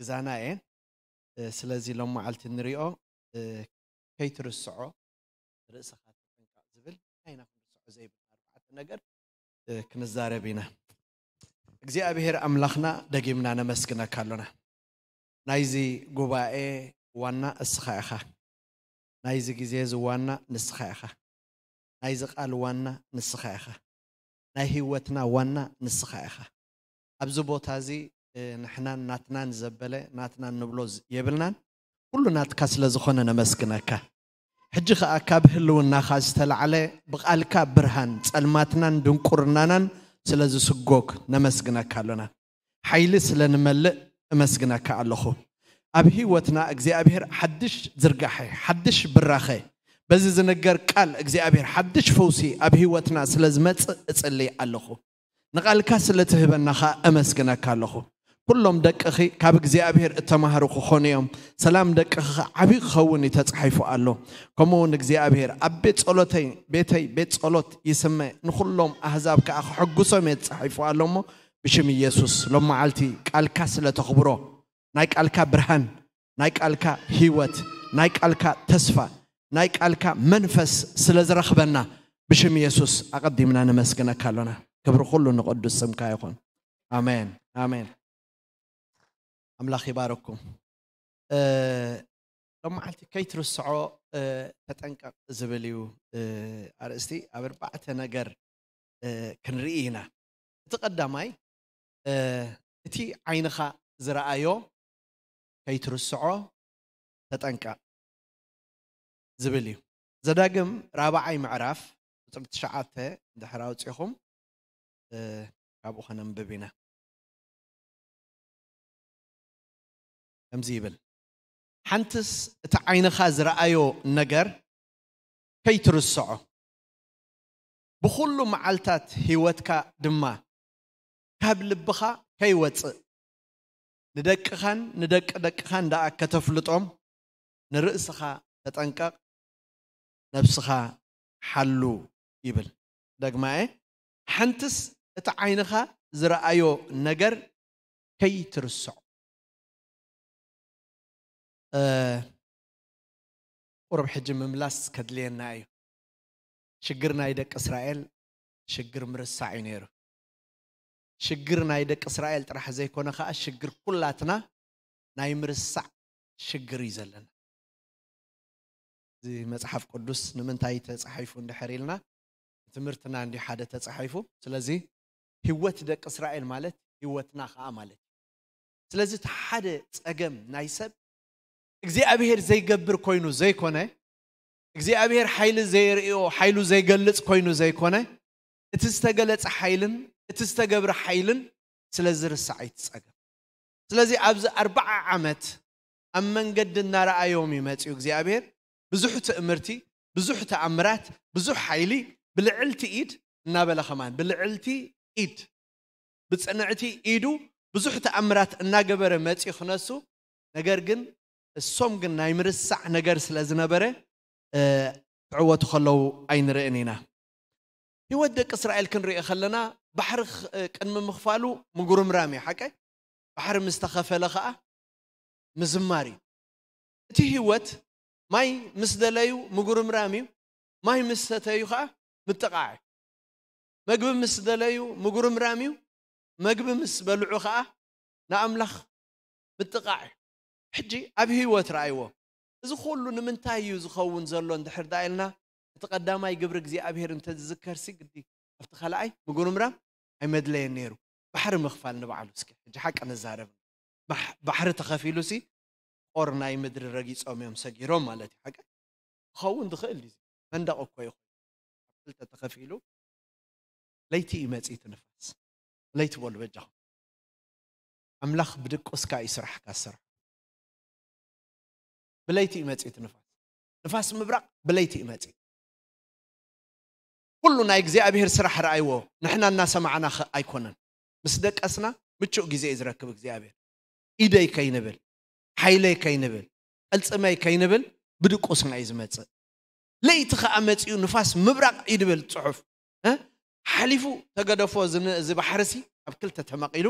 ክዛና እየ። እ፣ ስለዚ ሎም መዓልቲ ንሪኦ፣ እ፣ ከይትርስዖ፣ ርእስኻ ተጠንቀቕ ዝብል እንታይ ኢና ክንርስዖ ዘይብልና ኣርባዕተ ነገር፣ እ፣ ክንዛረብ ኢና። እግዚኣብሔር ኣምላኽና ደጊምና ነመስግነካ ኣሎና። ናይዚ ጉባኤ ዋና እስኻ ኢኻ። ናይዚ ግዜ እዚ ዋና ንስኻ ኢኻ። ናይዚ ቃል ዋና ንስኻ ኢኻ። ናይ ህይወትና ዋና ንስኻ ኢኻ። ኣብዚ ቦታ እዚ፣ እ፣ ንሕናን ናትናን ዘበለ ናትናን ንብሎ ዝ-፣ የብልናን። ኩሉ ናትካ ስለ ዝኾነ ነመስግነካ። ሕጂ ኸኣ ካብ ህልውናኻ ዝተላዕለ ብቓልካ ብርሃን ጸልማትናን ድንቁርናናን ስለ ዝስጎግ ነመስግነካ ኣሎና። ሓይሊ ስለ ንመልእ እመስግነካ ኣለኹ። ኣብ ህይወትና እግዚኣብሔር ሓድሽ ዝርጋሐ፣ ሓድሽ ብራኸ፣ በዚ ዝንገር ቃል እግዚኣብሔር ሓድሽ ፈውሲ ኣብ ህይወትና ስለ ዝመጽእ እጽሊ ኣለኹ። ንቓልካ ስለ ትህበና ኸኣ እመስግነካ ኣለኹ። ኩሎም ደቅኺ ካብ እግዚኣብሔር እተማህሩ ክኾኑ እዮም። ሰላም ደቅኺ ኸኣ ዓብዪ ክኸውን እዩ ተጻሒፉ ኣሎ። ከምኡ እውን እግዚኣብሔር ኣብ ቤት ጸሎተይ፣ ቤተይ ቤት ጸሎት ይስመ፣ ንኹሎም ኣህዛብ ከኣ ክሕጉሶም እየ ተጻሒፉ ኣሎ እሞ፣ ብሽም ኢየሱስ ሎም መዓልቲ ቃልካ ስለ ተኽብሮ፣ ናይ ቃልካ ብርሃን፣ ናይ ቃልካ ህይወት፣ ናይ ቃልካ ተስፋ፣ ናይ ቃልካ መንፈስ ስለ ዝረኽበና ብሽም ኢየሱስ ኣቐዲምና ነመስግነካ ኣሎና። ክብሪ ኩሉ ንቕዱስ ስምካ ይኹን። ኣሜን፣ ኣሜን። ኣምላኽ ይባረኩም። እ፣ ሎም መዓልቲ ከይትርስዖ፣ እ፣ ተጠንቀቕ ዝብል እዩ፣ እ፣ ኣርእስቲ። ኣብ ኣርባዕተ ነገር፣ እ፣ ክንርኢ ኢና። እቲ ቀዳማይ፣ እ፣ እቲ ዓይንኻ ዝረኣዮ ከይትርስዖ ተጠንቀቕ ዝብል እዩ። ዘዳግም ራብዓይ ምዕራፍ ቁጽሪ ትሽዓተ እንድሕር ኣውጺኹም፣ እ፣ ካብኡ ከነንብብ ኢና። ከምዚ ይብል፣ ሓንትስ እቲ ዓይንኻ ዝረኣዮ ነገር ከይትርስዖ፣ ብኹሉ መዓልታት ህይወትካ ድማ ካብ ልብኻ ከይወጽእ፣ ንደቅኻን ንደቂ ደቅኻን ደኣ ከተፍልጦም፣ ንርእስኻ ተጠንቀቕ፣ ነብስኻ ሓሉ ይብል። ደግማየ፣ ሓንትስ እቲ ዓይንኻ ዝረኣዮ ነገር ከይትርስዖ። እ፣ ቁሩብ ሕጂ ምምላስ ከድልየና እዩ። ሽግር ናይ ደቂ እስራኤል ሽግር ምርሳዕ እዩ ነይሩ። ሽግር ናይ ደቂ እስራኤል ጥራሕ ዘይኮነ ኸኣ ሽግር ኩላትና ናይ ምርሳዕ ሽግር እዩ ዘለና። እዚ መጽሓፍ ቅዱስ ንምንታይ ተጻሒፉ እንድሕር ኢልና፣ ትምህርትና እንዲ ሓደ ተጻሒፉ። ስለዚ ህይወት ደቂ እስራኤል ማለት ህይወትና ኸኣ ማለት እዩ። ስለዚ እቲ ሓደ ጸገም ናይ ሰብ እግዚኣብሔር ዘይገብር ኮይኑ ዘይኮነ፣ እግዚኣብሔር ሓይሊ ዘየርእዮ፣ ሓይሉ ዘይገልጽ ኮይኑ ዘይኮነ፣ እቲ ዝተገለጸ ሓይልን እቲ ዝተገብረ ሓይልን ስለ ዝርሳዕ እዩ እቲ ጸገም። ስለዚ ኣብዚ ኣርባዓ ዓመት ኣብ መንገዲ እናረኣዮም እዩ መጺኡ እግዚኣብሔር። ብዙሕ ትእምርቲ፣ ብዙሕ ተኣምራት፣ ብዙሕ ሓይሊ ብልዕልቲ ኢድ እናበለ ከማን ብልዕልቲ ኢድ፣ ብጽንዕቲ ኢዱ ብዙሕ ተኣምራት እናገበረ መጺኡ ክነሱ፣ ነገር ግን እሶም ግን ናይ ምርሳዕ ነገር ስለ ዝነበረ፣ እ፣ ክዕወቱ ከለዉ ኣይንርእን ኢና። ህይወት ደቂ እስራኤል ክንርኢ ከለና ባሕሪ ኽ-፣ ቅድሚ ምኽፋሉ ምጉርምራም እዩ፣ ሓቀ? ባሕሪ ምስ ተኸፈለ ኸኣ ምዝማር እዩ። እቲ ህይወት ማይ ምስ ደለዩ ምጉርምራም እዩ፣ ማይ ምስ ሰተዩ ኸኣ ምጥቓዕ እዩ። መግቢ ምስ ደለዩ ምጉርምራም እዩ፣ መግቢ ምስ በልዑ ኸኣ ንኣምላኽ ምጥቓዕ እዩ። ሕጂ ኣብ ህይወት ረኣይዎ። እዚ ኩሉ ንምንታይ እዩ ዝኸውን ዘሎ እንድሕር ደኣ ኢልና፣ እቲ ቀዳማይ ግብሪ እግዚኣብሔር እንተዝዝከርሲ ግዲ ኣብቲ ካልኣይ ምጉርምራም ኣይመድለየን ነይሩ። ባሕሪ ምኽፋል ንባዕሉ እስኪ ሕጂ ሓቂ ንዛረብ። ባሕ-፣ ባሕሪ ተኸፊሉሲ ቖር ናይ ምድሪ ረጊጾም እዮም ሰጊሮም ማለት እዩ። ሓቂ ክኸውን ዝኽእል ድዩ? መንደቕ እኮ ይኹን። ኣብ ክልተ ተኸፊሉ ለይቲ እዩ መጺእ እቲ ንፋስ። ለይቲ በሉ በጃኹም። ኣምላኽ ብድቁስካ እዩ ስራሕካ ዝሰርሖ። ብለይቲ እዩ መጺእ እቲ ንፋስ። ንፋስ ምብራቕ ብለይቲ እዩ መጺእ። ኩሉ ናይ እግዚኣብሔር ስራሕ ረኣይዎ፣ ንሕና እናሰማዕና ኸ ኣይኮነን። ምስ ደቀስና ምቹእ ግዜ እዩ ዝረክብ እግዚኣብሔር። ኢደይ ከይንብል፣ ሓይለይ ከይንብል፣ ቅልጽመይ ከይንብል ብድቁስና እዩ ዝመጽእ። ለይቲ ኸኣ መጺኡ ንፋስ ምብራቕ እዩ ድብል ጽሑፍ። እ? ሓሊፉ ተገደፎ እዚ ን-፣ እዚ ባሕርሲ ኣብ ክልተ ተመቒሉ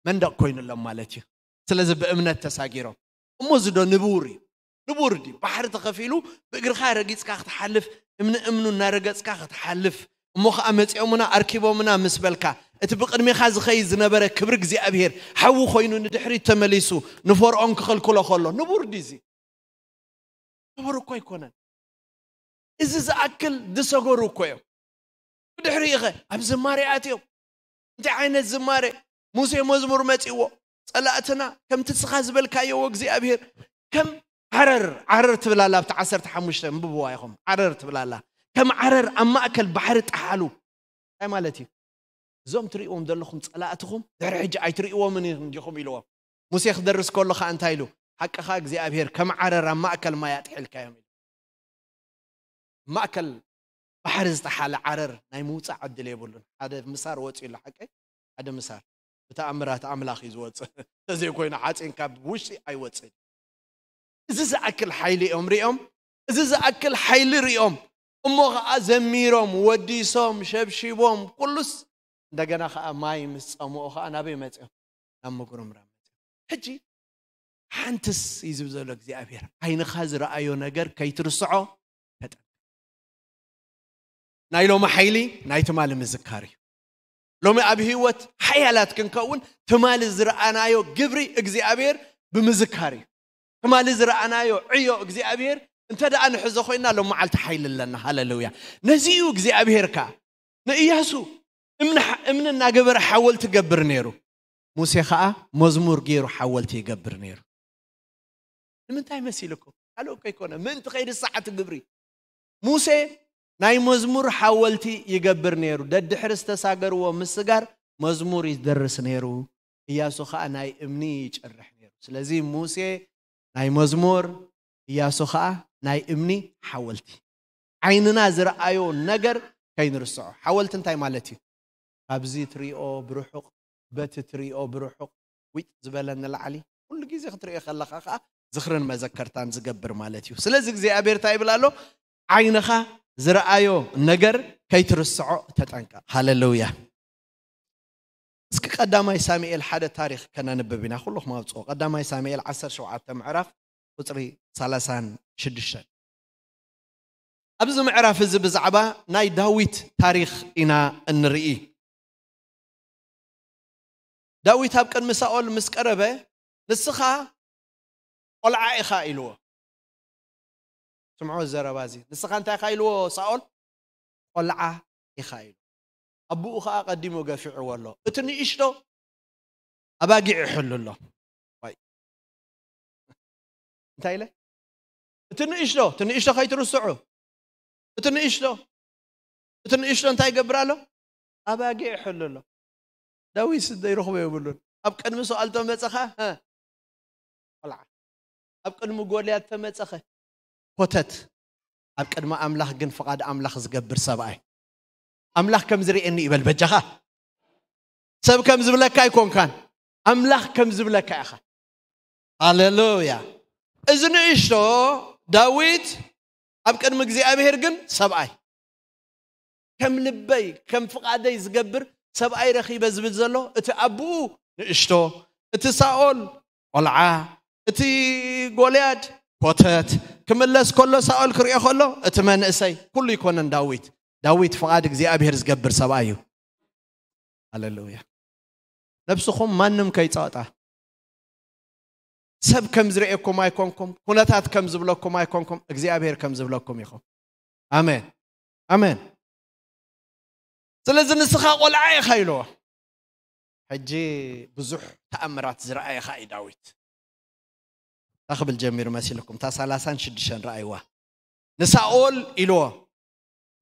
መንደቕ ኮይኑሎም ማለት እዩ። ስለዚ ብእምነት ተሳጊሮም። እሞ እዚ ዶ ንቡር እዩ? ንቡር ድዩ? ባሕሪ ተኸፊሉ ብእግርኻ ረጊጽካ ክትሓልፍ፣ እምኒ እምኑ እናረገጽካ ክትሓልፍ፣ እሞ ኸዓ መጺኦምና ኣርኪቦምና ምስ በልካ፣ እቲ ብቕድሜኻ ዝኸይድ ዝነበረ ክብሪ እግዚኣብሔር ሓዊ ኮይኑ ንድሕሪት ተመሊሱ ንፈርዖን ክኽልክሎ ከሎ፣ ንቡር ድዩ እዚ? ንቡር እኮ ኣይኮነን። እዚ ዝኣክል ዝሰገሩ እኮ እዮም። ብድሕሪኡ ኸ ኣብ ዝማሬ ኣትዮም። እንታይ ዓይነት ዝማሬ? ሙሴ መዝሙር መጺዎ፣ ጸላእትና ከምቲ ንስኻ ዝበልካዮ እግዚኣብሔር ከም ዓረር፣ ዓረር ትብል ኣላ ኣብቲ ዓሰርተ ሓሙሽተ፣ እንብብዋ ኢኹም። ዓረር ትብል ኣላ። ከም ዓረር ኣብ ማእከል ባሕሪ ጠሓሉ። እንታይ ማለት እዩ? እዞም ትርእይዎም ዘለኹም ጸላእትኹም ድሕሪ ሕጂ ኣይትርእይዎምን ኢኹም ዲኹም ኢልዎም። ሙሴ ክደርስ ከሎ ኸኣ እንታይ ኢሉ? ሓቅኻ እግዚኣብሔር ከም ዓረር ኣብ ማእከል ማይ ኣጥሒልካዮም ኢሉ። ማእከል ባሕሪ ዝጠሓለ ዓረር ናይ ምውጻእ ዕድል የብሉን። ሓደ ምሳር ወጺኡ ኣሎ ሓቀይ፣ ሓደ ምሳር ብተኣምራት ኣምላኽ እዩ ዝወጽእ። እንተዘይኮይኑ ሓጺን ካብ ውሽጢ ኣይወጽእን። እዚ ዝኣክል ሓይሊ እዮም ሪኦም፣ እዚ ዝኣክል ሓይሊ ሪኦም እሞ ኸዓ ዘሚሮም፣ ወዲሶም፣ ሸብሺቦም፣ ኩሉስ እንደገና ኸዓ ማይ ምስ ጸምኦ ኸዓ ናበይ መጺኦም? ናብ ምጉርምራም መጺኦም። ሕጂ ሓንትስ እዩ ዝብል ዘሎ እግዚኣብሔር፣ ዓይንኻ ዝረኣዮ ነገር ከይትርስዖ ተጠንቀቕ። ናይ ሎሚ ሓይሊ ናይ ትማሊ ምዝካር እዩ። ሎሚ ኣብ ህይወት ሓያላት ክንከውን ትማሊ ዝረኣናዮ ግብሪ እግዚኣብሔር ብምዝካር እዩ። ትማሊ ዝረኣናዮ ዕዮ እግዚኣብሔር እንተ ደኣ ንሕዞ ኮይና ሎም መዓልቲ ሓይሊ ኣለና። ሃሌሉያ። ነዚ እዩ እግዚኣብሔር ከኣ ንእያሱ እምኒ ሓ-፣ እምኒ እናገበረ ሓወልቲ ገብር ነይሩ። ሙሴ ኸኣ መዝሙር ገይሩ ሓወልቲ ይገብር ነይሩ። ንምንታይ መሲልኩም? ካልእ እኮ ኣይኮነ። ምእንቲ ከይርሳዕ እቲ ግብሪ። ሙሴ ናይ መዝሙር ሓወልቲ ይገብር ነይሩ። ደድሕሪ ዝተሳገርዎ ምስጋር መዝሙር ይደርስ ነይሩ። እያሱ ኸኣ ናይ እምኒ ይጭርሕ ነይሩ። ስለዚ ሙሴ ናይ መዝሙር፣ እያሱ ኸኣ ናይ እምኒ ሓወልቲ። ዓይንና ዝረኣዮ ነገር ከይንርስዖ። ሓወልቲ እንታይ ማለት እዩ? ካብዚ ትሪኦ ብርሑቕ፣ በቲ ትሪኦ ብርሑቕ፣ ዊጥ ዝበለ ንላዕሊ፣ ኩሉ ግዜ ክትሪኦ ከለኻ ኸኣ ዝኽርን መዘከርታን ዝገብር ማለት እዩ። ስለዚ እግዚኣብሔር እንታይ ይብል ኣሎ? ዓይንኻ ዝረኣዮ ነገር ከይትርስዖ ተጠንቀቕ። ሃሌሉያ። እስኪ ቀዳማይ ሳሙኤል ሓደ ታሪኽ ከነንብብ ኢና። ኩልኹም ኣውፅኦ። ቀዳማይ ሳሙኤል ዓሰርተ ሸውዓተ ምዕራፍ ቁፅሪ ሰላሳን ሽዱሽተን። ኣብዚ ምዕራፍ እዚ ብዛዕባ ናይ ዳዊት ታሪኽ ኢና እንርኢ። ዳዊት ኣብ ቅድሚ ሳኦል ምስ ቀረበ፣ "ንስኻ ቆልዓ ኢኻ" ኢልዎ። ስምዖ ዘረባ እዚ። "ንስኻ እንታይ ኢኻ?" ኢልዎ ሳኦል። "ቆልዓ ኢኻ" ኢሉ። ኣቦኡ ኸኣ ቀዲሙ ገፊዕዎ ኣሎ። እቲ ንእሽቶ ኣባጊዕ ይሕሉ ኣሎ። ዋይ። እንታይ ኢለ? እቲ ንእሽቶ፣ እቲ ንእሽቶ ከይትርስዑ። እቲ ንእሽቶ፣ እቲ ንእሽቶ እንታይ ይገብር ኣሎ? ኣባጊዕ ይሕሉ ኣሎ። ዳዊት ስደ ይረኽቦ የብሉን። ኣብ ቅድሚ ሳኦል ተመጸኻ፣ ሀ፣ ቆልዓ። ኣብ ቅድሚ ጎልያድ ተመጸኸ፣ ኮተት። ኣብ ቅድሚ ኣምላኽ ግን ፍቓድ ኣምላኽ ዝገብር ሰብኣይ። ኣምላኽ ከም ዝርእየኒ ይበል በጃኻ። ሰብ ከም ዝብለካ ኣይኮንካን፣ ኣምላኽ ከም ዝብለካ ኢኻ። ሃሌሉያ። እዚ ንእሽቶ ዳዊት ኣብ ቅድሚ እግዚኣብሔር ግን ሰብኣይ፣ ከም ልበይ ከም ፍቓደይ ዝገብር ሰብኣይ ረኺበ ዝብል ዘሎ፣ እቲ ኣቦኡ ንእሽቶ፣ እቲ ሳኦል ቆልዓ፣ እቲ ጎልያድ ኮተት። ክምለስ ከሎ ሳኦል ክሪኦ ከሎ እቲ መንእሰይ፣ ኩሉ ይኮነን ዳዊት። ዳዊት ፍቓድ እግዚኣብሔር ዝገብር ሰብኣይ እዩ። ሃሌሉያ። ነብስኹም ማንም ከይጸቕጣ። ሰብ ከም ዝርእየኩም ኣይኮንኩም፣ ኩነታት ከም ዝብለኩም ኣይኮንኩም፣ እግዚኣብሔር ከም ዝብለኩም ኢኹም። ኣሜን። ኣሜን። ስለዚ ንስኻ ቆልዓ ኢኻ ኢልዎ። ሕጂ ብዙሕ ተኣምራት ዝረኣየ ኸኣ እዩ ዳዊት። እንታይ ክብል ጀሚሩ መሲልኩም? እታ ሰላሳን ሽዱሽተን ረኣይዋ። ንሳኦል ኢልዎ፣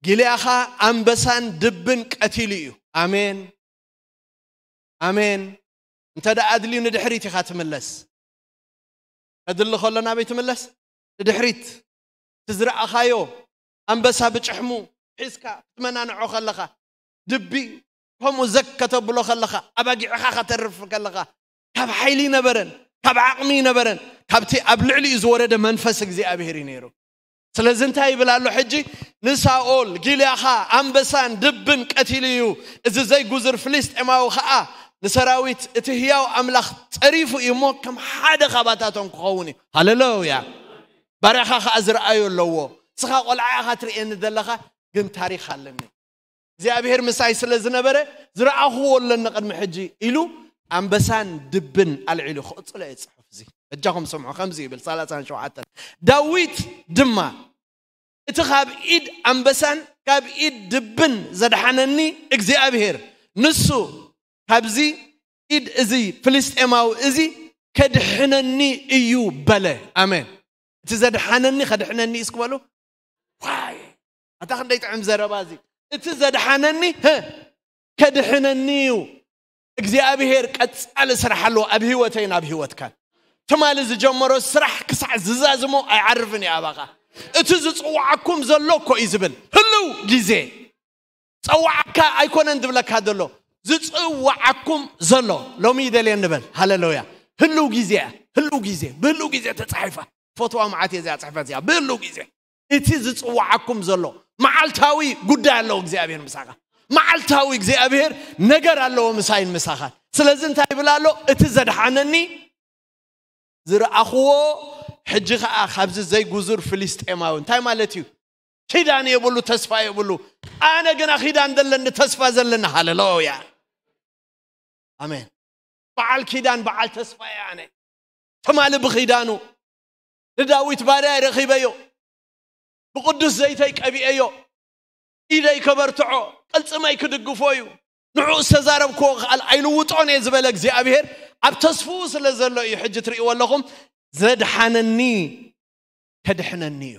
"ጊልያኻ ኣንበሳን ድብን ቀቲሉ እዩ።" ኣሜን። ኣሜን። እንተ ደኣ ኣድልዩ ንድሕሪት ኢኻ ትምለስ። ከድሊ ከሎ ናበይ ትምለስ? ንድሕሪት። እቲ ዝረኣኻዮ ኣንበሳ ብጭሕሙ ሒዝካ ክትመናንዖ ከለኻ፣ ድቢ ከምኡ ዘግ ከተብሎ ከለኻ፣ ኣባጊዕኻ ከተርፍ ከለኻ፣ ካብ ሓይሊ ነበረን፣ ካብ ዓቕሚ ነበረን፣ ካብቲ ኣብ ልዕሊኡ ዝወረደ መንፈስ እግዚኣብሔር እዩ ነይሩ። ስለዚ እንታይ ይብል ኣሎ ሕጂ? ንሳኦል፣ "ጊልያኻ ኣንበሳን ድብን ቀቲሉ እዩ፣ እዚ ዘይጉዝር ፍልስጤማዊ ኸኣ ንሰራዊት እቲ ህያው ኣምላኽ ጸሪፉ እዩ እሞ ከም ሓደ ካባታቶም ክኸውን እዩ። ሃሌሉያ። ባርያኻ ኸኣ ዝረኣዮ ኣለዎ። ንስኻ ቆልዓ ኢኻ ትርእየኒ ዘለኻ፣ ግን ታሪኽ ኣለኒ። እግዚኣብሔር ምሳይ ስለ ዝነበረ ዝረኣኽዎ ኣለኒ ቅድሚ ሕጂ ኢሉ ኣንበሳን ድብን ኣልዒሉ ክቕጽሎ እየ ጽሑፍ እዚ። በጃኹም ስምዑ፣ ከምዚ ይብል ሰላሳን ሸውዓተን፣ ዳዊት ድማ እቲ ካብ ኢድ ኣንበሳን ካብ ኢድ ድብን ዘድሓነኒ እግዚኣብሔር ንሱ ካብዚ ኢድ እዚ ፍልስጤማዊ እዚ ከድሕነኒ እዩ በለ። ኣሜን። እቲ ዘድሓነኒ ከድሕነኒ እዩ እስክበሉ። ዋይ፣ ኣታ ክንደይ ጥዕም ዘረባ እዚ። እቲ ዘድሓነኒ፣ ህ፣ ከድሕነኒ እዩ። እግዚኣብሔር ቀጻሊ ስራሕ ኣለዎ ኣብ ህይወተይን ኣብ ህይወትካን። ትማሊ ዝጀመሮ ስራሕ ክሳዕ ዝዛዝሞ ኣይዓርፍን እዩ ኣባኻ። እቲ ዝጽውዓኩም ዘሎ እኮ እዩ ዝብል። ህልው ግዜ ጸዋዕካ ኣይኮነን ዝብለካ ዘሎ፣ ዝጽዋዓኩም ዘሎ። ሎሚ ይደልየ ንበል። ሃሌሉያ። ህልው ግዜ እያ። ህልው ግዜ፣ ብህልው ግዜ ተጻሒፋ። ፈትዋ መዓት እየ እዚኣ ጽሕፈት እዚኣ። ብህልው ግዜ እቲ ዝጽዋዓኩም ዘሎ መዓልታዊ ጉዳይ ኣለዎ እግዚኣብሔር ምሳኻ። መዓልታዊ እግዚኣብሔር ነገር ኣለዎ ምሳይን ምሳኻ። ስለዚ እንታይ ይብል ኣሎ? እቲ ዘድሓነኒ ዝረኣኽዎ፣ ሕጂ ኸኣ ካብዚ ዘይጉዙር ፍልስጤማዊ። እንታይ ማለት እዩ? ኪዳን የብሉ፣ ተስፋ የብሉ። ኣነ ግና ኪዳን ዘለኒ፣ ተስፋ ዘለኒ። ሃሌሉያ። ኣሜን። በዓል ኪዳን፣ በዓል ተስፋ እየ ኣነ። ትማሊ ብኺዳኑ ንዳዊት ባርያ ረኺበዮ፣ ብቅዱስ ዘይተይ ቀቢኤዮ፣ ኢደይ ከበርትዖ፣ ቅልጽመይ ክድግፎ እዩ። ንዕኡ ዝተዛረብክዎ ቃል ኣይልውጦን እየ ዝበለ እግዚኣብሔር ኣብ ተስፍኡ ስለ ዘሎ እዩ። ሕጂ ትርእይዎ ኣለኹም፣ ዘድሓነኒ ከድሕነኒ እዩ።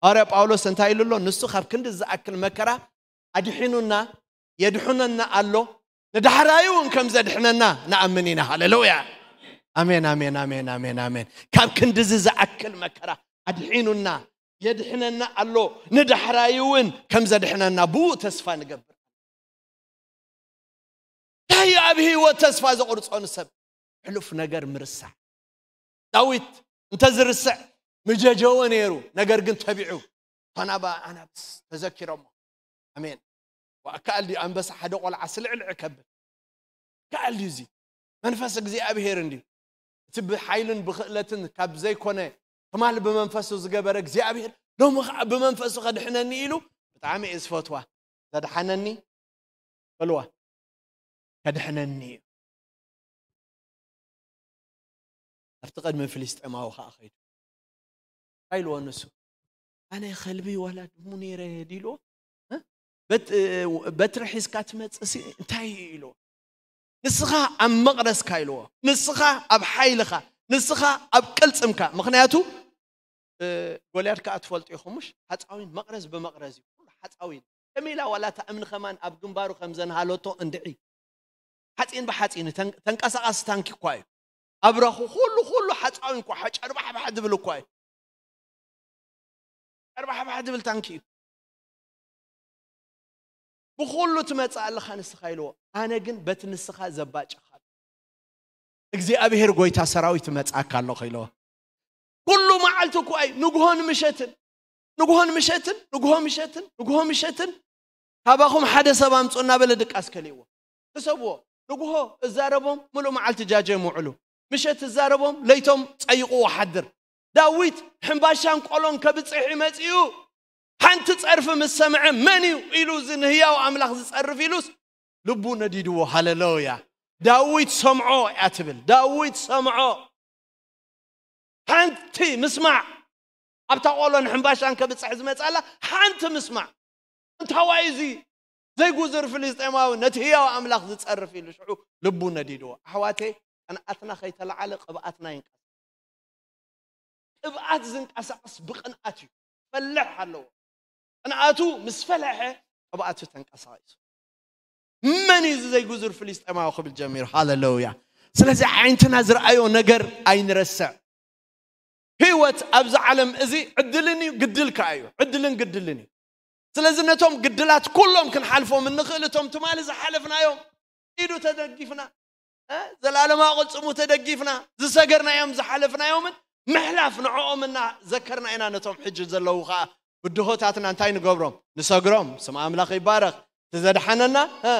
ሃዋርያ ጳውሎስ እንታይ ኢሉ ኣሎ? ንሱ ካብ ክንዲ ዝኣክል መከራ ኣድሒኑና፣ የድሕነና ኣሎ፣ ንዳሕራዩ እውን ከም ዘድሕነና ንኣምን ኢና። ሃሌሉያ። ኣሜን፣ ኣሜን፣ ኣሜን፣ ኣሜን፣ ኣሜን። ካብ ክንድዚ ዝኣክል መከራ ኣድሒኑና፣ የድሕነና ኣሎ፣ ንዳሕራዩ እውን ከም ዘድሕነና ብኡ ተስፋ ንገብር። እንታይ ኣብ ህይወት ተስፋ ዘቑርጾ ንሰብ? ሕሉፍ ነገር ምርሳዕ። ዳዊት እንተ ዝርስዕ ምጀጀወ ነይሩ፣ ነገር ግን ተቢዑ። ታናባ ኣናብስ ተዘኪሮሞ። ኣሜን። ወኣካል ድዩ ኣንበሳ ሓደ ቆልዓ ስልዕልዕ ከብል? ከኣል ድዩ እዚ? መንፈስ እግዚኣብሔር እንድዩ። እቲ ብሓይልን ብኽእለትን ካብ ዘይኮነ ትማል ብመንፈሱ ዝገበረ እግዚኣብሔር ሎሚ ኸዓ ብመንፈሱ ከድሕነኒ ኢሉ ብጣዕሚ እየ ዝፈትዋ። ዘድሓነኒ በልዋ፣ ከድሕነኒ እዩ። ኣብቲ ቅድሚ ፍልስጤማዊ ኸዓ ኸይዱ። እንታይ ኢልዎ ንሱ? ኣነ ኸልቢ ዋላ ድሙ ነይረ ድዩ ኢልዎ? እ? በት-፣ በትሪ ሒዝካ ትመጽእ ሲ እንታይ እዩ ኢልዎ? ንስኻ ኣብ መቕረዝካ ኢልዎ። ንስኻ ኣብ ሓይልኻ፣ ንስኻ ኣብ ቅልጽምካ። ምኽንያቱ፣ እ፣ ጎልያድ ከኣ ትፈልጡ ኢኹም፣ ምሽ? ሓጻዊን መቕረዝ ብመቕረዝ እዩ። ኩሉ ሓጻዊን። ከመይ ኢላ ዋላ እታ እምኒ ከማን ኣብ ግንባሩ ከም ዘንሃለቶ እንድዒ። ሓጺን ብሓጺን ተን-፣ ተንቀሳቓሲ ታንኪ እኳ እዩ። ኣብራኹ ኩሉ፣ ኩሉ ሓጻዊን እኳ ጨርባሕባሕ ድብል እኳ እዩ። ጨርባሕባሕ ድብል ታንኪ እዩ። ብኹሉ ትመጽእ ኣለኻ ንስኻ ኢልዎ። ኣነ ግን በቲ ንስኻ ዘባጨኻ እግዚኣብሔር ጎይታ ሰራዊት እመጽኣካ ኣለኹ ኢልዎ። ኩሉ መዓልቲ እኳ እዩ፣ ንግሆን ምሸትን፣ ንግሆን ምሸትን፣ ንግሆ ምሸትን፣ ንግሆ ምሸትን፣ ካባኹም ሓደ ሰብ ኣምጹ እናበለ ድቃስ ከልእዎ። ሕሰብዎ፣ ንግሆ እዛረቦም ምሉእ መዓልቲ ጃጀ ይምውዕሉ። ምሸት እዛረቦም ለይቶም ጸይቕዎ ሓድር። ዳዊት ሕምባሻን ቆሎን ከብጽሕ እዩ መጺኡ። ሓንቲ ጸርፊ ምስ ሰምዐ፣ "መን እዩ?" ኢሉ፣ "እዚ ንህያው ኣምላኽ ዝጸርፍ" ኢሉስ ልቡ ነዲድዎ። ሃሌሉያ። ዳዊት ሰምዖ እያ ትብል። ዳዊት ሰምዖ። ሓንቲ ምስማዕ። ኣብታ ቆሎን ሕምባሻን ከብጽሕ ዝመጻላ ሓንቲ ምስማዕ። እንታዋይ እዚ ዘይጉዝር ፍልስጤማዊ ነቲ ህያው ኣምላኽ ዝጸርፍ ኢሉ ሽዑ ልቡ ነዲድዎ። ኣሕዋተይ፣ ቅንኣትና ከይተለዓለ ቅብኣትና ይንቀሳቐስ። ቅብኣት ዝንቀሳቐስ ብቅንኣት እዩ። ፈልሕ ኣለዎ። ቅንኣቱ ምስ ፈለሐ ቅብኣቱ ተንቀሳቒሱ። መን እዩ እዚ ዘይጉዙር ፍልስጤማዊ ክብል ጀሚሩ? ሃሌሉያ። ስለዚ ዓይንትና ዝረኣዮ ነገር ኣይንረስዕ። ህይወት ኣብዚ ዓለም እዚ ዕድልን እዩ፣ ግድል ከኣ እዩ። ዕድልን ግድልን እዩ። ስለዚ ነቶም ግድላት ኩሎም ክንሓልፎም እንኽእል፣ እቶም ትማሊ ዝሓለፍናዮም ኢዱ ተደጊፍና፣ እ፣ ዘላለማዊ ቅልጽሙ ተደጊፍና፣ ዝሰገርናዮም ዝሓለፍናዮምን ምሕላፍ ንዕኦም እናዘከርና ኢና፣ ነቶም ሕጂ ዘለዉ ኸኣ ብድሆታትና እንታይ ንገብሮም? ንሰግሮም። ስም ኣምላኽ ይባረኽ። እቲ ዘድሓነና፣ እ፣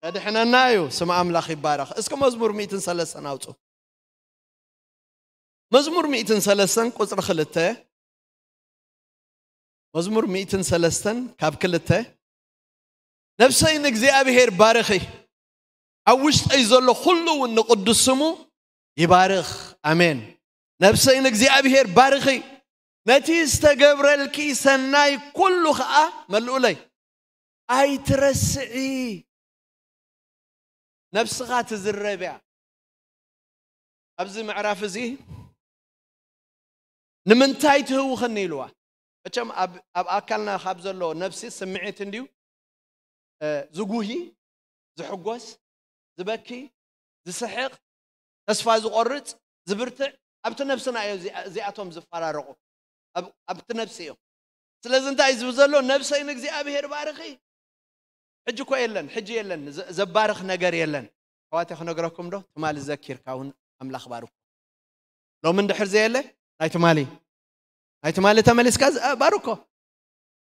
ከድሕነና እዩ። ስም ኣምላኽ ይባረኽ። እስኪ መዝሙር ሚእትን ሰለስተን ኣውፁ። መዝሙር ሚእትን ሰለስተን ቁፅሪ ክልተ። መዝሙር ሚእትን ሰለስተን ካብ ክልተ። ነፍሰይ ንእግዚኣብሔር ባርኺ፣ ኣብ ውሽጠይ ዘሎ ኩሉ እውን ንቕዱስ ስሙ ይባርኽ። ኣሜን። ነፍሰይ ንእግዚኣብሔር ባርኺ፣ ነቲ ዝተገብረልኪ ሰናይ ኩሉ ኸዓ መልኡለይ። ኣይትረስዒ። ነብስኻ ትዝረብ እያ። ኣብዚ ምዕራፍ እዚ ንምንታይ ትህውኽኒ ኢልዋ። መቸም ኣብ ኣብ ኣካልና ካብ ዘሎ ነብሲ ስምዒት እንድዩ፣ እ፣ ዝጉሂ፣ ዝሕጎስ፣ ዝበኪ፣ ዝስሕቕ፣ ተስፋ ዝቆርጽ፣ ዝብርትዕ፣ ኣብቲ ነብስና እዮም እዚ- እዚኣቶም ዝፈራረቑ። ኣብ- ኣብቲ ነብሲ እዮም። ስለዚ እንታይ ዝብል ዘሎ? ነብሰይ ንእግዚኣብሔር ባርኺ። ሕጂ እኮ የለን፣ ሕጂ የለን፣ ዘ- ዘባርኽ ነገር የለን። ኣሕዋተይ ክነግረኩም ዶ? ትማሊ ዘኪርካ እውን ኣምላኽ ባርኮ። ሎሚ እንድሕር ዘየለ ናይ ትማሊ ናይ ትማሊ ተመሊስካ ዝ- ባርኮ።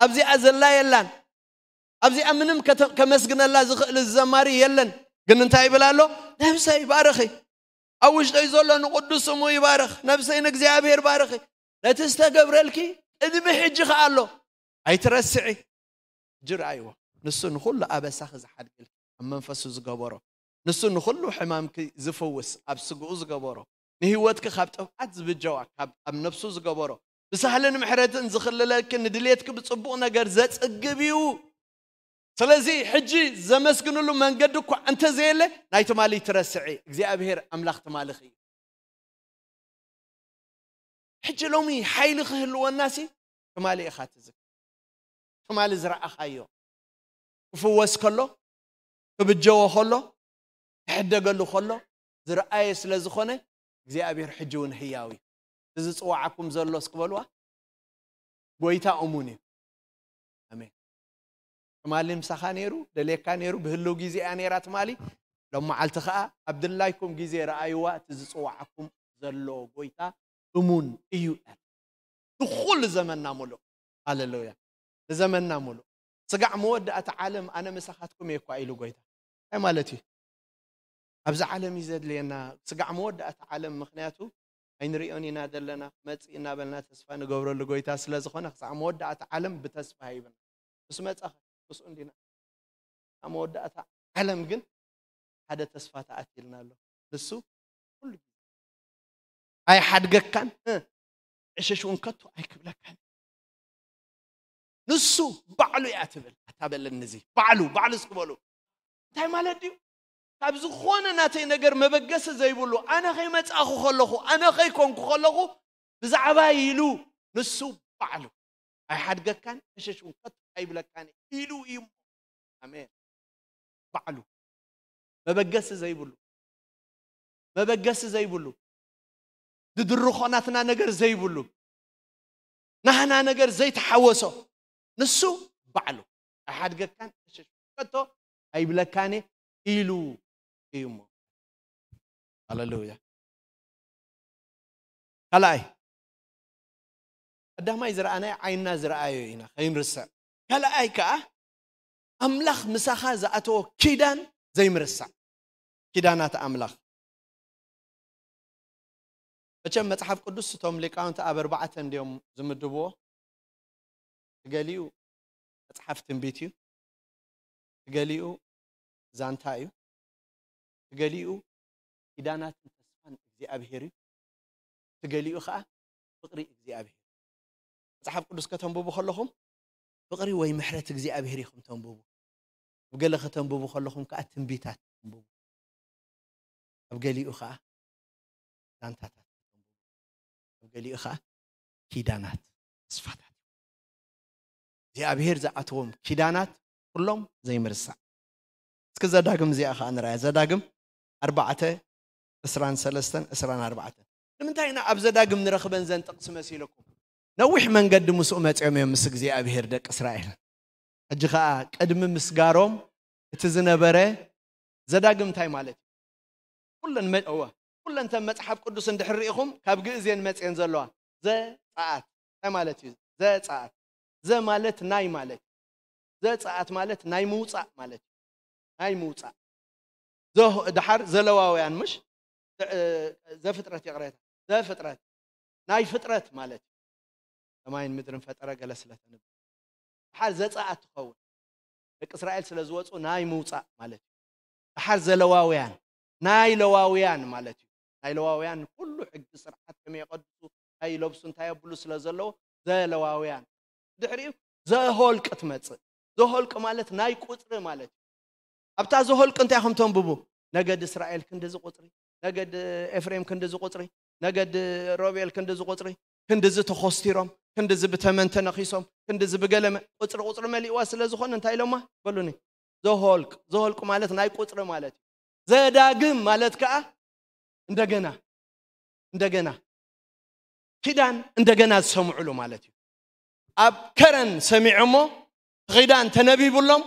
ኣብዚኣ ዘላ የላን። ኣብዚኣ ምንም ከተ- ከመስግነላ ዝኽእል ዘማሪ የለን። ግን እንታይ ይብል ኣሎ? ነብሰይ ባርኺ፣ ኣብ ውሽጠይ ዘሎ ንቕዱስ ስሙ ይባርኽ። ነብሰይ ንእግዚኣብሔር ባርኺ፣ ነቲ ዝተገብረልኪ ቅድሚ ሕጂ ከኣ ኣሎ፣ ኣይትረስዒ። ሕጂ ረኣይዎ፣ ንሱ ንኹሉ ኣበሳኺ ዝሓድግልኪ፣ ኣብ መንፈሱ ዝገበሮ፣ ንሱ ንኹሉ ሕማምኪ ዝፍውስ፣ ኣብ ስግኡ ዝገበሮ፣ ንህይወትኪ ካብ ጥፍኣት ዝብጀዋ፣ ካብ ኣብ ነብሱ ዝገበሮ፣ ብሳህልን ምሕረትን ዝኽልለኪ፣ ንድሌትኪ ብጽቡቕ ነገር ዘጽግብ እዩ። ስለዚ ሕጂ ዘመስግንሉ መንገዲ እኳ እንተዘየለ፣ ናይ ትማሊ ትረስዒ፣ እግዚኣብሔር ኣምላኽ ትማልኺ እዩ። ሕጂ ሎሚ ሓይሊ ክህልወናሲ ትማሊ ኢኻ ትዝክር። ትማሊ ዝረኣኻዮ ክፍወስ ከሎ፣ ክብጀዎ ከሎ፣ ክሕደገሉ ከሎ ዝረኣየ ስለ ዝኾነ እግዚኣብሔር ሕጂ እውን ህያው እዩ። እዚ ዝጽዋዓኩም ዘሎ እስኪ በልዋ፣ ጎይታ እሙን እዩ። ኣሜን። ትማሊ ምሳኻ ነይሩ፣ ደልየካ ነይሩ፣ ብህልው ግዜ እያ ነይራ ትማሊ። ሎም መዓልቲ ኸኣ ኣብ ድላይኩም ግዜ ረኣይዋ፣ እቲ ዝጽዋዓኩም ዘሎ ጎይታ እሙን እዩ። ንኹሉ ዘመንና ሙሉእ። ሃሌሉያ። ንዘመንና ሙሉእ። ስጋዕ መወዳእታ ዓለም ኣነ ምሳኻትኩም እየ እኳ ኢሉ ጎይታ። እንታይ ማለት እዩ? ኣብዚ ዓለም እዩ ዘድልየና። ስጋዕ መወዳእታ ዓለም፣ ምኽንያቱ ኣይንሪኦን ኢና ዘለና፣ ክመጽእ እናበልና ተስፋ ንገብረሉ ጎይታ ስለ ዝኾነ፣ ክሳዕ መወዳእታ ዓለም ብተስፋ ሂብና። ምስ መጻ ምስኡ እንዲና። ኣብ መወዳእታ ዓለም ግን ሓደ ተስፋ ተኣትልና ኣሎ። ንሱ ኩሉ ግዜ ኣይሓድገካን፣ እ፣ ዕሽሽ እውን ከቶ ኣይክብለካን። ንሱ ባዕሉ እያ ትብል። ኣታ በለኒ እዚ ባዕሉ፣ ባዕሉ እስኪ በሉ። እንታይ ማለት ድዩ? ካብ ዝኾነ ናተይ ነገር መበገሲ ዘይብሉ፣ ኣነ ከይመጻእኩ ከለኹ፣ ኣነ ከይኮንኩ ከለኹ፣ ብዛዕባ ኢሉ ንሱ ባዕሉ ኣይሓድገካን፣ ዕሽሽ እውን ከቶ ኣይብለካን ኢሉ እዩ። ኣሜን። ባዕሉ መበገሲ ዘይብሉ፣ መበገሲ ዘይብሉ፣ ድድርኾ ናትና ነገር ዘይብሉ፣ ናህና ነገር ዘይተሓወሶ፣ ንሱ ባዕሉ ኣይሓድገካን፣ ዕሽሽ ከቶ ኣይብለካን ኢሉ እዩ እሞ። ሃሌሉያ። ካልኣይ፣ ቀዳማይ ዝረኣናዮ ዓይንና ዝረኣዮ ኢና፣ ከይንርስዕ። ካልኣይ ከኣ ኣምላኽ ምሳኻ ዝኣተዎ ኪዳን ዘይምርሳዕ። ኪዳናት ኣምላኽ። መቸም መጽሓፍ ቅዱስ እቶም ሊቃውንቲ ኣብ ኣርባዕተ እንድዮም ዝምድብዎ። እቲ ገሊኡ መጽሓፍ ትንቢት እዩ፣ እቲ ገሊኡ ዛንታ እዩ፣ እቲ ገሊኡ ኪዳናትን ተስፋን እግዚኣብሔር እዩ፣ እቲ ገሊኡ ኸዓ ፍቕሪ እግዚኣብሔር። መጽሓፍ ቅዱስ ከተንብቡ ከለኹም ፍቕሪ ወይ ምሕረት እግዚኣብሔር ኢኹም ተንብቡ። ኣብ ገለ ከተንብቡ ከለኹም ከኣ ትንቢታት ተንብቡ። ኣብ ገሊኡ ከኣ ዛንታታት ተንብቡ። ኣብ ገሊኡ ከኣ ኪዳናት፣ ተስፋታት። እግዚኣብሔር ዝኣተዎም ኪዳናት ኩሎም ዘይምርሳዕ። እስኪ ዘዳግም እዚኣ ከኣ ንርኣያ። ዘዳግም ኣርባዕተ፣ ዕስራን ሰለስተን፣ ዕስራን ኣርባዕተን። ንምንታይ ኢና ኣብ ዘዳግም ንረኽበን ዘን ጥቕሲ መሲልኩም? ነዊሕ መንገዲ ምስኡ መጺኦም እዮም ምስ እግዚኣብሔር ደቂ እስራኤል። ሕጂ ኸኣ ቅድሚ ምስጋሮም እቲ ዝነበረ ዘዳግም እንታይ ማለት እዩ? ኩለን መ-፣ እወ፣ ኩለን ተን መጽሓፍ ቅዱስ እንድሕር ርኢኹም ካብ ግእዝ እየን መጽየን ዘለዋ። ዘጸኣት እንታይ ማለት እዩ? ዘጸኣት። ዘ ማለት ናይ ማለት እዩ። ዘጸኣት ማለት ናይ ምውጻእ ማለት እዩ። ናይ ምውፃእ። ዘህ- ድሓር ዘለዋውያን፣ ምሽ ዘፍጥረት፣ ይቕሬታ፣ ዘፍጥረት ናይ ፍጥረት ማለት እዩ። ሰማይን ምድርን ፈጠረ ገለ ስለተንብ ድሓር ዘፀኣት ትኸውን። ደቂ እስራኤል ስለ ዝወፁ ናይ ምውፃእ ማለት እዩ። ድሓር ዘለዋውያን፣ ናይ ለዋውያን ማለት እዩ። ናይ ለዋውያን ኩሉ ሕጊ ስርዓት ከመይ የቐድሱ፣ እንታይ ይለብሱ፣ እንታይ የብሉ ስለ ዘለዎ ዘለዋውያን። ድሕሪኡ ዘሆልቅ ትመፅእ። ዘሆልቅ ማለት ናይ ቁፅሪ ማለት እዩ። ኣብታ ዘሆልቅ እንታይ ኢኹም ተንብቡ? ነገድ እስራኤል ክንድዚ ቁፅሪ፣ ነገድ ኤፍሬም ክንድዚ ቁፅሪ፣ ነገድ ሮቤል ክንድዚ ቁፅሪ፣ ክንድዚ ተኾስቲሮም፣ ክንድዚ ብተመን ተነኺሶም፣ ክንድዚ ብገለመ ቁፅሪ ቁፅሪ መሊእዋ ስለ ዝኾነ እንታይ ኢሎማ? በሉኒ። ዘሆልቅ፣ ዘሆልቅ ማለት ናይ ቁፅሪ ማለት እዩ። ዘዳግም ማለት ከዓ እንደገና፣ እንደገና ኪዳን እንደገና ዝሰምዑሉ ማለት እዩ። ኣብ ከረን ሰሚዖሞ፣ ኪዳን ተነቢብሎም፣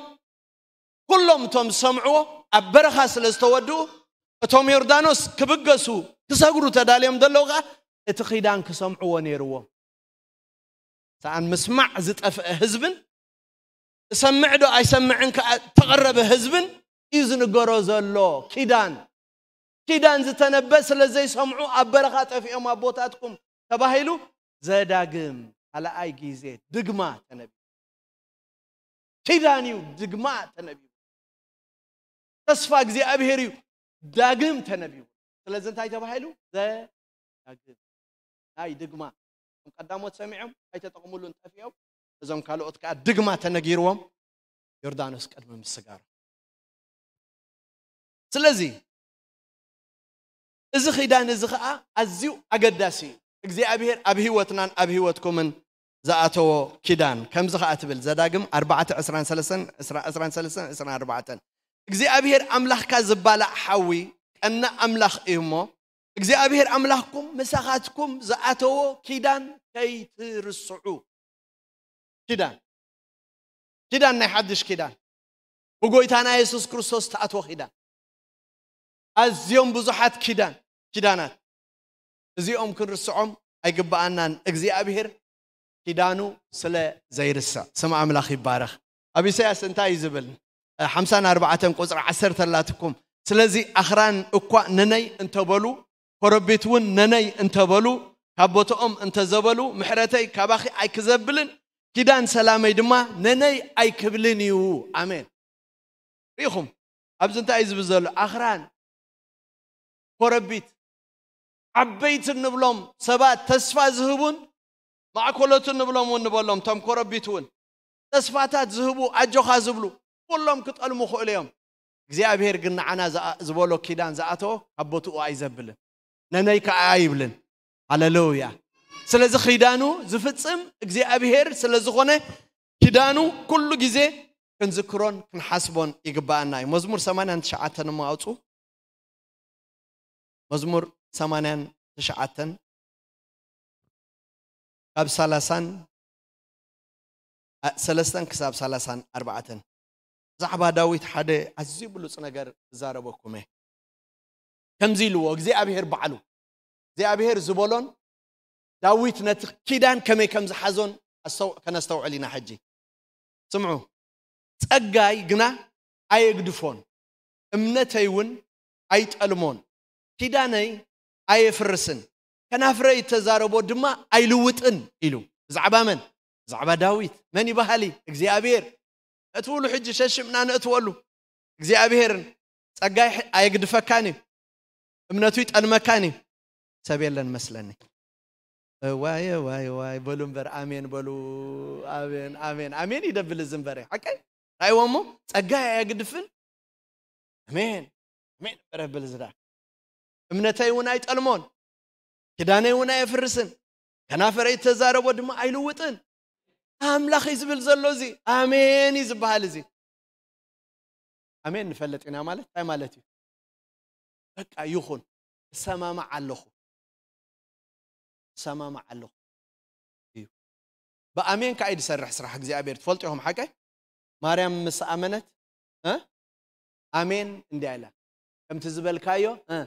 ኩሎም እቶም ዝሰምዕዎ ኣብ በረኻ ስለ ዝተወድኡ፣ እቶም ዮርዳኖስ ክብገሱ ክሰግሩ ተዳልዮም ዘለዉ ከዓ እቲ ኪዳን ክሰምዕዎ ነይርዎም። ሰኣን ምስማዕ ዝጠፍአ ህዝብን እሰምዕ ዶ ኣይሰምዕን ከዓ ተቐረበ ህዝብን እዩ ዝንገሮ ዘሎ። ኪዳን፣ ኪዳን ዝተነበ ስለ ዘይሰምዑ ኣብ በረኻ ጠፊኦም ኣቦታትኩም ተባሂሉ ዘዳግም ካልኣይ ግዜ ድግማ ተነቢቡ። ኪዳን እዩ ድግማ ተነቢቡ። ተስፋ እግዚኣብሔር እዩ ዳግም ተነቢቡ። ስለዚ እንታይ ተባሂሉ? ዘዳግም ናይ ድግማ። እቶም ቀዳሞት ሰሚዖም ኣይተጠቕሙሉን ጠፊኦም፣ እዞም ካልኦት ከዓ ድግማ ተነጊርዎም ዮርዳኖስ ቅድሚ ምስጋሩ። ስለዚ እዚ ኪዳን እዚ ከዓ ኣዝዩ ኣገዳሲ እዩ። እግዚኣብሔር ኣብ ህይወትናን ኣብ ህይወትኩምን ዝኣተዎ ኪዳን ከምዚ ከዓ ትብል፣ ዘዳግም ኣርባዕተ ዕስራን ሰለስተን፣ ዕስራ፣ ዕስራን ሰለስተን፣ ዕስራን ኣርባዕተን። እግዚኣብሔር ኣምላኽካ ዝባላዕ ሓዊ ቀናእ ኣምላኽ እዩ እሞ፣ እግዚኣብሔር ኣምላኽኩም ምሳኻትኩም ዝኣተዎ ኪዳን ከይትርስዑ። ኪዳን፣ ኪዳን ናይ ሓድሽ ኪዳን፣ ብጎይታና የሱስ ክርስቶስ ተኣትዎ ኪዳን። ኣዝዮም ብዙሓት ኪዳን፣ ኪዳናት፣ እዚኦም ክንርስዖም ኣይግብኣናን። እግዚኣብሔር ኪዳኑ ስለ ዘይርስዕ ስም ኣምላኽ ይባረኽ። ኣብ ኢሳያስ እንታይ እዩ ዝብል? ሓምሳን ኣርባዕተን ቁፅሪ ዓሰርተ ኣላትኩም። ስለዚ ኣኽራን እኳ ነነይ እንተበሉ፣ ኮረቢት እውን ነነይ እንተበሉ፣ ካብ ቦትኦም እንተዘበሉ፣ ምሕረተይ ካባኺ ኣይክዘብልን፣ ኪዳን ሰላመይ ድማ ነነይ ኣይክብልን እዩ። ኣሜን። ርኢኹም፣ ኣብዚ እንታይ እዩ ዝብል ዘሎ? ኣኽራን፣ ኮረቢት፣ ዓበይቲ እንብሎም ሰባት፣ ተስፋ ዝህቡን ማእኮሎት እንብሎም እውን ንበሎም፣ እቶም ኮረቢት እውን ተስፋታት ዝህቡ፣ ኣጆኻ ዝብሉ፣ ኩሎም ክጠልሙ ክእሉ እዮም። እግዚኣብሔር ግን ንዓና ዝኣ-፣ ዝበሎ ኪዳን ዝኣተዎ ካብ ቦትኡ ኣይዘብልን፣ ነነይ ከዓ ኣይብልን። ሃሌሉያ። ስለዚ ኪዳኑ ዝፍጽም እግዚኣብሔር ስለ ዝኾነ፣ ኪዳኑ ኩሉ ግዜ ክንዝክሮን ክንሓስቦን ይግብኣና እዩ። መዝሙር ሰማንያን ትሽዓተን እሞ ኣውፁ። መዝሙር ሰማንያን ትሽዓተን ካብ ሰላሳን ሰለስተን ክሳብ ሰላሳን ኣርባዕተን። ብዛዕባ ዳዊት ሓደ ኣዝዩ ብሉጽ ነገር ክዛረበኩም እየ። ከምዚ ኢልዎ እግዚኣብሔር ባዕሉ፣ እግዚኣብሔር ዝበሎን ዳዊት ነቲ ኪዳን ከመይ ከም ዝሓዞን ኣስተው-፣ ከነስተውዕል ኢና። ሕጂ ስምዑ። "ጸጋይ ግና ኣየግድፎን፣ እምነተይ እውን ኣይጠልሞን፣ ኪዳነይ ኣየፍርስን፣ ከናፍረይ እተዛረቦ ድማ ኣይልውጥን" ኢሉ። ብዛዕባ መን? ብዛዕባ ዳዊት። መን ይበሃል? እግዚኣብሔር። እትብሉ ሕጂ ሸሽምና ነእትወሉ። እግዚኣብሔር ጸጋይ ኣየግድፈካን እዩ፣ እምነቱ ይጠልመካን እዩ። ሰብ የለን መስለኒ። እዋይ፣ እዋይ፣ እዋይ፣ በሉ እምበር፣ ኣሜን በሉ። ኣሜን፣ ኣሜን፣ ኣሜን ይደብል እዚ እምበረ። ሓቀይ? ራእይዎ እሞ፣ ጸጋይ ኣየግድፍን። ኣሜን፣ ኣሜን እምበረ ብል ዝዳ። እምነተይ እውን ኣይጠልሞን፣ ኪዳነይ እውን ኣየፍርስን፣ ከናፈረይ እተዛረቦ ድማ ኣይልውጥን። ኣምላኽ እዩ ዝብል ዘሎ እዚ። ኣሜን እዩ ዝበሃል እዚ። ኣሜን ንፈልጥ ኢና ማለት እንታይ ማለት እዩ? በቃ ይኹን፣ እሰማማዕ ኣለኹ፣ እሰማማዕ ኣለኹ እዩ። ብኣሜን ከኣ እዩ ዝሰርሕ ስራሕ እግዚኣብሔር። ትፈልጡ ኢኹም ሓቀይ? ማርያም ምስ ኣመነት፣ እ? ኣሜን እንድያ ኢላ። ከምቲ ዝበልካዮ፣ እ?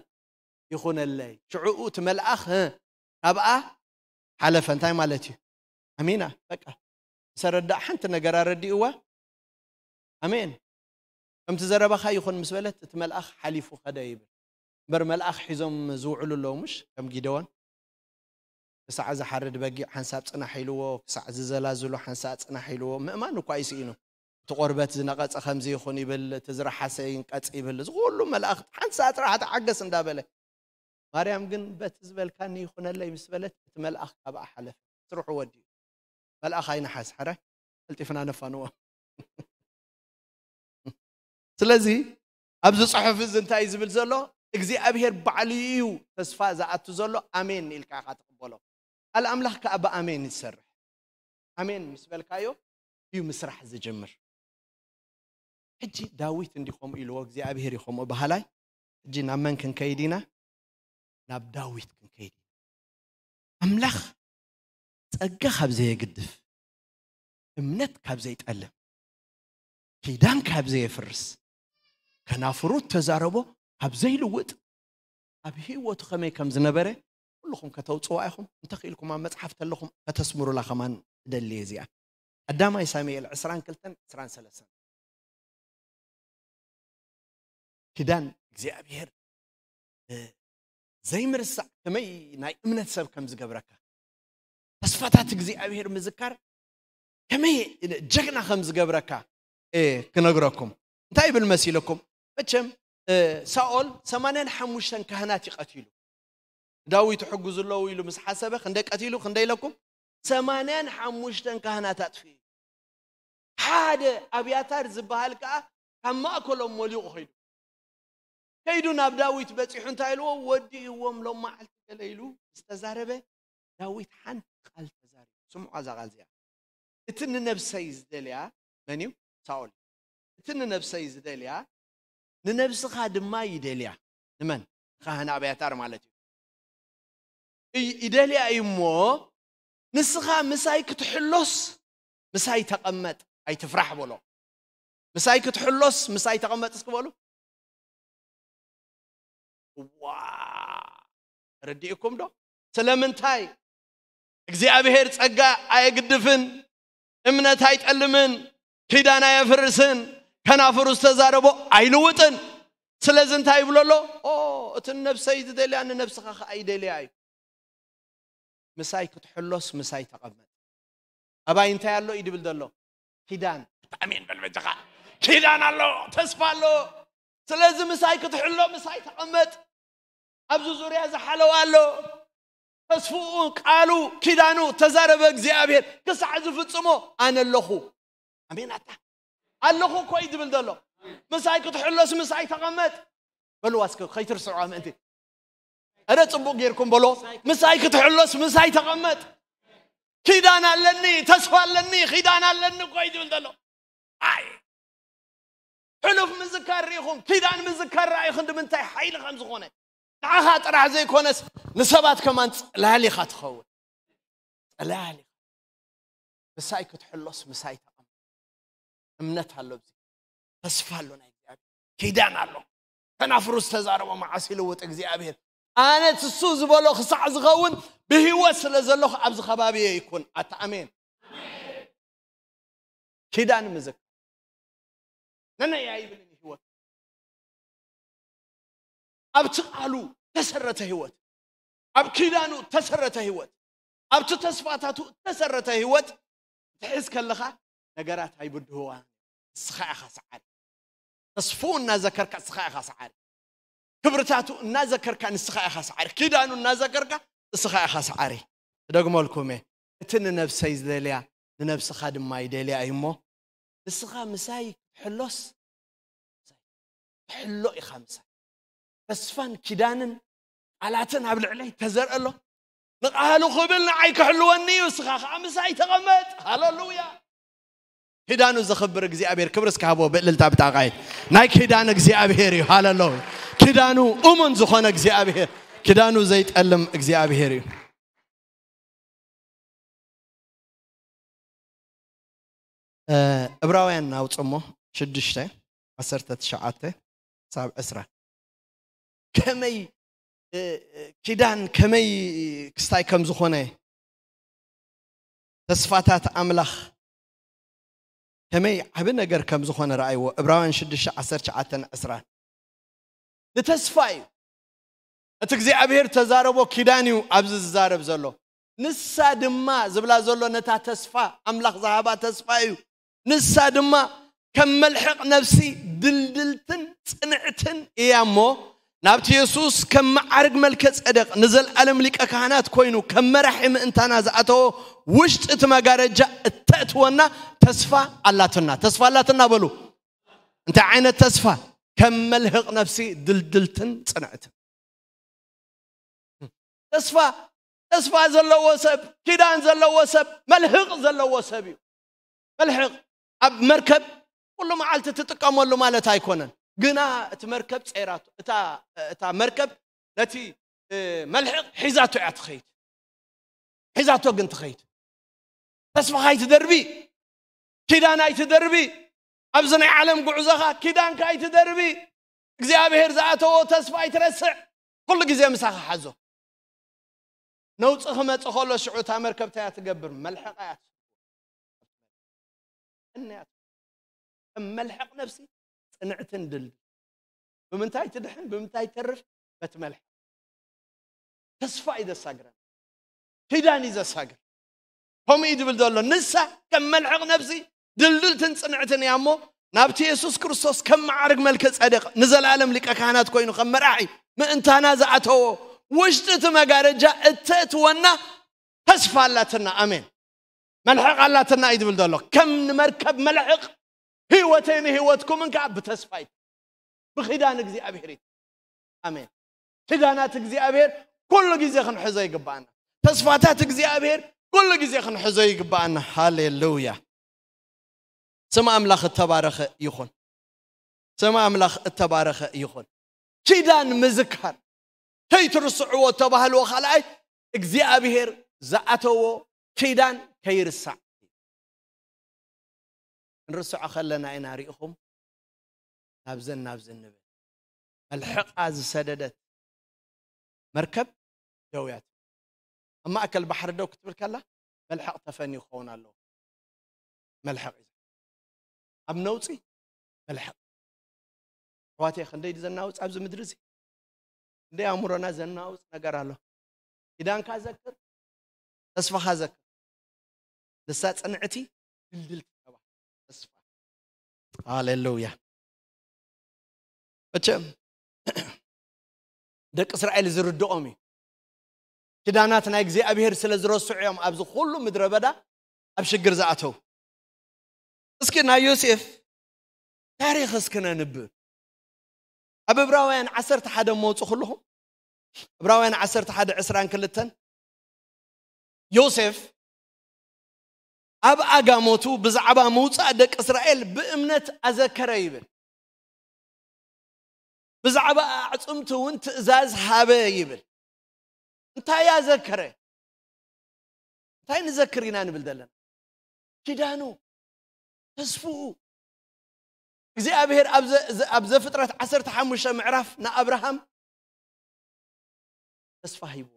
ይኹነለይ። ሽዑኡ እቲ መልኣኽ፣ እ? ካብኣ ሓለፈ። እንታይ ማለት እዩ? ኣሜና። በቃ። ምስ ኣረዳእ ሓንቲ ነገር ኣረዲእዋ። ኣሜን። ከምቲ ዘረባኻ ይኹን ምስ በለት፣ እቲ መልኣኽ ሓሊፉ ኸደ ይብል። እምበር መልኣኽ ሒዞም ዝውዕሉ ኣለዉ፣ ምሽ? ከም ጊደዎን። ክሳዕ ዝሓርድ በጊዕ ሓንሳብ ጽናሕ ኢልዎ፣ ክሳዕ ዝዘላዝሉ ሓንሳእ ጽናሕ ኢልዎ። ምእማን እኳ ይስኢኑ። እቲ ቆርበት ዝነቐጸ ከምዚ ይኹን ይብል፣ እቲ ዝረሓሰ ይንቀጽ ይብል። እዚ ኩሉ መላእኽቲ ሓንሳእ ጥራሕ ተዓገስ እንዳበለ። ማርያም ግን በቲ ዝበልካኒ ይኹነለይ ምስ በለት፣ እቲ መልኣኽ ካብኣ ሓለፈ። ስርሑ ወዲኡ። መልኣኽ ኣይንሓዝ፣ ሕራይ ቀልጢፍና ነፋንዎ። ስለዚ ኣብዚ ጽሑፍ እዚ እንታይ እዩ ዝብል ዘሎ? እግዚኣብሔር ባዕሉ እዩ ተስፋ ዝኣቱ ዘሎ። ኣሜን ኢልካ ኢኻ ትቕበሎ። ቃል ኣምላኽ ከኣ ብኣሜን እዩ ዝሰርሕ። ኣሜን ምስ በልካዮ እዩ ምስራሕ ዝጅምር። ሕጂ ዳዊት እንዲ ከምኡ ኢልዎ፣ እግዚኣብሔር እዩ ከምኡ በሃላይ። ሕጂ ናብ መን ክንከይድ ኢና? ናብ ዳዊት ክንከይድ ኢና። ኣምላኽ ጸጋ ካብ ዘየግድፍ፣ እምነት ካብ ዘይጠልም፣ ኪዳን ካብ ዘየፍርስ፣ ከናፍሩ ተዛረቦ ካብ ዘይልውጥ፣ ኣብ ህይወቱ ከመይ ከም ዝነበረ ኩልኹም ከተውጽዋ ኢኹም። እንተኽኢልኩም ኣብ መጽሓፍ ተለኹም ከተስምሩላ ከማን እደሊ እየ እዚኣ። ቀዳማይ ሳሙኤል ዕስራን ክልተን ዕስራን ሰለስተን። ኪዳን እግዚኣብሔር፣ እ፣ ዘይምርሳዕ ከመይ ናይ እምነት ሰብ ከም ዝገብረካ፣ ተስፋታት እግዚኣብሔር ምዝካር ከመይ ጀግና ከም ዝገብረካ፣ እ፣ ክነግረኩም። እንታይ ይብል መሲለኩም? መቸም፣ እ፣ ሳኦል ሰማንያን ሓሙሽተን ካህናት እዩ ቀቲሉ። ዳዊት ሕጉዝ ኣለዉ ኢሉ ምስ ሓሰበ ክንደይ ቀቲሉ? ክንደይ ኢለኩም? ሰማንያን ሓሙሽተን ካህናት ኣጥፍኡ። ሓደ ኣብያታር ዝበሃል ከኣ ካብ ማእከሎም ሞሊቑ ኸይዱ። ከይዱ ናብ ዳዊት በጺሑ እንታይ ኢልዎ? ወዲእዎም ሎም መዓልቲ ገለ ኢሉ ዝተዛረበ፣ ዳዊት ሓንቲ ቃል ተዛሪቡ። ስምዑ እዛ ቃል እዚኣ። "እቲ ንነብሰይ ዝደልያ መን እዩ? ሳኦል። እቲ ንነብሰይ ዝደልያ ንነብስኻ ድማ ይደልያ።" ንመን? ንካህን ኣብያታር ማለት እዩ። እይ-፣ ይደልያ እዩ እሞ፣ "ንስኻ ምሳይ ክትሕሎስ ምሳይ ተቐመጥ፣ ኣይትፍራሕ" በሎ። "ምሳይ ክትሕሎስ ምሳይ ተቐመጥ" እስኪ በሉ። ዋ፣ ረዲእኩም ዶ? ስለምንታይ? እግዚኣብሔር ጸጋ ኣየግድፍን፣ እምነት ኣይጠልምን፣ ኪዳን ኣየፍርስን፣ ከናፍሩ ዝተዛረቦ ኣይልውጥን። ስለዚ እንታይ ይብሎ ኣሎ? "ኦ፣ እቲ ነብሰይ ዝደልያ ንነብስኻ ኸኣ ይደልያ እዩ። ምሳይ ክትሕሎስ ምሳይ ተቐመጥ።" ኣባይ እንታይ ኣሎ እዩ ድብል ዘሎ? ኪዳን። ኣሜን በል በጃኻ። ኪዳን ኣሎ፣ ተስፋ ኣሎ። ስለዚ ምሳይ ክትሕሎ ምሳይ ተቐመጥ። ኣብዚ ዙርያ ዝሓለዋ ኣሎ። ተስፍኡ፣ ቃሉ፣ ኪዳኑ ተዛረበ እግዚኣብሔር። ክሳዕ ዝፍጽሞ ኣነ ኣለኹ። ኣሜን ኣታ። ኣለኹ እኮ እዩ ድብል ዘሎ። ምሳይ ክትሕሎስ ምሳይ ተቐመጥ። በልዋ እስከ ከይትርስዑዋ ምእንቲ። እረ ጽቡቕ ጌርኩም በሎ። "ምሳይ ክትሕሎስ ምሳይ ተቐመጥ። ኪዳን ኣለኒ፣ ተስፋ ኣለኒ፣ ኪዳን ኣለኒ" እኮ እዩ ድብል ዘሎ። ኣይ፣ ሕሉፍ ምዝካር ርኢኹም፣ ኪዳን ምዝካር ረኣይኹም ንምንታይ ሓይሊ ከም ዝኾነ። ንዓኻ ጥራሕ ዘይኮነስ ንሰባት ከማን ጽላል ኢኻ ትኸውን። ጽላል ኢኻ። ምሳይ ክትሕሎስ ምሳይ ተቐመጥ። እምነት ኣሎ፣ ኣብዚ ተስፋ ኣሎ፣ ናይ እግዚኣብሔር ኪዳን ኣሎ። ከናፍሩ ዝተዛረቦ መዓስ ይልውጥ እግዚኣብሔር። ኣነ እሱ ዝበሎ ክሳዕ ዝኸውን ብህይወት ስለ ዘለኹ ኣብዚ ከባቢ ይኩን። ኣታ ኣሜን። ኪዳን ምዝክ ነነይ ኣይብልን ህይወት። ኣብቲ ቃሉ ተሰረተ ህይወት፣ ኣብ ኪዳኑ ተሰረተ ህይወት፣ ኣብቲ ተስፋታቱ ተሰረተ ህይወት ትሕዝ ከለኻ ነገራት ኣይብድህዋ። ንስኻ ኢኻ ሰዓሪ። ተስፍኡ እናዘከርካ ንስኻ ኢኻ ሰዓሪ። ክብርታቱ እናዘከርካ ንስኻ ኢኻ ሰዓሪ። ኪዳኑ እናዘከርካ ንስኻ ኢኻ ሰዓሪ። እደግመልኩም እየ፣ እቲ ንነብሰይ ዝደልያ ንነብስኻ ድማ ይደልያ እዩ እሞ፣ ንስኻ ምሳይ ክትሕሎስ፣ ክትሕሎ ኢኻ ምሳይ። ተስፋን ኪዳንን ቃላትን ኣብ ልዕለይ ተዘርአ ኣሎ። ንቃሉ ክብል ንዓይ ክሕልወኒ እዩ፣ ንስኻ ኸዓ ምሳይ ተቐመጥ። ሃለሉያ። ኪዳኑ ዘኽብር እግዚኣብሔር ክብሪ እስከ ሃቦ ብእልልታ ብጣቓይ። ናይ ኪዳን እግዚኣብሔር እዩ። ሃለሉያ። ኪዳኑ እሙን ዝኾነ እግዚኣብሔር፣ ኪዳኑ ዘይጠልም እግዚኣብሔር እዩ። እ፣ ዕብራውያን ናውፅሞ ሽዱሽተ ዓሰርተ ትሽዓተ ክሳብ ዕስራ። ከመይ፣ እ፣ እ፣ ኪዳን ከመይ ክስታይ ከም ዝኾነ፣ ተስፋታት ኣምላኽ ከመይ ዓቢ ነገር ከም ዝኾነ ረኣይዎ። ዕብራውያን ሽዱሽተ ዓሰርተ ትሽዓተን ዕስራን። ንተስፋ እዩ። እቲ እግዚኣብሔር ተዛረቦ ኪዳን እዩ ኣብዚ ዝዛረብ ዘሎ። ንሳ ድማ ዝብላ ዘሎ ነታ ተስፋ፣ ኣምላኽ ዝሃባ ተስፋ እዩ። ንሳ ድማ ከም መልሕቕ ነፍሲ ድልድልትን ጽንዕትን እያ እሞ፣ ናብቲ የሱስ ከም መዓርግ መልከ ጸደቅ ንዘለኣለም ሊቀ ካህናት ኮይኑ ከም መራሒ ምእንታና ዝኣተዎ ውሽጢ እቲ መጋረጃ እተእትወና ተስፋ ኣላትና። ተስፋ ኣላትና በሉ። እንታይ ዓይነት ተስፋ? ከም መልህቕ ነፍሲ ድልድልትን ጽንዕትን። ተስፋ፣ ተስፋ ዘለዎ ሰብ፣ ኪዳን ዘለዎ ሰብ፣ መልህቕ ዘለዎ ሰብ እዩ። መልህቕ ኣብ መርከብ ኩሉ መዓልቲ ትጥቀመሉ ማለት ኣይኮነን። ግና እቲ መርከብ ጸይራቶ። እታ፣ እታ መርከብ ነቲ፣ እ፣ መልህቕ ሒዛቶ እያ ትኸይድ። ሒዛቶ ግን ትኸይድ። ተስፋኻ ኣይትደርቢ፣ ኪዳን ኣይትደርቢ። ኣብዚ ናይ ዓለም ጉዕዞኻ ኪዳንካ ኣይትደርቢ። እግዚኣብሔር ዝኣተዎ ተስፋ ኣይትረስዕ። ኩሉ ግዜ ምሳኻ ሓዞ። ነውፂ ክመፅእ ከሎ ሽዑ እታ መርከብ እንታይ እያ ትገብር? መልሕቕ እያ ትስብር። እነያ ከም መልሕቕ ነፍሲ ጽንዕትን ድልድል። ብምንታይ ትድሕን? ብምንታይ ተርፍ? በቲ መልሕቕ። ተስፋ እዩ ዘሳግረን። ኪዳን እዩ ዘሳግር። ከምኡ እዩ ዝብል ዘሎ። ንሳ ከም መልሕቕ ነፍሲ ድልድልትን ጽንዕትን እያ እሞ፣ ናብቲ የሱስ ክርስቶስ ከም መዓርግ መልከ ጸደቅ ንዘለኣለም ሊቀ ካህናት ኮይኑ ከም መራሒ ምእንታና ዝኣተዎ ውሽጢ እቲ መጋረጃ እተእትወና ተስፋ ኣላትና። ኣሜን። መልሕቕ ኣላትና እዩ ዝብል ዘሎ። ከም ንመርከብ መልሕቕ ህይወተይ ንህይወትኩምን ከዓ ብተስፋ እዩ። ብኺዳን እግዚኣብሔር እዩ። ኣሜን። ኪዳናት እግዚኣብሔር ኩሉ ግዜ ክንሕዞ ይግባኣና። ተስፋታት እግዚኣብሔር ኩሉ ግዜ ክንሕዞ ይግባኣና። ሃሌሉያ። ስም ኣምላኽ እተባረኸ ይኹን። ስም ኣምላኽ እተባረኸ ይኹን። ኪዳን ምዝካር ከይትርስዕዎ እተባህልዎ ካልኣይ እግዚኣብሔር ዝኣተዎ ኪዳን ከይርሳዕ። ክንርስዖ ከለና ኢና ርኢኹም ናብዘን ናብዘን ንብል። መልሕቓ ዝሰደደት መርከብ ደው እያ ትብል። ኣብ ማእከል ባሕሪ ደው ክትብል ከላ መልሕቕ ተፈንዩ ክኸውን ኣለዎ። መልሕቕ እዩ። ኣብ ነውጺ መልሕቕ። ኣሕዋተይ፣ ክንደይ ዘናውጽ ኣብዚ ምድሪ እዚ? ክንደይ ኣእምሮና ዘናውጽ ነገር ኣሎ። ኪዳንካ ዘክር፣ ተስፋኻ ዘክር። ንሳ ጽንዕቲ ድልድልቲ ተባህለት ተስፋ። ሃሌሉያ። መቸም ደቂ እስራኤል ዝርድኦም እዩ። ኪዳናት ናይ እግዚኣብሔር ስለ ዝረስዑ እዮም ኣብዚ ኩሉ ምድረ በዳ ኣብ ሽግር ዝኣተው። እስኪ ናይ ዮሴፍ ታሪኽ እስኪ ነንብብ። ኣብ ዕብራውያን ዓሰርተ ሓደ መውፁ ኩልኹም። ዕብራውያን ዓሰርተ ሓደ ዕስራን ክልተን። ዮሴፍ ኣብ ኣጋሞቱ ብዛዕባ ምውፃእ ደቂ እስራኤል ብእምነት ኣዘከረ ይብል። ብዛዕባ ኣዕፅምቲ እውን ትእዛዝ ሃበ ይብል። እንታይ ኣዘከረ? እንታይ ንዘክር ኢና ንብል ዘለና? ኪዳኑ፣ ተስፍኡ። እግዚኣብሔር ኣብ ዘ-፣ ዘ-፣ ኣብ ዘፍጥረት ዓሰርተ ሓሙሽተ ምዕራፍ ንኣብርሃም ተስፋ ሂብዎ።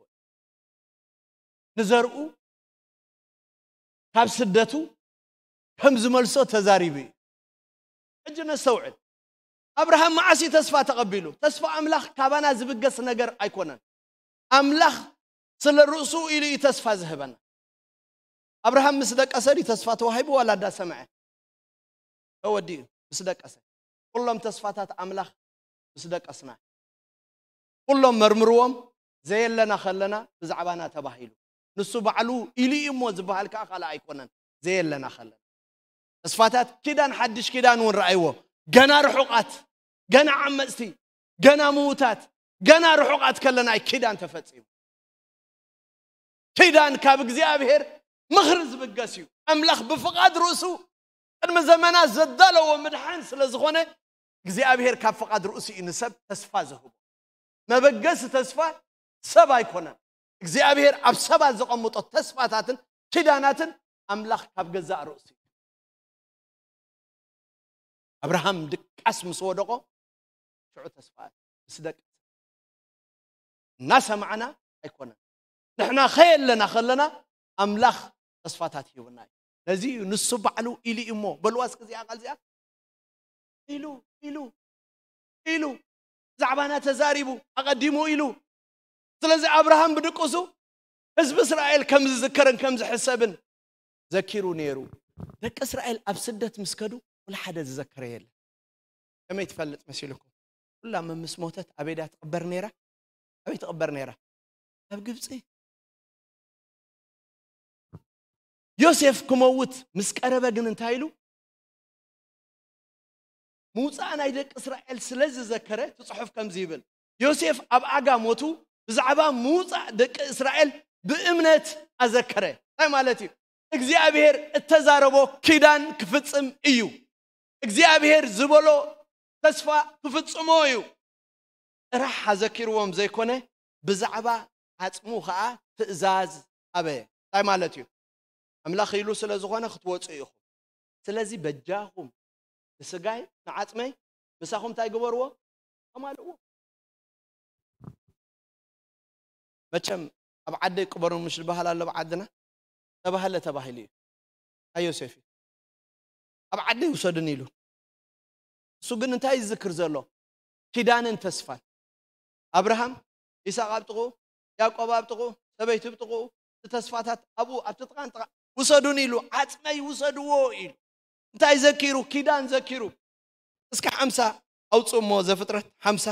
ንዘርኡ ካብ ስደቱ ከም ዝመልሶ ተዛሪቡ እዩ። ሕጂ ነስተውዕል። ኣብርሃም መዓስ እዩ ተስፋ ተቐቢሉ? ተስፋ ኣምላኽ ካባና ዝብገስ ነገር ኣይኮነን። ኣምላኽ ስለ ርእሱ ኢሉ እዩ ተስፋ ዝህበና። ኣብርሃም ምስ ደቀሰ ድዩ ተስፋ ተዋሂቡ ዋላ እንዳሰምዐ? ተወዲኡ ምስ ደቀሰ። ኩሎም ተስፋታት ኣምላኽ ምስ ደቀስና። ኩሎም መርምርዎም፣ ዘየለና ከለና ብዛዕባና ተባሂሉ። ንሱ ባዕሉ ኢሉ እዩ እሞ ዝበሃል ከዓ ካልእ ኣይኮነን። ዘየለና ከለና። ተስፋታት ኪዳን፣ ሓድሽ ኪዳን እውን ረኣይዎ። ገና ርሑቓት፣ ገና ዓመፅቲ፣ ገና ምዉታት፣ ገና ርሑቓት ከለና እዩ ኪዳን ተፈጺሙ። ኪዳን ካብ እግዚኣብሔር ምኽሪ ዝብገስ እዩ። ኣምላኽ ብፍቓድ ርእሱ ቅድሚ ዘመናት ዘዳለዎ ምድሓን ስለ ዝኾነ፣ እግዚኣብሔር ካብ ፍቓድ ርእሱ እዩ ንሰብ ተስፋ ዝህቦ። መበገሲ ተስፋ ሰብ ኣይኮነን። እግዚኣብሔር ኣብ ሰባት ዘቐምጦ ተስፋታትን ኪዳናትን ኣምላኽ ካብ ገዛእ ርእሱ እዩ። ኣብርሃም ድቃስ ምስ ወደቖ ሽዑ ተስፋ ምስ ደቀሰ እናሰማዕና ኣይኮነን። ንሕና ከየለና ከለና ኣምላኽ ተስፋታት ሂቡና እዩ። እዚ እዩ፣ ንሱ ባዕሉ ኢሉ እዩ እሞ በልዋ እስኪ እዚኣ ቃል እዚኣ ኢሉ ኢሉ ኢሉ ብዛዕባና ተዛሪቡ ኣቐዲሙ ኢሉ። ስለዚ ኣብርሃም ብድቁሱ ህዝቢ እስራኤል ከም ዝዝከርን ከም ዝሕሰብን ዘኪሩ ነይሩ። ደቂ እስራኤል ኣብ ስደት ምስ ከዱ ወላ ሓደ ዝዘከረ የለን። ከመይ ትፈልጥ መሲልኩም? ኩላ መምስ ሞተት ኣበይ ድያ ትቕበር ነይራ? ኣበይ ትቕበር ነይራ? ኣብ ግብፂ። ዮሴፍ ክመውት ምስ ቀረበ ግን እንታይ ኢሉ? ምውፃእ ናይ ደቂ እስራኤል ስለ ዝዘከረ እቲ ፅሑፍ ከምዚ ይብል፣ ዮሴፍ ኣብ ኣጋ ሞቱ ብዛዕባ ምውፃእ ደቂ እስራኤል ብእምነት ኣዘከረ። እንታይ ማለት እዩ? እግዚኣብሔር እተዛረቦ ኪዳን ክፍፅም እዩ። እግዚኣብሔር ዝበሎ ተስፋ ክፍፅሞ እዩ። ጥራሕ ኣዘኪርዎም ዘይኮነ ብዛዕባ ዓፅሙ ከዓ ትእዛዝ ሃበ። እንታይ ማለት እዩ? ኣምላኽ ኢሉ ስለ ዝኾነ ክትወፁ ኢኹም። ስለዚ በጃኹም ንስጋይ ንዓፅመይ ምሳኹም እንታይ ግበርዎ? ኣማልእዎ። መቸም ኣብ ዓደይ ቅበሩ ምሽ ዝበሃል ኣሎ ኣብ ዓድና ተባህለ ተባሂሉ እዩ። ኣይ ዮሴፍ እዩ ኣብ ዓደይ ውሰዱን ኢሉ። እሱ ግን እንታይ ይዝክር ዘሎ? ኪዳንን ተስፋን። ኣብርሃም፣ ይስሐቅ ኣብ ጥቕኡ፣ ያዕቆብ ኣብ ጥቕኡ፣ ሰበይቲ ኣብ ጥቕኡ፣ እቲ ተስፋታት ኣብኡ ኣብቲ ጥቓን ጥቓ ውሰዱን ኢሉ ዓፅመይ ውሰድዎ ኢሉ። እንታይ ዘኪሩ? ኪዳን ዘኪሩ። እስከ ሓምሳ ኣውፅእ እሞ ዘፍጥረት ሓምሳ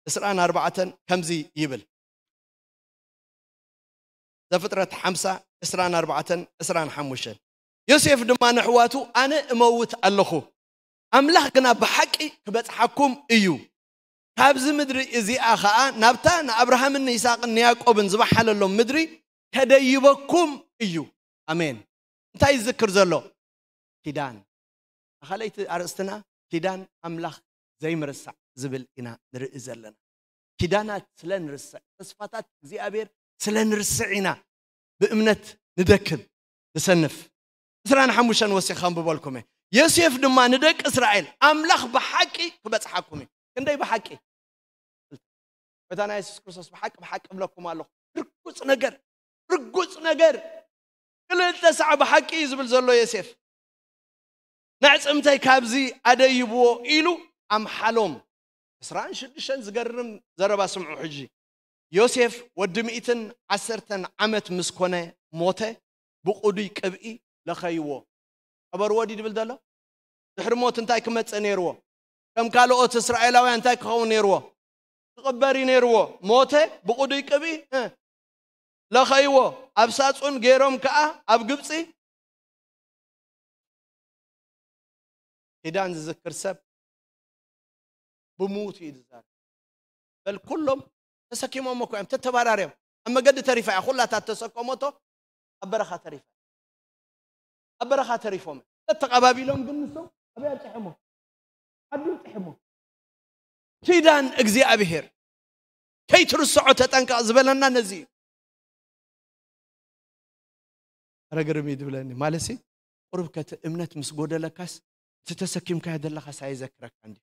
ዕስራን ኣርባዕተን ከምዚ ይብል። ዘፍጥረት ሓምሳ ዕስራን ኣርባዕተን ዕስራን ሓሙሽተን። ዮሴፍ ድማ ንሕዋቱ ኣነ እመውት ኣለኹ፣ ኣምላኽ ግና ብሓቂ ክበጽሓኩም እዩ፣ ካብዚ ምድሪ እዚኣ ኸኣ ናብታ ንኣብርሃምን ንይስሐቅን ንያዕቆብን ዝበሓለሎም ምድሪ ከደይበኩም እዩ። ኣሜን። እንታይ ይዝክር ዘሎ? ኪዳን። ኣኻለይቲ ኣርእስትና ኪዳን ኣምላኽ ዘይምርሳዕ ዝብል ኢና ንርኢ ዘለና። ኪዳናት ስለ ንርስዕ፣ ተስፋታት እግዚኣብሔር ስለ ንርስዕ ኢና ብእምነት ንደክም ንሰንፍ። ዕስራን ሓሙሽተን ወሲኻ ኣንብበልኩም እየ። ዮሴፍ ድማ ንደቂ እስራኤል ኣምላኽ ብሓቂ ክበጽሓኩም እዩ። ክንደይ ብሓቂ? ጎይታና የሱስ ክርስቶስ ብሓቂ ብሓቂ እብለኩም ኣለኹ፣ ርጉጽ ነገር፣ ርጉጽ ነገር። ክልተ ሳዕ ብሓቂ እዩ ዝብል ዘሎ ዮሴፍ። ነዕጽምተይ ካብዚ ኣደይብዎ ኢሉ ኣምሓሎም። ዕስራን ሽዱሽተን ዝገርም ዘረባ ስምዑ ሕጂ። ዮሴፍ ወዲ ሚእትን ዓሰርተን ዓመት ምስ ኮነ ሞተ፣ ብቕዱይ ቅብኢ ለኸይዎ። ቀበርዎ ድዩ ድብል ዘሎ? ድሕሪ ሞት እንታይ ክመጽእ ነይርዎ? ከም ካልኦት እስራኤላውያን እንታይ ክኸውን ነይርዎ? ክቕበር እዩ ነይርዎ። ሞተ፣ ብቕዱይ ቅብኢ፣ እ፣ ለኸይዎ። ኣብ ሳጹን ገይሮም ከኣ ኣብ ግብጺ ኪዳን ዝዝክር ሰብ ብምዉቱ እዩ ዝዛረብ። በል ኩሎም ተሰኪሞም እኮ እዮም፣ ተተባራርዮም። ኣብ መገዲ ተሪፋ እያ፣ ኩላታ ተሰከሞቶ ኣብ በረኻ ተሪፋ። ኣብ በረኻ ተሪፎም። ተተቐባቢሎም ግን ንሶም ኣበይ ኣብፅሐሞ? ዓዲ ኣብፅሐሞ። ኪዳን እግዚኣብሔር ከይትርስዖ ተጠንቀቕ ዝበለና ነዚ እዩ። ኣረ ግርም እዩ ድብለኒ። ማለሲ ቁሩብ ከቲ እምነት ምስ ጎደለካስ እቲ ተሰኪምካዮ ዘለኻስ ኣየዘክረካ እንዲ።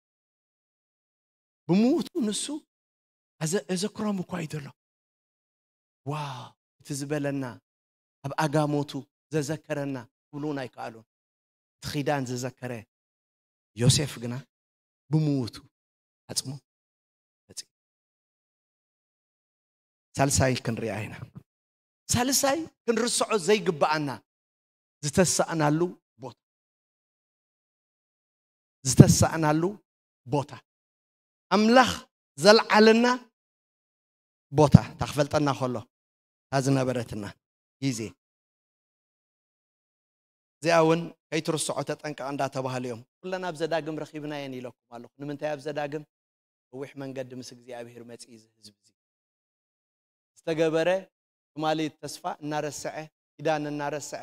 ብምዉቱ ንሱ ኣዘ-፣ ኣዘክሮም እኳ እዩ ዘሎ። ዋው፣ እቲ ዝበለና፣ ኣብ ኣጋሞቱ ዘዘከረና ክብሉ እውን ኣይከኣሉን። እቲ ኪዳን ዝዘከረ ዮሴፍ ግና ብምዉቱ ዓጽሙ መጺኡ። ሳልሳይ ክንሪኣ ኢና። ሳልሳይ ክንርስዖ ዘይግብኣና ዝተሳእናሉ ቦታ። ዝተሳእናሉ ቦታ። ኣምላኽ ዘልዓለና ቦታ። እታ ክፈልጠና ከሎ፣ እታ ዝነበረትና ግዜ። እዚኣ እውን ከይትርስዖ ተጠንቀቕ እንዳተባህሉ እዮም። ኩለን ኣብ ዘዳግም ረኺብናየን ኢለኩም ኣለኹ። ንምንታይ ኣብ ዘዳግም? ነዊሕ መንገዲ ምስ እግዚኣብሔር መጺኡ እዚ ህዝቢ እዚ። ዝተገበረ ትማሊ ተስፋ እናረስዐ፣ ኪዳን እናረስዐ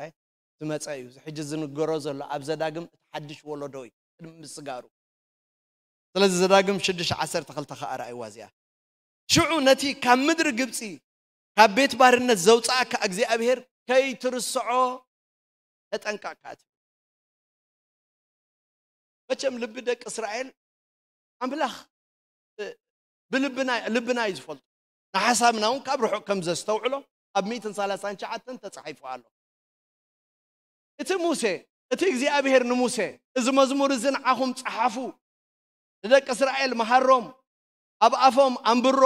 ዝመጸ እዩ። እዚ ሕጂ ዝንገሮ ዘሎ ኣብ ዘዳግም እቲ ሓድሽ ወለዶ እዩ፣ ቅድሚ ምስጋሩ። ስለዚ ዘዳግም ሽዱሽተ ዓሰርተ ክልተ ከኣ ረኣይዋ እዚኣ። ሽዑ ነቲ ካብ ምድሪ ግብጺ፣ ካብ ቤት ባርነት ዘውጽኣካ እግዚኣብሔር ከይትርስዖ ተጠንቀቕካ ትብል። መቸም ልቢ ደቂ እስራኤል ኣምላኽ፣ እ፣ ብልብና፣ ልብና እዩ ዝፈልጦ። ንሓሳብና እውን ካብ ርሑቕ ከም ዘስተውዕሎ ኣብ ሚእትን ሰላሳን ትሽዓተን ተጻሒፉ ኣሎ። እቲ ሙሴ፣ እቲ እግዚኣብሔር ንሙሴ፣ "እዚ መዝሙር እዚ ንዓኹም ጸሓፉ፣ ንደቂ እስራኤል መሃሮም፣ ኣብ ኣፎም ኣንብሮ፣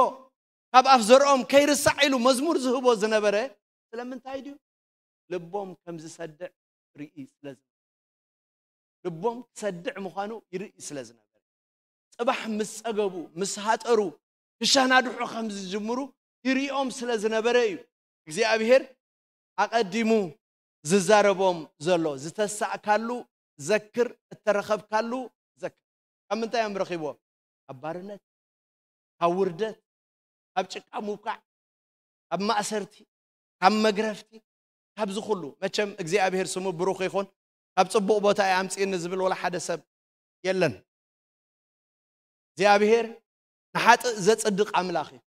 ካብ ኣፍ ዘርኦም ከይርሳዕ" ኢሉ መዝሙር ዝህቦ ዝነበረ ስለምንታይ ድዩ? ልቦም ከም ዝሰድዕ ርኢ ስለ ዝነበረ። ልቦም ክሰድዕ ምዃኑ ይርኢ ስለ ዝነበረ። ጽባሕ ምስ ጸገቡ፣ ምስ ሃጠሩ፣ ክሻናድሑ ከም ዝጅምሩ ይርእዮም ስለ ዝነበረ እዩ። እግዚኣብሔር ኣቐዲሙ ዝዛረቦም ዘሎ። ዝተሳእካሉ ዘክር፣ እተረኸብካሉ ዘክር። ካብ ምንታይ እዮም ረኺብዎ? ካብ ባርነት፣ ካብ ውርደት፣ ካብ ጭቃ ምውካዕ፣ ካብ ማእሰርቲ፣ ካብ መግረፍቲ፣ ካብዚ ኩሉ። መቸም እግዚኣብሔር ስሙ ብሩኽ ይኹን። ካብ ጽቡቕ ቦታ እዩ ኣምጽእኒ ዝብል ወላ ሓደ ሰብ የለን። እግዚኣብሔር ንሓጥእ ዘጽድቕ ኣምላኽ እዩ።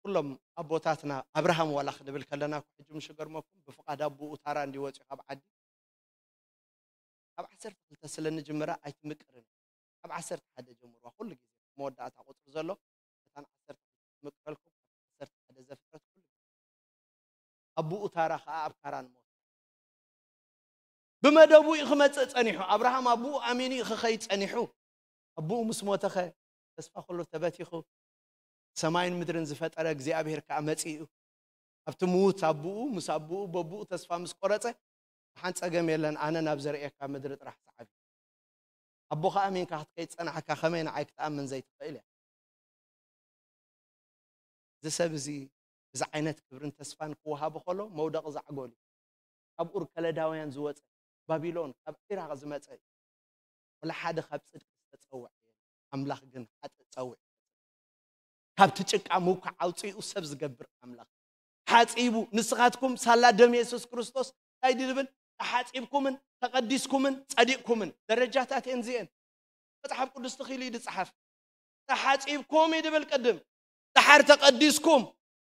ኩሎም ኣቦታትና፣ ኣብርሃም ዋላ ክንብል ከለና እኮ፣ ሕጂ ምሽ ገርመኩም፣ ብፍቓድ ኣቦኡ ታራ እንዲወፅኡ ካብ ዓዲ፣ ካብ ዓሰርተ ክልተ ስለ ንጅምራ ኣይትምቅርን። ካብ ዓሰርተ ሓደ ጀምርዋ፣ ኩሉ ግዜ መወዳእታ ቁፅሪ ዘሎ፣ እታን ዓሰርተ ክልተ ትምቅረልኩም፣ ዓሰርተ ሓደ ዘፍጥረት ኩሉ ግዜ። ኣቦኡ ታራ ከዓ ኣብ ካራን ሞተ። ብመደቡ እዩ ክመጽእ ጸኒሑ። ኣብርሃም ኣቦኡ ኣሚኑ እዩ ክኸይድ ጸኒሑ። ኣቦኡ ምስ ሞተኸ፣ ተስፋ ኩሉ ተበቲኹ። ሰማይን ምድርን ዝፈጠረ እግዚኣብሔር ከኣ መጺኡ። ኣብቲ ምዉት ኣቦኡ፣ ምስ ኣቦኡ፣ በቦኡ ተስፋ ምስ ቆረጸ፣ "ደሓን ጸገም የለን፣ ኣነ ናብ ዘርእየካ ምድሪ ጥራሕ ሰዓብ እዩ። ኣቦኻ ኣሚንካ ክትከይድ ጸናሕካ፣ ከመይ ንዓይ ክትኣምን ዘይትኽእል እያ?" እዚ ሰብ እዚ፣ እዚ ዓይነት ክብርን ተስፋን ክወሃቦ ከሎ፣ መውደቒ ዛዕጎል እዩ። ካብ ኡር ከለዳውያን ዝወጸ፣ ባቢሎን፣ ካብ ዒራቕ ዝመጸ እዩ። ወላ ሓደ ካብ ጽድቂ ዝተጸውዐ የለን። ኣምላኽ ግን ሓጥእ ጸውዕ። ካብቲ ጭቃ ምውካዕ ኣውጺኡ ሰብ ዝገብር ኣምላኽ። ሓጺቡ፣ ንስኻትኩም ሳላ ደም የሱስ ክርስቶስ እንታይ ድብል? ተሓጺብኩምን ተቐዲስኩምን ጸዲቕኩምን። ደረጃታት እየን እዚአን። መጽሓፍ ቅዱስ ትኽኢሉ እዩ ዝጸሓፍ። ተሓጺብኩም እዩ ድብል ቅድም። ደሓር ተቐዲስኩም።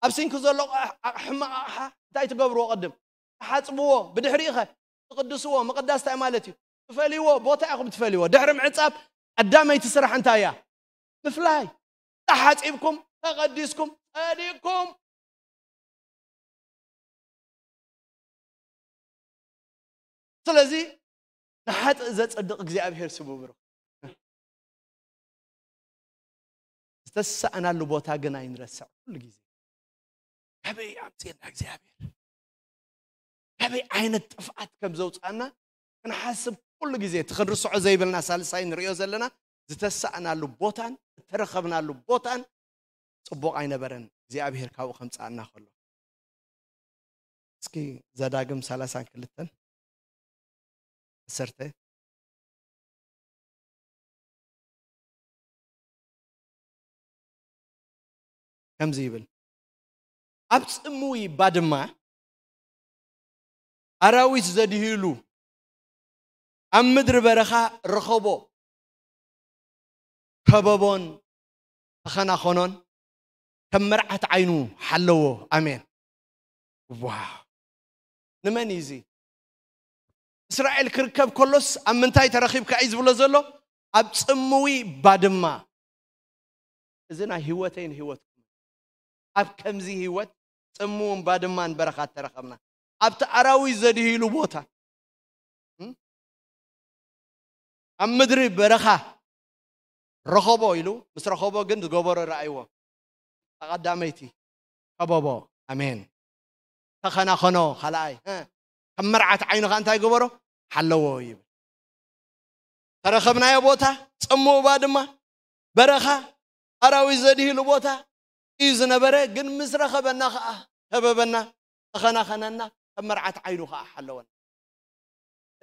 ኣብ ሲንክ ዘሎ ኣቕ-፣ ኣቕ-፣ ሕማቕ ኣቕሓ እንታይ ትገብርዎ ቅድም? ትሓጽብዎ። ብድሕሪኡ ኸ ትቕድስዎ። ምቕዳስ እንታይ ማለት እዩ? ትፈልይዎ። ቦታ ኢኹም ትፈልይዎ። ድሕሪ ምዕጻብ ቀዳመይቲ ስራሕ እንታይ እያ? ምፍላይ። ተሓጺብኩም፣ ተቐዲስኩም፣ ጸዲቕኩም። ስለዚ ንሓጥእ ዘጸድቕ እግዚኣብሔር ስሙ ብሩኽ። ዝተሳእናሉ ቦታ ግን ኣይንረስዕ። ኩሉ ግዜ ካበይ ኣምጽእና እግዚኣብሔር? ካበይ ዓይነት ጥፍኣት ከም ዘውጽኣና ክንሓስብ ኩሉ ግዜ እቲ ክንርስዖ ዘይብልና ሳልሳይ ንርእዮ ዘለና ዝተሳእናሉ ቦታን እተረኸብናሉ ቦታን ጽቡቕ ኣይነበረን፣ እግዚኣብሔር ካብኡ ከምጽኣና ከሎ። እስኪ ዘዳግም ሰላሳን ክልተን ዓሰርተ ከምዚ ይብል፣ ኣብ ጽምዊ ባድማ ኣራዊት ዘድህይሉ፣ ኣብ ምድሪ በረኻ ረኸቦ ከበቦን ተኸናኸኖን ከም መርዓት ዓይኑ ሓለዎ። ኣሜን። ዋው! ንመን እዩ እዚ? እስራኤል ክርከብ ከሎስ ኣብ ምንታይ ተረኺብካ እዩ ዝብሎ ዘሎ? ኣብ ጽምዊ ባድማ። እዚ ናይ ህይወተይን ህይወትኩም። ኣብ ከምዚ ህይወት ጽምውን ባድማን በረኻ ተረኸብና። ኣብቲ ኣራዊት ዘድህይሉ ቦታ። እም? ኣብ ምድሪ በረኻ ረኸቦ ኢሉ፣ ምስ ረኸቦ ግን ዝገበሮ ረኣይዎ። ቀዳመይቲ ከበቦ። ኣሜን። ተኸናኸኖ። ካልኣይ፣ እ፣ ከም መርዓት ዓይኑ ኸኣ እንታይ ገበሮ? ሓለዎ ይብል። ተረኸብናዮ ቦታ፣ ጽምው ባድማ፣ በረኻ፣ ኣራዊት ዘድህይሉ ቦታ እዩ ዝነበረ። ግን ምስ ረኸበና ኸኣ ከበበና፣ ተኸናኸነና፣ ከም መርዓት ዓይኑ ኸኣ ሓለወና።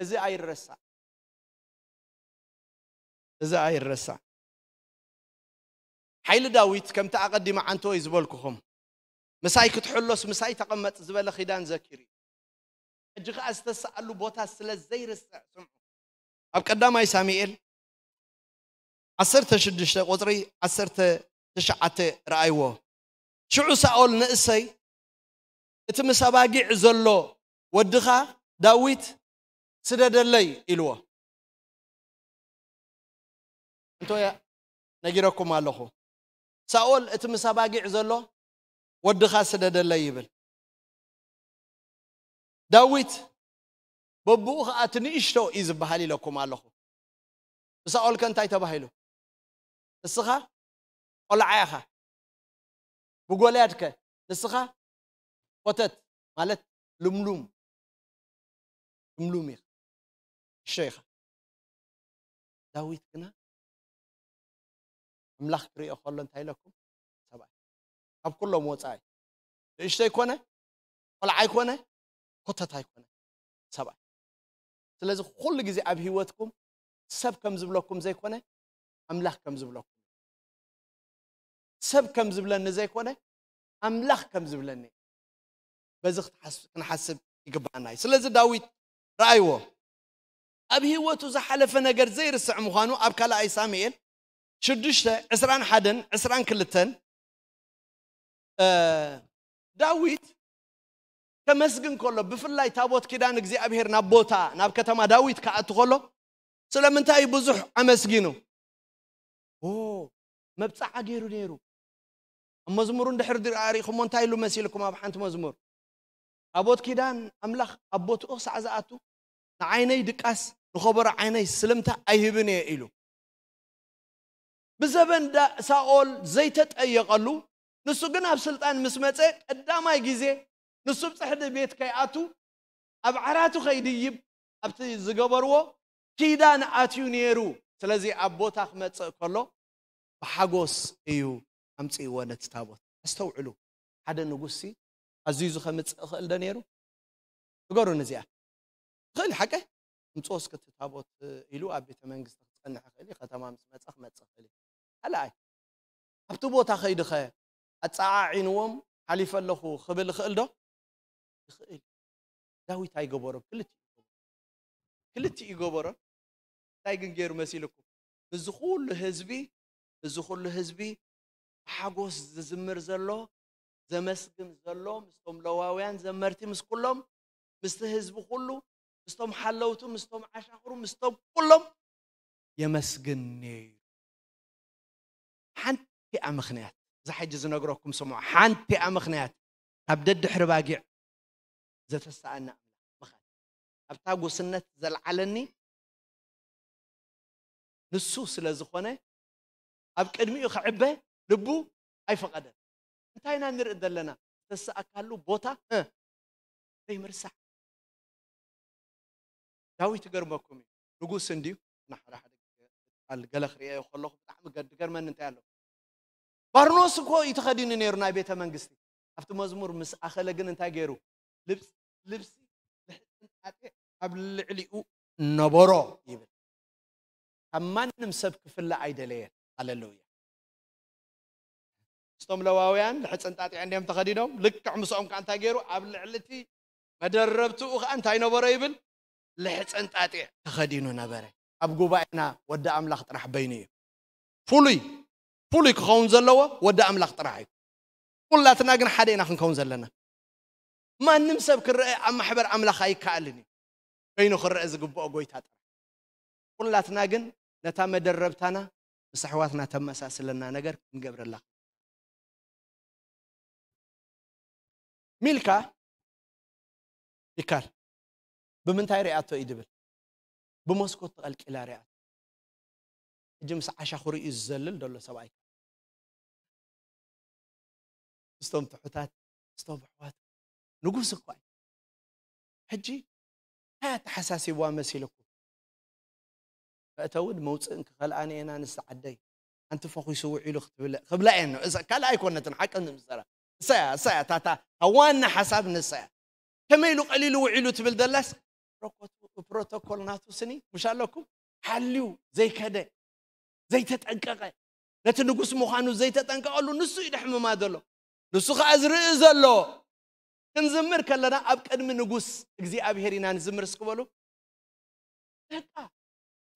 እዚ ኣይረሳዕ። እዚ ኣይረሳዕ። ሓይሊ ዳዊት ከምቲ ኣቐዲመ ዓንተወይ ዝበልኩኹም፣ "ምሳይ ክትሕሎስ ምሳይ ተቐመጥ" ዝበለ ኪዳን ዘኪሩ እዩ። ሕጂ ኸኣ ዝተሰኣሉ ቦታ ስለ ዘይርስዕ ስምዑ። ኣብ ቀዳማይ ሳሙኤል ዓሰርተ ሽዱሽተ ቁጽሪ ዓሰርተ ትሽዓተ ረኣይዎ። ሽዑ ሳኦል ንእሰይ፣ "እቲ ምስ ኣባጊዕ ዘሎ ወድኻ ዳዊት ስደደለይ" ኢልዎ። እንቶ ነጊረኩም ኣለኹ። ሳኦል፣ "እቲ ምስ ኣባጊዕ ዘሎ ወድኻ ስደደለይ" ይብል። ዳዊት በብኡ ኸዓ እቲ ንእሽቶ እዩ ዝበሃል ኢለኩም ኣለኹ። ብሳኦል ከ እንታይ ተባሂሉ? ንስኻ ቆልዓ ኢኻ፣ ብጎልያድ ከ ንስኻ ኮተት ማለት ልምሉም፣ ልምሉም ኢኻ፣ እሾ ኢኻ። ዳዊት ግና ኣምላኽ ክርእዮ ከሎ እንታይ ኢለኩም? ሰብኣይ ካብ ኩሎም ወፃኢ ንእሽቶ ኣይኮነ፣ ቆልዓ ኣይኮነ፣ ኮተት ኣይኮነ፣ ሰብኣይ። ስለዚ ኩሉ ግዜ ኣብ ህይወትኩም ሰብ ከም ዝብለኩም ዘይኮነ ኣምላኽ ከም ዝብለኩም፣ ሰብ ከም ዝብለኒ ዘይኮነ ኣምላኽ ከም ዝብለኒ፣ በዚ ክትሓስ- ክንሓስብ ይግባኣና እዩ። ስለዚ ዳዊት ረኣይዎ፣ ኣብ ህይወቱ ዝሓለፈ ነገር ዘይርስዕ ምዃኑ ኣብ ካልኣይ ሳሙኤል ሽዱሽተ ዕስራን ሓደን ዕስራን ክልተን እ፣ ዳዊት ከመስግን ከሎ፣ ብፍላይ ታቦት ኪዳን እግዚኣብሔር ናብ ቦታ ናብ ከተማ ዳዊት ክኣቱ ከሎ ስለምንታይ እዩ ብዙሕ ኣመስጊኑ? ኦ፣ መብጻዓ ገይሩ ነይሩ። ኣብ መዝሙሩ እንድሕር ድኣ ርኢኹሞ እንታይ ኢሉ መሲልኩም? ኣብ ሓንቲ መዝሙር ታቦት ኪዳን ኣምላኽ ኣብ ቦትኡ ክሳዕ ዝኣቱ ንዓይነይ ድቃስ ንኸበሮ ዓይነይ ስልምታ ኣይህብን እየ ኢሉ። ብዘበን ዳ- ሳኦል ዘይተጠየቐሉ፣ ንሱ ግን ኣብ ስልጣን ምስ መጸ ቀዳማይ ግዜ ንሱ ኣብ ጽሕዲ ቤት ከይኣቱ ኣብ ዓራቱ ከይድይብ ኣብቲ ዝገበርዎ ኪዳን ኣትዩ ነይሩ። ስለዚ ኣብ ቦታ ክመጽእ ከሎ ብሓጎስ እዩ ኣምጽእዎ ነቲ ታቦት። ኣስተውዕሉ፣ ሓደ ንጉሲ ኣዝዩ ከምጽእ ይኽእል ዶ ነይሩ? ንገሩን እዚኣ። ይኽእል ሓቀ? ምጽኦ እስከ እቲ ታቦት ኢሉ ኣብ ቤተ መንግስቲ ክጸንሕ ይኽእል እዩ። ከተማ ምስ መጸ ክመጽእ ይኽእል እዩ። ካልኣይ፣ ኣብቲ ቦታ ከይድኸ ኣጸዓዒንዎም ሓሊፈ ኣለኹ ክብል ይኽእል ዶ? ይኽእል። ዳዊት ኣይገበሮን። ክልቲኡ ይገበሮ። ክልቲኡ ይገበሮ። እንታይ ግን ገይሩ መሲልኩም? እዚ ኩሉ ህዝቢ፣ እዚ ኩሉ ህዝቢ ብሓጎስ ዝዝምር ዘሎ፣ ዘመስግን ዘሎ፣ ምስቶም ለዋውያን ዘመርቲ፣ ምስ ኩሎም፣ ምስቲ ህዝቢ ኩሉ፣ ምስቶም ሓለውቱ፣ ምስቶም ዓሻኽሩ፣ ምስቶም ኩሎም የመስግን ነይሩ። ሓንቲኣ ምኽንያት፣ እዛ ሕጂ ዝነግረኩም ስምዑ፣ ሓንቲኣ ምኽንያት ካብ ደድሕሪ ባጊዕ ዘተሰኣና ኣምላኽ ምኻድ። ኣብታ ጉስነት ዘልዓለኒ ንሱ ስለ ዝኾነ፣ ኣብ ቅድሚኡ ክዕበ ልቡ ኣይፈቐደን። እንታይ ኢና ንርኢ ዘለና? ዝተሰኣካሉ ቦታ፣ እ፣ ዘይምርሳዕ። ዳዊት ይገርመኩም እዩ። ንጉስ እንድዩ፣ ንሓደ ሓደ ግዜ ቃል ገለ ክርእዮ ከለኹ ብጣዕሚ ገ- ዝገርመኒ እንታይ ኣሎ? ባርኖስ እኮ እዩ ተኸዲኑ ነይሩ ናይ ቤተ መንግስቲ። ኣብቲ መዝሙር ምስ ኣኸለ ግን እንታይ ገይሩ? ልብስ- ልብሲ ልሕጥንጣጤ ኣብ ልዕሊኡ ነበሮ ይብል። ካብ ማንም ሰብ ክፍለ ኣይደለየን። ሃሌሉያ። ምስቶም ለዋውያን ልሕፅንጣጢዕ እንዲዮም ተኸዲኖም። ልክዕ ምስኦም ከዓ እንታይ ገይሩ? ኣብ ልዕሊ እቲ መደረብትኡ ከዓ እንታይ ነበሮ ይብል? ልሕፅንጣጢዕ ተኸዲኑ ነበረ። ኣብ ጉባኤና ወዲ ኣምላኽ ጥራሕ በይኑ እዩ። ፍሉይ ፍሉይ ክኸውን ዘለዎ ወዲ ኣምላኽ ጥራሕ እዩ። ኩላትና ግን ሓደ ኢና ክንከውን ዘለና። ማንም ሰብ ክረአ ኣብ ማሕበር ኣምላኽ ኣይከኣልን እዩ። በይኑ ክረአ ዝግብኦ ጎይታ ጥራሕ። ኩላትና ግን ነታ መደረብታና ምስ ኣሕዋትና ተመሳስለና ነገር ክንገብረላ። ሚልካ ይካል ብምንታይ ሪኣቶ እዩ ድብል? ብመስኮት ተቐልቂላ ሪኣቶ። ሕጂ ምስ ዓሻ ክርእዩ ዝዘልል ዘሎ ሰብኣይ ምስቶም ትሑታት ምስቶም ኣሕዋት ንጉስ እኳ እዩ። ሕጂ እንታይ ኣተሓሳሲብዋ መሲልኩም? መእተውን መውፅእን ክኸልኣኒ እየን ኣንስቲ ዓደይ፣ ሓንቲ ፈኺሱ ውዒሉ ክትብለ ክብላ እየን ነው። እዛ ካልእ ኣይኮነትን ሓቂ ንምሰራ እሳያ እሳያ ታታ ዋና ሓሳብ ንሳያ። ከመይ ኢሉ ቀሊሉ ውዒሉ ትብል ደላስ ፕሮኮቱ- ፕሮቶኮል ናቱ ስኒ ምሽ ኣለኩም ሓልዩ ዘይከደ ዘይተጠንቀቐ ነቲ ንጉስ ምዃኑ ዘይተጠንቀቐሉ ንሱ እዩ ደሕምማ ዘሎ። ንሱ ከዓ ዝርኢ ዘሎ። ክንዝምር ከለና ኣብ ቅድሚ ንጉስ እግዚኣብሔር ኢና ንዝምር እስክበሉ። በቃ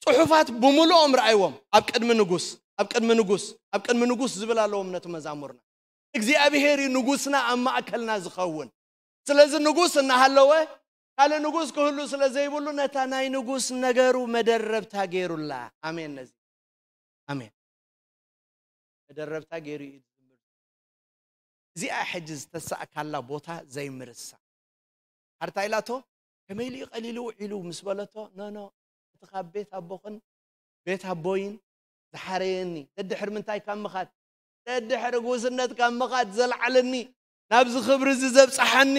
ጽሑፋት ብምልኦም ረኣይዎም። ኣብ ቅድሚ ንጉስ ኣብ ቅድሚ ንጉስ ኣብ ቅድሚ ንጉስ ዝብል ኣለዎም ነቲ መዛሙርና። እግዚኣብሔር እዩ ንጉስና ኣብ ማእከልና ዝኸውን። ስለዚ ንጉስ እናሃለወ ካልእ ንጉስ ክህሉ ስለ ዘይብሉ ነታ ናይ ንጉስ ነገሩ መደረብታ ገይሩላ። ኣሜን። ነዚ ኣሜን መደረብታ ገይሩ እዩ ዝዝምር። እዚኣ ሕጂ ዝተሳእካላ ቦታ ዘይምርሳ እንታይ ኢላቶ? ከመይ ኢሉ እዩ ቀሊሉ ውዒሉ ምስ በለቶ፣ ኖ፣ ኖ፣ እቲ ካብ ቤት ኣቦኽን ቤት ኣቦይን ዝሓረየኒ፣ ደድሕር ምንታይ ካብ ምኻድ፣ ደድሕር ጉስነት ካብ ምኻድ ዘልዓለኒ፣ ናብዚ ክብሪ እዚ ዘብጽሓኒ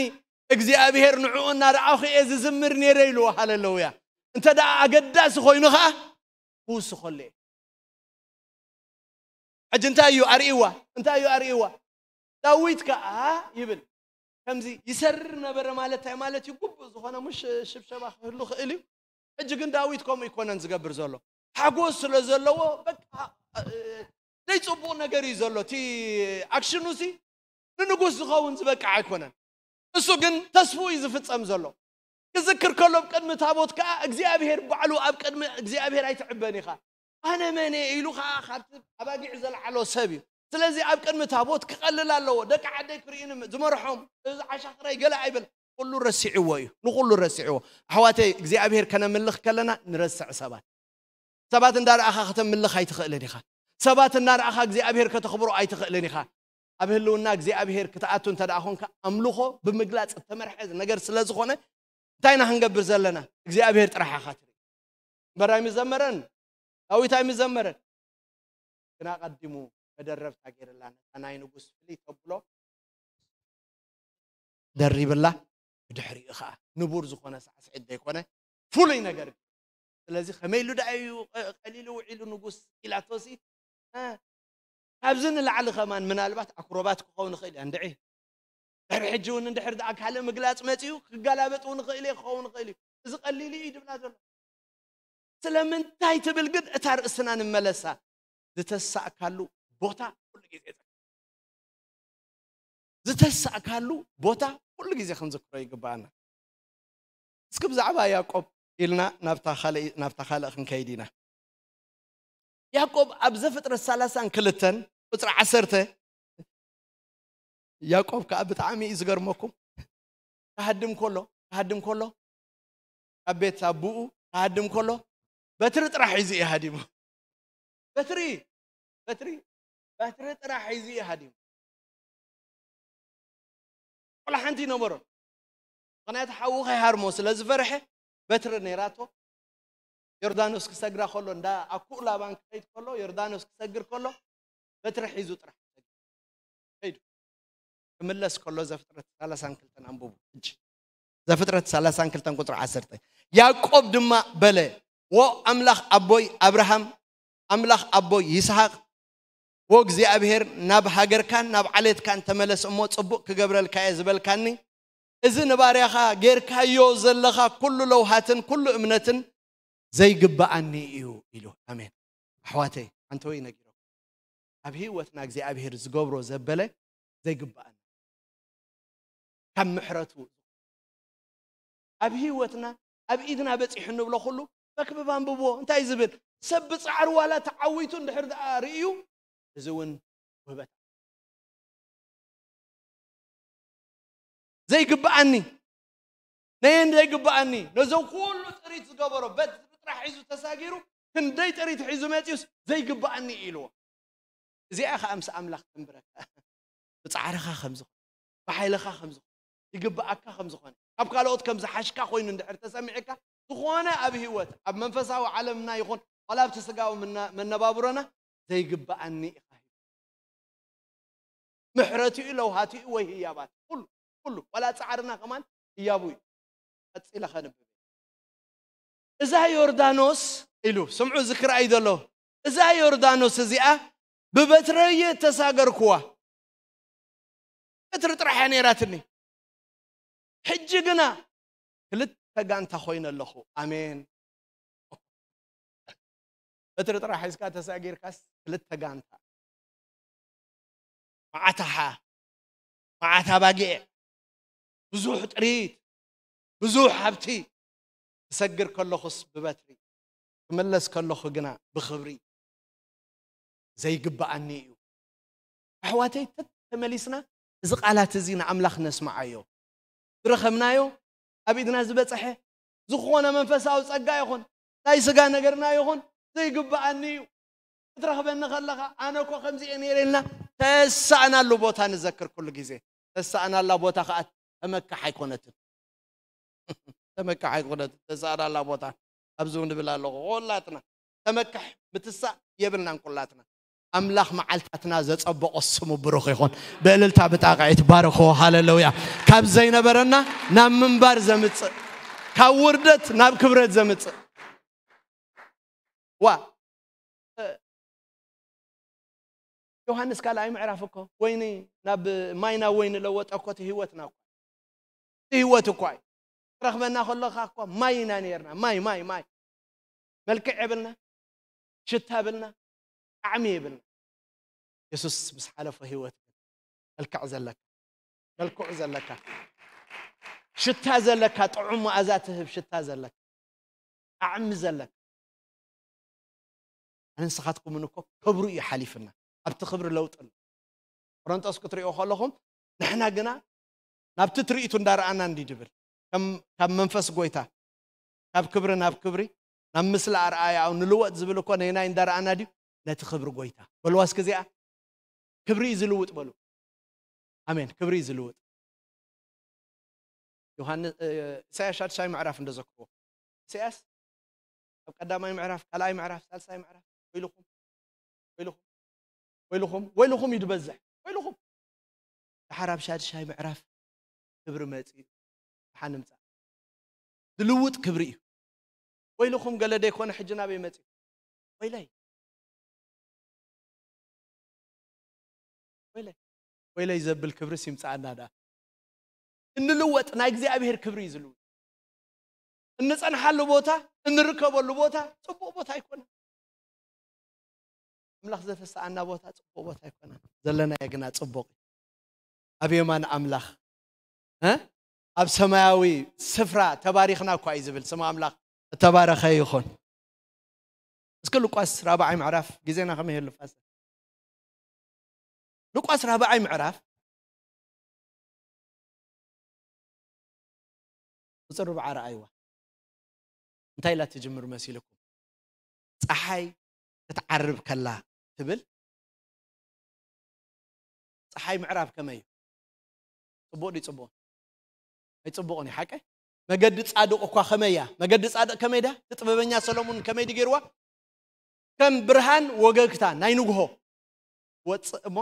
እግዚኣብሔር ንዕኡ እናረኣኹ እየ ዝዝምር ነይረ ኢልዎ። ሃሌሉያ። እንተ ደኣ ኣገዳሲ ኮይኑ ኸዓ ክውስኸሉ እየ። ሕጂ እንታይ እዩ ኣርእይዋ? እንታይ እዩ ኣርእይዋ? ዳዊት ከኣ ይብል ከምዚ ይሰርር ነበረ ማለት እንታይ ማለት እዩ? ግቡእ ዝኾነ ሙሽ ሽብሸባ ክህሉ ክእል እዩ። ሕጂ ግን ዳዊት ከምኡ ይኮነን ዝገብር ዘሎ። ሓጎስ ስለ ዘለዎ በቃ፣ እ፣ ዘይጽቡቕ ነገር እዩ ዘሎ። እቲ ኣክሽኑ ሲ ንንጉስ ዝኸውን ዝበቅዕ ኣይኮነን። እሱ ግን ተስፉ እዩ ዝፍጸም ዘሎ። ክዝክር ከሎ ኣብ ቅድሚ ታቦት ከኣ እግዚኣብሔር ባዕሉ ኣብ ቅድሚ እግዚኣብሔር ኣይትዕበን ኢኻ። ኣነ መን እየ ኢሉ ከኣ ካብቲ ኣባጊዕ ዘልዓሎ ሰብ እዩ። ስለዚ ኣብ ቅድሚ ታቦት ክቐልል ኣለዎ። ደቂ ዓደይ ክርእዩኒ ዝመርሖም፣ እዚ ዓሻኽረይ ገለ ኣይበል። ኩሉ ረሲዕዎ እዩ። ንኹሉ ረሲዕዎ። ኣሕዋተይ እግዚኣብሔር ከነምልኽ ከለና ንረስዕ ሰባት። ሰባት እንዳረኣኻ ከተምልኽ ኣይትኽእልን ኢኻ። ሰባት እናረኣኻ እግዚኣብሔር ከተኽብሮ ኣይትኽእልን ኢኻ። ኣብ ህልውና እግዚኣብሔር ክትኣቱ እንተ ደኣ ኾንካ ኣምልኾ ብምግላጽ እተመርሐ ነገር ስለ ዝኾነ እንታይ ኢና ክንገብር ዘለና? እግዚኣብሔር ጥራሕ ኢኻ ትርኢ። እምበር ኣይምዘመረን፣ ዳዊት ኣይምዘመረን። ግን ኣቐዲሙ መደረብታ ገይርላ ነታ ናይ ንጉስ ፍልይ ተብሎ ደሪብላ። ብድሕሪኡ ኸዓ ንቡር ዝኾነ ሳዕስዒት ዘይኮነ ፍሉይ ነገር። ስለዚ ከመይ ኢሉ ደኣ እዩ ቀ-፣ ቀሊሉ ውዒሉ ንጉስ ኢላቶሲ? እ፣ ካብዚ ንላዕሊ ከማን ምናልባት ኣክሮባት ክኸውን ይኽእል እዩ። እንድዒ ድሕሪ ሕጂ እውን እንድሕር ደኣ ካልእ ምግላጽ መጺኡ ክገላበጥ እውን ይኽእል እየ፣ ክኸውን ይኽእል እዩ። እዚ ቀሊሉ እዩ ድብላ ዘሎ። ስለምንታይ ትብል ግን እታ ርእስና ንመለሳ። ዝተሳእካሉ ቦታ ኩሉ ግዜ፣ ዝተሳእካሉ ቦታ ኩሉ ግዜ ክንዝክሮ ይግባኣና። እስኪ ብዛዕባ ያዕቆብ ኢልና ናብታ ካልእ፣ ናብታ ካልእ ክንከይድ ኢና። ያዕቆብ ኣብ ዘፍጥረት ሰላሳን ክልተን ቁጽሪ ዓሰርተ፣ ያዕቆብ ከኣ ብጣዕሚ እዩ ዝገርመኩም። ክሃድም ከሎ፣ ክሃድም ከሎ፣ ካብ ቤት ኣቦኡ ክሃድም ከሎ በትሪ ጥራሕ ሒዙ እዩ ሃዲሙ። በትሪ፣ በትሪ፣ በትሪ ጥራሕ ሒዙ እዩ ሃዲሙ። ቆልዓ ሓንቲ ይነበሮ። ምኽንያቱ ሓዉ ከይሃርሞ ስለ ዝፈርሐ በትሪ ነይራቶ። ዮርዳኖስ ክሰግራ ከሎ፣ እንዳ ኣኩኡ ላባን ክኸይድ ከሎ፣ ዮርዳኖስ ክሰግር ከሎ በትሪ ሒዙ ጥራሕ ከይዱ። ክምለስ ከሎ ዘፍጥረት ሰላሳን ክልተን ኣንብቡ። ሕጂ ዘፍጥረት ሰላሳን ክልተን ቁጽሪ ዓሰርተ። ያዕቆብ ድማ በለ፣ "ዎ ኣምላኽ ኣቦይ ኣብርሃም፣ ኣምላኽ ኣቦይ ይስሐቅ፣ ዎ እግዚኣብሔር ናብ ሃገርካን ናብ ዓሌትካን ተመለስ እሞ ጽቡቅ ክገብረልካ እየ ዝበልካኒ፣ እዚ ንባርያኻ ጌርካዮ ዘለኻ ኩሉ ለውሃትን ኩሉ እምነትን ዘይግብኣኒ እዩ" ኢሉ። ኣሜን። ኣሕዋተይ፣ ሓንቲ ወይ ነጊሮም፣ ኣብ ህይወትና እግዚኣብሔር ዝገብሮ ዘበለ ዘይግብኣና፣ ካብ ምሕረቱ ኣብ ህይወትና፣ ኣብ ኢድና በጺሑ እንብሎ ኩሉ መክብብ ኣንብብዎ። እንታይ ዝብል? ሰብ ብጻዕሪ ዋላ ተዓዊቱ እንድሕር ደኣ ርእዩ፣ እዚ እውን ውህበት። ዘይግብኣኒ፣ ነየን ዘይግብኣኒ፣ ነዞም ኩሉ ጥሪት ዝገበሮ በትሪ ጥራሕ ሒዙ ተሳጊሩ፣ ክንደይ ጥሪት ሒዙ መጺኡስ ዘይግብኣኒ ኢልዎ። እዚኣ ኸኣ ምስ ኣምላኽ ተንብረካ። ብጻዕርኻ ከም ዝኾነ፣ ብሓይልኻ ከም ዝኾነ፣ ይግብኣካ ከም ዝኾነ፣ ካብ ካልኦት ከም ዝሓሽካ ኮይኑ እንድሕር ተሰሚዕካ፣ ዝኾነ ኣብ ህይወት፣ ኣብ መንፈሳዊ ዓለምና ይኹን ዋላ ኣብቲ ስጋዊ ምና-፣ መነባብሮና ዘይግብኣኒ ኢኻ ሂቡ። ምሕረቱ እዩ፣ ለውሃቱ እዩ ወይ ህያባት፣ ኩሉ፣ ኩሉ፣ ዋላ ጻዕርና ከማን ህያቡ እዩ። ቀጺለ ከንብብ። እዛ ዮርዳኖስ ኢሉ፣ ስምዑ፣ ዝክር እዩ ዘሎ። እዛ ዮርዳኖስ እዚኣ ብበትረየ ተሳገርኩዋ። በትሪ ጥራሕ እያ ነይራትኒ። ሕጂ ግና ክልተ ጋንታ ኮይነ ኣለኹ። ኣሜን። በትሪ ጥራሕ ሒዝካ ተሳጊርካስ ክልተ ጋንታ። መዓት ኣሓ፣ መዓት ኣባጊዕ፣ ብዙሕ ጥሪት፣ ብዙሕ ሃብቲ። ክሰግር ከለኹስ ብበትሪ፣ ክምለስ ከለኹ ግና ብኽብሪ። ዘይግብኣኒ እዩ። ኣሕዋተይ፣ ተመሊስና እዚ ቃላት እዚ ንኣምላኽ ነስምዓዮ። ዝረኸብናዮ፣ ኣብ ኢድና ዝበጽሐ ዝኾነ መንፈሳዊ ጸጋ ይኹን፣ ናይ ስጋ ነገርና ይኹን፣ ዘይግብኣኒ እዩ። ክትረኽበኒ ከለኻ፣ ኣነ እኮ ከምዚ እየ ነይረ ኢልና ተሳእናሉ ቦታ ንዘክር ኩሉ ግዜ። ተሳእናላ ቦታ ከኣ ተመካሕ ኣይኮነትን። ተመካሕ ኣይኮነት ተሳእዳላ ቦታ ኣብዚ እውን ንብል ኣለኹ። ኩላትና ተመካሕ ምትሳእ የብልናን። ኩላትና ኣምላኽ መዓልታትና ዘጸበቆ ስሙ ብሩኽ ይኹን። ብእልልታ ብጣቕዒት ባርኾ። ሃሌሉያ። ካብ ዘይነበረና ናብ ምንባር ዘምጽእ፣ ካብ ውርደት ናብ ክብረት ዘምጽእ። ዋ ዮሃንስ ካልኣይ ምዕራፍ እኮ ወይኒ ናብ ማይ ናብ ወይኒ ለወጠ እኮ። እቲ ህይወትና እኮ፣ እቲ ህይወት እኳ እዩ። ትረኽበና ከለኻ እኮ ማይ ኢና ነርና። ማይ ማይ ማይ። መልክዕ የብልና፣ ሽታ የብልና፣ ጣዕሚ የብልና። የሱስ ምስ ሓለፎ ህይወት ግን መልክዕ ዘለካ፣ መልክዑ ዘለካ፣ ሽታ ዘለካ፣ ጥዑም መኣዛ ትህብ ሽታ ዘለካ፣ ጣዕሚ ዘለካ። ኣነ ንስኻትኩምን እኮ ክብሩ እዩ ሓሊፍና። ኣብቲ ክብሪ ለውጢ ኣሎ። ቆሮንጦስ ክትሪኦ ከለኹም ንሕና ግና ናብቲ ትርኢቱ እንዳረኣና እንዲ ድብል ከም ካብ መንፈስ ጎይታ ካብ ክብሪ ናብ ክብሪ ናብ ምስሊ ኣርኣያኡ ንልወጥ ዝብል እኮ ነናይ እንዳረኣና ድዩ? ነቲ ክብሪ ጎይታ በልዋ እስኪ እዚኣ ክብሪ እዩ ዝልውጥ በሉ። ኣሜን። ክብሪ እዩ ዝልውጥ። ዮሃንስ እ፣ ኢሳያስ ሻድሻይ ምዕራፍ እንደዘክርዎ ኢሳያስ ኣብ ቀዳማይ ምዕራፍ ካልኣይ ምዕራፍ ሳልሳይ ምዕራፍ ወይልኹም ወይልኹም ወይልኹም ወይልኹም እዩ ዝበዝሕ። ወይልኹም ድሓር ኣብ ሻድሻይ ምዕራፍ ክብሪ መጽኡ ሓ ንምጻእ ዝልውጥ ክብሪ እዩ። ወይልኹም ገለ ደይኮነ ሕጂ ናበይ መጽኡ? ወይለይ ወይለይ ወይለይ ዘብል ክብሪ ሲምጻኣና ዳ እንልወጥ ናይ እግዚኣብሔር ክብሪ እዩ ዝልውጥ። እንጸንሓሉ ቦታ እንርከበሉ ቦታ ጽቡቕ ቦታ ኣይኮነን። ኣምላኽ ዘተሰኣና ቦታ ጽቡቕ ቦታ ኣይኮነን። ዘለናዮ ግና ጽቡቕ እዩ። ኣብ የማን ኣምላኽ እ ኣብ ሰማያዊ ስፍራ ተባሪኽና እኳ እዩ ዝብል። ስም ኣምላኽ እተባረኸ ይኹን። እስኪ ሉቃስ ራብዓይ ምዕራፍ ግዜና ከመይ ይህሉ ፋዘር? ሉቃስ ራብዓይ ምዕራፍ ቁፅሪ ርብዓ ረኣይዋ። እንታይ ኢላ ትጅምር መሲልኩም? ፀሓይ ክትዓርብ ከላ ትብል። ፀሓይ ምዕራብ ከመይ እዩ? ፅቡቕ ድዩ ፅቡቕ? ኣይፅቡቕን እዩ ሓቀ። መገዲ ፃድቕ እኳ ከመይ እያ? መገዲ ፃድቕ ከመይ ድያ? እቲ ጥበበኛ ሰሎሙን ከመይ ድዩ ገይርዋ? ከም ብርሃን ወገግታ ናይ ንግሆ ወፅእ እሞ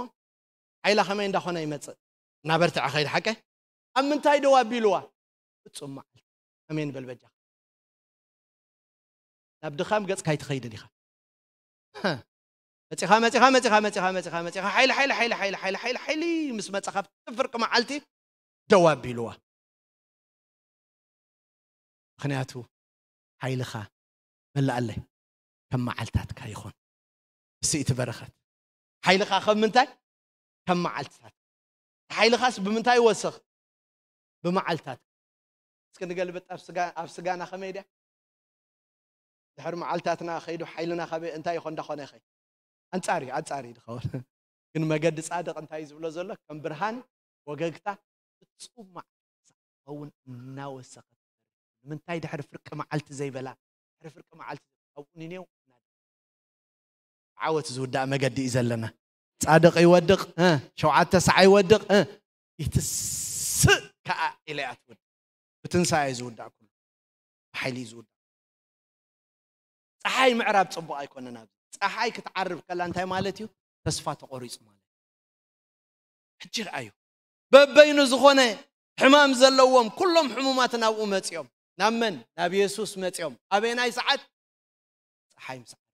ሓይላ ከመይ እንዳኾነ ይመፅእ። እናበርትዐ ኸይድ ሓቀ። ኣብ ምንታይ ደው ኣቢልዋ? ፍፁም መዓልቲ። ኣሜን በል በጃ። ናብ ድኻም ገፅካ ኣይትኸይድን ኢኻ። መፂኻ መፂኻ መፂኻ መፂኻ መፂኻ መፂኻ ሓይሊ ሓይሊ ሓይሊ ሓይሊ ሓይሊ ሓይሊ ሓይሊ ምስ መፃኻ ኣብቲ ፍርቂ መዓልቲ ደው ኣቢልዋ። ምኽንያቱ ሓይልኻ መላኣለይ ከም መዓልታትካ ይኹን። እሱ እቲ በረኸት ሓይልኻ ከም ምንታይ? ከም መዓልትታት። ሓይልኻስ ብምንታይ ይወስኽ? ብመዓልታት። እስኪ ንገልብጥ ኣብ ስጋ ኣብ ስጋና ከመይ ድያ? ድሕሪ መዓልታትና ከይዱ ሓይልና ካበይ እንታይ ይኾን እንዳኾነ ይኸይ? ኣንጻር እዩ ኣንጻር እዩ ዝኸውን። ግን መገዲ ጻድቕ እንታይ እዩ ዝብሎ ዘሎ? ከም ብርሃን ወገግታ ፍጹም መዓልቲ ክኸውን እናወሰኸት። ንምንታይ ድሕሪ ፍርቂ መዓልቲ ዘይበላ? ድሕሪ ፍርቂ መዓልቲ ኣብኡ ኒኔው ዓወት ዝውዳእ መገዲ እዩ ዘለና። ጻድቕ ይወድቕ እ፣ ሸውዓተ ሰዓ ይወድቕ እ፣ ይትስእ ከኣ ኢለ እያ ትብል። ብትንሳኤ እዩ ዝውዳእ ኩሉ። ብሓይሊ እዩ ዝውዳእ። ፀሓይ ምዕራብ ፅቡቕ ኣይኮነን። ኣብዚ ፀሓይ ክትዓርብ ከላ እንታይ ማለት እዩ? ተስፋ ተቆሪፁ ማለት እዩ። ሕጂ ረኣዩ። በበይኑ ዝኾነ ሕማም ዘለዎም ኩሎም ሕሙማት ናብኡ መፂኦም። ናብ መን? ናብ የሱስ መፂኦም። ኣበየናይ ሰዓት? ፀሓይ ምስ ዓረበት።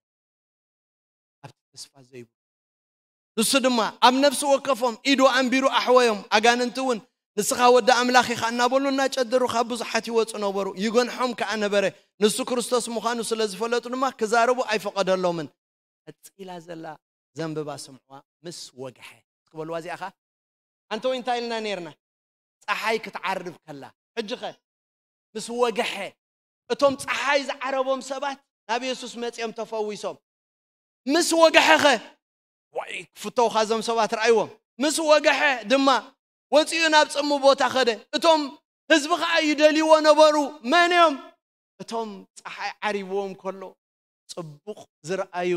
ኣብቲ ተስፋ ዘይብሉ ንሱ ድማ ኣብ ነፍሲ ወከፎም ኢዱ ኣንቢሩ ኣሕወዮም። ኣጋንንቲ እውን ንስኻ ወዲ ኣምላኽ ኢኻ እናበሉ እናጨደሩ ካብ ብዙሓት ይወፁ ነበሩ። ይገንሖም ከኣ ነበረ። ንሱ ክርስቶስ ምዃኑ ስለ ዝፈለጡ ድማ ክዛረቡ ኣይፈቐደሎምን። ቀጺላ ዘላ ዘንብባ ስምዕዋ ምስ ወግሐ። እስኪ በልዋ እዚኣ ኸኣ። ኣንተ ወይ እንታይ ኢልና ነርና? ፀሓይ ክትዓርብ ከላ። ሕጂ ኸ? ምስ ወግሐ። እቶም ፀሓይ ዝዓረቦም ሰባት ናብ የሱስ መፂኦም ተፈዊሶም። ምስ ወግሐ ኸ? ዋይ ክፍተውኻ እዞም ሰባት ረኣይዎም። ምስ ወግሐ ድማ ወፂኡ ናብ ፅሙ ቦታ ኸደ። እቶም ህዝቢ ኸዓ ይደልይዎ ነበሩ። መን እዮም? እቶም ፀሓይ ዓሪብዎም ከሎ ፅቡቕ ዝረኣዩ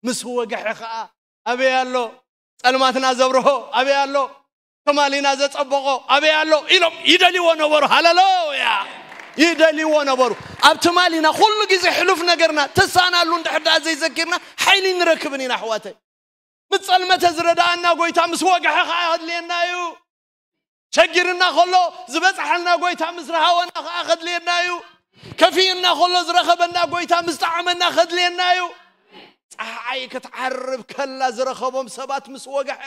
ምስ ወግሐ ኸዓ ኣበይ ኣሎ? ጸልማትና ዘብርሆ ኣበይ ኣሎ? ከማሊና ዘጸበቖ ኣበይ ኣሎ? ኢሎም ይደልይዎ ነበሩ። ሃሌሉያ! ይደልይዎ ነበሩ። ኣብ ትማሊና ኩሉ ግዜ ሕሉፍ ነገርና ተሳናሉ እንድሕር ደኣ ዘይዘኪርና ሓይሊ ንረክብን ኢና ኣሕዋተይ። ምስ ጸልመተ ዝረዳኣና ጎይታ ምስ ወግሐ ከኣ ከድልየና እዩ። ሸጊርና ከሎ ዝበጽሓልና ጎይታ ምስ ረሃወና ከኣ ከድልየና እዩ። ከፊእና ከሎ ዝረኸበና ጎይታ ምስ ጠዓመና ከድልየና እዩ። ጸሓይ ክትዓርብ ከላ ዝረኸቦም ሰባት ምስ ወግሐ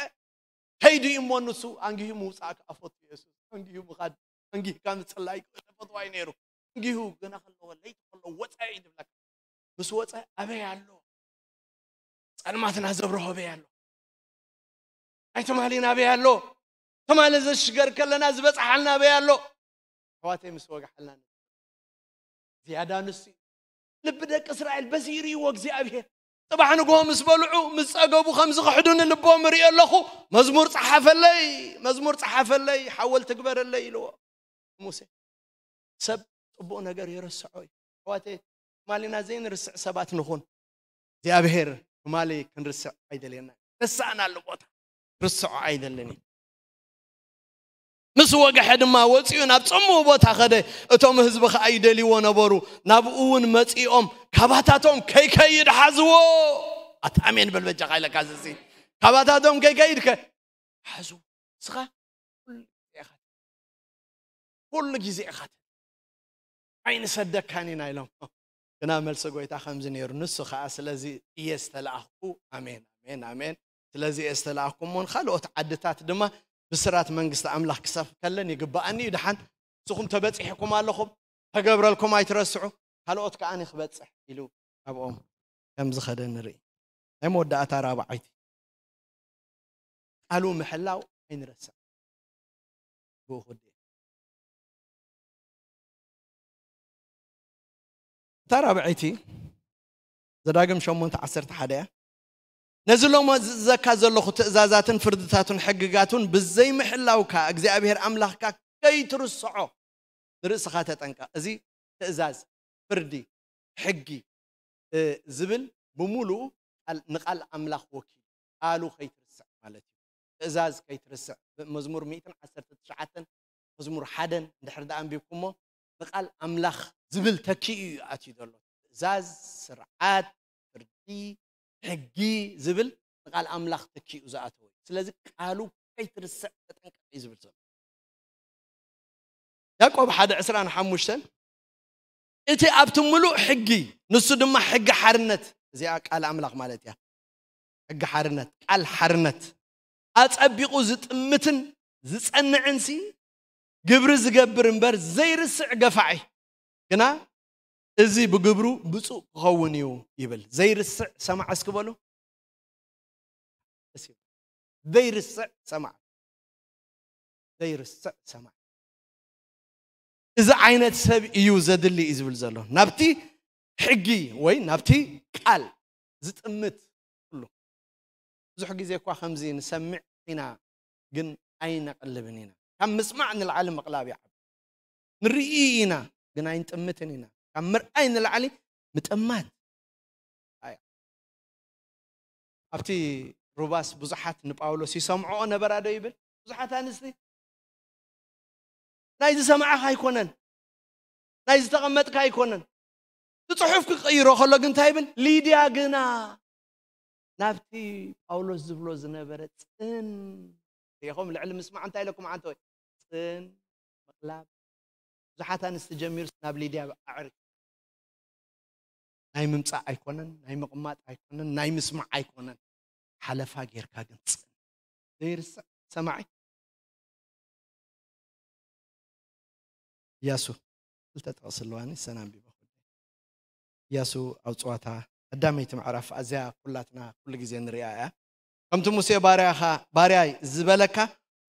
ከይዱ እዩ እሞ ንሱ ኣንጊሁ ምውጻእ ከኣ ፈቱ። የሱስ ኣንጊሁ ምኻድ ኣንጊህካ ምጽላይ ተፈትዋይ ነይሩ። ኣንጊሁ ገና ከለዎ ለይቲ ከሎ ወጸ እዩ ዝብለካ። ምስ ወጸ ኣበይ ኣሎ? ጸልማትና ዘብርሆ ኣበይ ኣሎ? ናይ ትማሊ ናበይ ኣሎ? ትማሊ ዘሽገር ከለና ዝበጽሓልና ኣበይ ኣሎ? ኣሕዋተይ ምስ ወግሓልና ዝያዳ ንሱ እዩ። ልቢ ደቂ እስራኤል በዚ ይርእይዎ እግዚኣብሔር። ጽባሕ ንግሆ ምስ በልዑ ምስ ጸገቡ ከም ዝኽሕዱኒ ልቦም እርኢ ኣለኹ። መዝሙር ጸሓፈለይ፣ መዝሙር ጸሓፈለይ፣ ሓወልቲ ግበረለይ ኢልዎ ሙሴ። ሰብ ጽቡቕ ነገር ይርስዖ እዩ። ኣሕዋተይ ትማሊና ዘይንርስዕ ሰባት ንኹን። እግዚኣብሔር ትማሊ ክንርስዕ ኣይደልየና። ረሳእናሉ ቦታ ርስዖ ኣይደልን እዩ። ምስ ወግሐ ድማ ወፂኡ ናብ ጽምው ቦታ ኸደ። እቶም ህዝቢ ኸዓ ይደልይዎ ነበሩ። ናብኡ እውን መፂኦም ካባታቶም ከይከይድ ሓዝዎ። ኣታ ኣሜን በል በጃኻ ኢለካ ዝሲ ካባታቶም ከይከይድ ከ ሓዝዎ። ንስኻ ኩሉ ግዜ ኢኻ ኩሉ ግዜ ኢኻ ኣይንሰደካን ኢና ኢሎም። ግና መልሲ ጎይታ ከምዚ ነይሩ። ንሱ ኸዓ ስለዚ እየ ዝተላእኽኩ። ኣሜን ኣሜን ኣሜን። ስለዚ እየ ዝተላእኽኩ እሞ ንኻልኦት ዓድታት ድማ ብስራት መንግስቲ ኣምላኽ ክሰፍ ከለን ይግባኣኒ እዩ። ደሓን ንስኹም ተበጺሕኩም ኣለኹም፣ ተገብረልኩም ኣይትረስዑ፣ ካልኦት ከኣ ክበጽሕ ኢሉ ኣብኦም ከም ዝኸደ ንርኢ። ናይ መወዳእታ ራብዓይቲ ቃሉ ምሕላው ኣይንረስዕ። ብኡ ክወዲ እታ ራብዐይቲ ዘዳግም ሸሞንተ ዓሰርተ ሓደ እያ። ነዚ ሎሞ ዝእዘካ ዘለኹ ትእዛዛትን ፍርድታቱን ሕግጋቱን ብዘይምሕላውካ እግዚኣብሔር ኣምላኽካ ከይትርስዖ ንርእስኻ ተጠንቀቕ። እዚ ትእዛዝ፣ ፍርዲ፣ ሕጊ ዝብል ብምሉኡ ንቃል ኣምላኽ ወኪሉ ቃሉ ከይትርስዕ ማለት እዩ። ትእዛዝ ከይትርስዕ። መዝሙር ሚእትን ዓሰርተ ትሽዓተን መዝሙር ሓደን እንድሕር ደኣ ኣንቢብኩሞ ንቃል ኣምላኽ ዝብል ተኪኡ እዩ ኣትዩ ዘሎ። ትእዛዝ፣ ስርዓት፣ ፍርዲ፣ ሕጊ ዝብል ንቃል ኣምላኽ ተኪኡ ዝኣተወ እዩ። ስለዚ ቃሉ ከይትርስዕ ተጠንቀቕ እዩ ዝብል ዘሎ። ያዕቆብ ሓደ ዕስራን ሓሙሽተን እቲ ኣብቲ ምሉእ ሕጊ ንሱ ድማ ሕጊ ሓርነት፣ እዚኣ ቃል ኣምላኽ ማለት እያ። ሕጊ ሓርነት፣ ቃል ሓርነት ኣጸቢቑ ዝጥምትን ዝጸንዕንሲ ግብሪ ዝገብር እምበር ዘይርስዕ ገፋዒ ግና እዚ ብግብሩ ብፁእ ክኸውን እዩ ይብል። ዘይርስዕ ሰማዕ እስኪ በሉ። ዘይርስዕ ሰማዕ፣ ዘይርስዕ ሰማዕ። እዚ ዓይነት ሰብ እዩ ዘድሊ እዩ ዝብል ዘሎ። ናብቲ ሕጊ ወይ ናብቲ ቃል ዝጥምት ኩሉ። ብዙሕ ግዜ እኳ ከምዚ ንሰምዕ ኢና፣ ግን ኣይነቕልብን ኢና። ካብ ምስማዕ ንላዕሊ ምቕላብ ይዓቢ። ንርኢ ኢና፣ ግን ኣይንጥምትን ኢና። ካብ ምርኣይ ንላዕሊ ምጥማት። ኣያ። ኣብቲ ሩባስ ብዙሓት ንጳውሎስ ይሰምዕኦ ነበራ ዶ ይብል? ብዙሓት ኣንስቲ ናይ ዝሰማዕኻ ኣይኮነን፣ ናይ ዝተቐመጥካ ኣይኮነን። እቲ ጽሑፍ ክቕይሮ ከሎ ግን እንታይ ይብል? ሊድያ ግና ናብቲ ጳውሎስ ዝብሎ ዝነበረ ጽን ኢኹም ልዕሊ ምስማዕ እንታይ ኢለኩም ዓንተ ወይ ጽን ምቕላብ ብዙሓት ኣንስቲ ጀሚሩ ናብ ሊድያ ኣዕሪ ናይ ምምጻእ ኣይኮነን፣ ናይ ምቕማጥ ኣይኮነን፣ ናይ ምስማዕ ኣይኮነን። ሓለፋ ጌርካ ግን ጽን ዘይርስዕ ሰማዒ። ኢያሱ ክልተ ጥቕሲ ኣለዋኒ፣ ሰን ኣንቢበ። ኢያሱ ኣብ ጸዋታ ቀዳመይቲ ምዕራፍ ኣዝያ ኩላትና ኩሉ ግዜ ንሪኣ እያ። ከምቲ ሙሴ ባርያኻ፣ ባርያይ ዝበለካ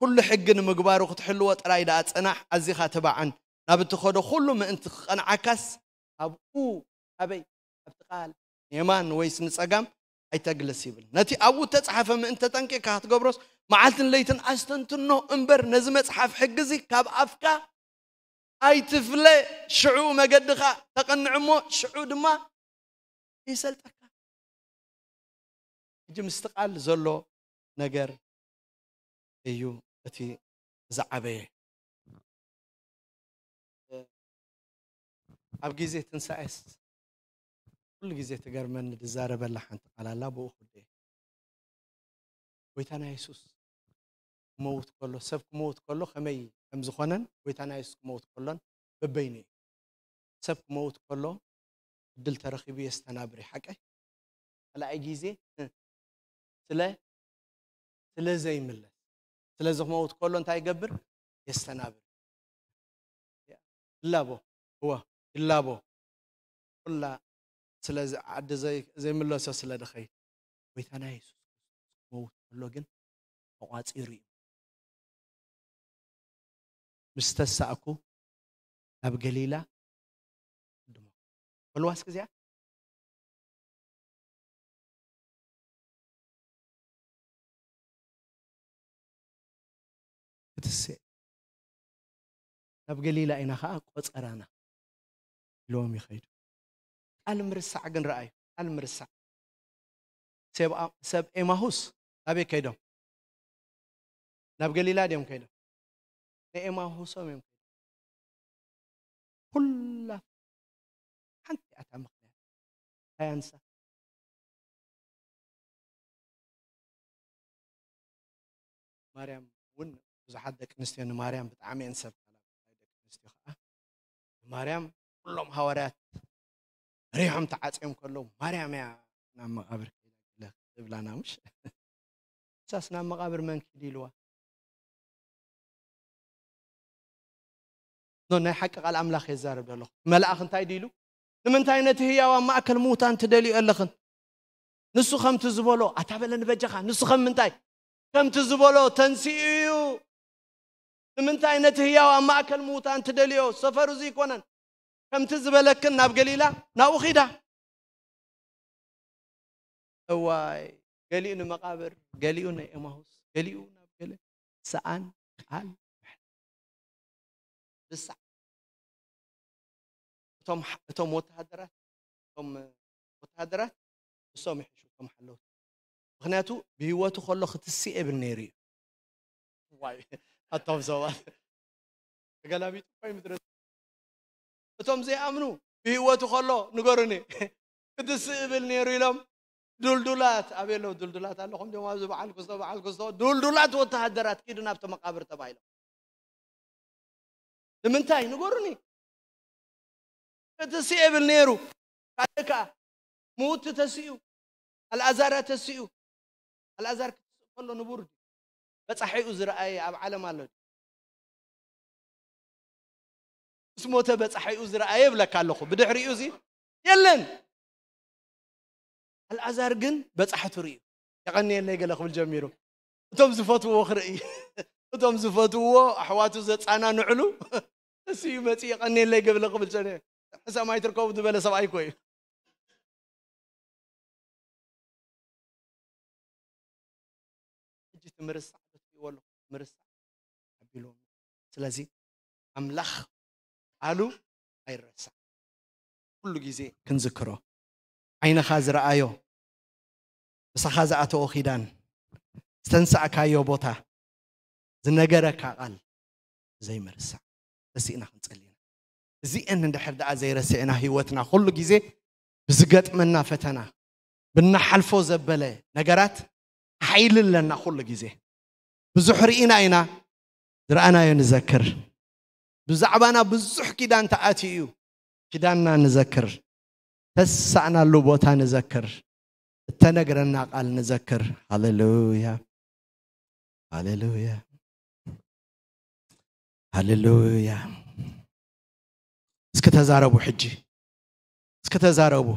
ኩሉ ሕጊ ንምግባሩ ክትሕልዎ ጥራይ ደኣ ጽናሕ፣ ኣዚኻ ትባዕን ናብ እትኸዶ ኩሉ ምእንቲ ክቐንዓካስ ኣብኡ ኣበይ ኣብቲ ቃል ንየማን ወይስ ንጸጋም ኣይተግልስ ይብል። ነቲ ኣብኡ እተጻሕፈ ምእንቲ ተጠንቂቕካ ክትገብሮስ መዓልትን ለይትን ኣስተንትኖ እምበር ነዚ መጽሓፍ ሕጊ እዚ ካብ ኣፍካ ኣይትፍለ። ሽዑ መገድኻ ተቐንዕ እሞ ሽዑ ድማ ይሰልጠካ። ሕጂ ምስቲ ቃል ዘሎ ነገር እዩ እቲ ዝዓበየ። ኣብ ግዜ ትንሳኤስ ኩሉ ግዜ ትገርመኒ፣ ዝዛረበላ ሓንቲ ቃል ኣላ፣ ብኡ ክደ። ጎይታና የሱስ ክመውት ከሎ፣ ሰብ ክመውት ከሎ ከመይ ከም ዝኾነን፣ ጎይታና የሱስ ክመውት ከሎን በበይኑ እዩ። ሰብ ክመውት ከሎ ዕድል ተረኺቡ የስተናብር እዩ፣ ሓቀይ? ካልኣይ ግዜ ስለ ስለ ዘይምለስ፣ ስለዚ ክመውት ከሎ እንታይ ይገብር? የስተናብር። ይላቦ፣ እወ፣ ይላቦ። ኩላ ስለዚ ዓዲ ዘይ-፣ ዘይምለሶ ስለ ድኸይድ፣ ጎይታና የሱስ ክርስቶስ ክመውት ከሎ ግን ተቋጺሩ እዩ። ምስ ተሳእኩ ናብ ገሊላ ቅድሞ። በልዋ እስኪ እዚኣ። ክትስእ። ናብ ገሊላ ኢና ኸዓ ቆጸራና ኢልዎም ይኸይዱ። ቃል ምርሳዕ ግን ረኣዩ። ቃል ምርሳዕ። ሰብ፣ ሰብ ኤማሁስ ናበይ ከይዶም? ናብ ገሊላ ድዮም ከይዶም? ንኤማሁሶም እዮም ከይዶም። ኩላ ሓንቲ እያ እታ ምኽንያት። ኣያንሳ። ማርያም እውን ብዙሓት ደቂ ኣንስትዮ ንማርያም ብጣዕሚ እየን ዝሰብካ። ደቂ ኣንስትዮ ከዓ ንማርያም ኩሎም ሃዋርያት መሪሖም ተዓፅዮም ከለዉ ማርያም እያ ናብ መቓብር ከይዳ ገለ ትብላና፣ ምሽ? ንሳስ ናብ መቓብር መን ኪድ ኢልዋ? ኖ፣ ናይ ሓቂ ቃል ኣምላኽ የዛርብ ዘለኹ። መልኣኽ እንታይ ድኢሉ? ንምንታይ ነቲ ህያው ኣብ ማእከል ምዉታን ትደልዩ ኣለኽን? ንሱ ከምቲ ዝበሎ፣ ኣታ በለ ንበጃኻ፣ ንሱ ከም ምንታይ? ከምቲ ዝበሎ ተንሲኡ እዩ። ንምንታይ ነቲ ህያው ኣብ ማእከል ምዉታን ትደልዮ? ሰፈሩ እዚ ኣይኮነን። ከምቲ ዝበለክን ናብ ገሊላ፣ ናብኡ ኺዳ። እዋይ፣ ገሊኡ ንመቓብር፣ ገሊኡ ንኤማሁስ፣ ገሊኡ ናብ ገለ ሰኣን ቃል ምሕረት። ብሳዕ እቶም፣ እቶም ወተሃደራት፣ እቶም ወተሃደራት ንሶም ይሕሹ፣ እቶም ሓለውቲ። ምኽንያቱ ብህይወቱ ከሎ ክትስእ የብል ነይሩ እዩ። ዋይ፣ ኣቶም ሰባት ተገላቢጡ እኮ እዩ ምድሪ። እቶም ዘይኣምኑ ብህይወቱ ከሎ ንገሩኒ፣ ክትስእ እብል ነይሩ ኢሎም፣ ድልዱላት፣ ኣበይ ኣለዉ ድልዱላት? ኣለኹም ድዮም ኣብዚ በዓል ክስቶ፣ በዓል ክስቶ? ድልዱላት ወተሃደራት ኪዱ ናብቲ መቓብር ተባሂሎም። ንምንታይ? ንገሩኒ። ክትስእ እብል ነይሩ። ካልእ ከኣ፣ ምዉት ተሲኡ፣ ኣልኣዛር ተሲኡ። ኣልኣዛር ክትስእ ከሎ ንቡር ድዩ? በጻሒኡ ዝረኣየ ኣብ ዓለም ኣሎ ድዩ? ምስ ሞተ በጻሒኡ ዝረኣየ እብለካ ኣለኹ። ብድሕሪኡ እዚ የለን። ኣልኣዛር ግን በጻሕቱ ርእዩ። የቐንየለይ ገለ ክብል ጀሚሩ። እቶም ዝፈትውዎ ክርኢ፣ እቶም ዝፈትውዎ ኣሕዋቱ ዘጻናንዕሉ፣ እሱ እዩ መጺኡ የቐንየለይ ገለ ክብል ጀሚሩ። ሕሰም ኣይትርከቡ ዝበለ ሰብኣይ እኮ እዩ። ሕጂ እቲ ምርሳዕ ዶ ትሪእዎ ኣለኹም? ምርሳዕ ኣቢልዎም። ስለዚ ኣምላኽ ቃሉ ኣይረሳዕ። ኩሉ ግዜ ክንዝክሮ። ዓይንኻ ዝረኣዮ፣ ምሳኻ ዝኣተዎ ኪዳን፣ ዝተንሳእካዮ ቦታ፣ ዝነገረካ ቃል ዘይምርሳዕ። ተሲእና ክንጸሊ ኢና። እዚአን እንድሕር ደኣ ዘይረስዕና ህይወትና ኩሉ ግዜ ብዝገጥመና ፈተና፣ ብናሓልፎ ዘበለ ነገራት ሓይሊ ኣለና ኩሉ ግዜ። ብዙሕ ርኢና ኢና፣ ዝረኣናዮ ንዘክር። ብዛዕባና ብዙሕ ኪዳን ተኣትዩ እዩ። ኪዳንና ንዘክር። ተሳእናሉ ቦታ ንዘክር። እተነግረና ቃል ንዘክር። ሃሌሉያ። ሃሌሉያ። ሃሌሉያ። እስኪ ተዛረቡ ሕጂ። እስኪ ተዛረቡ።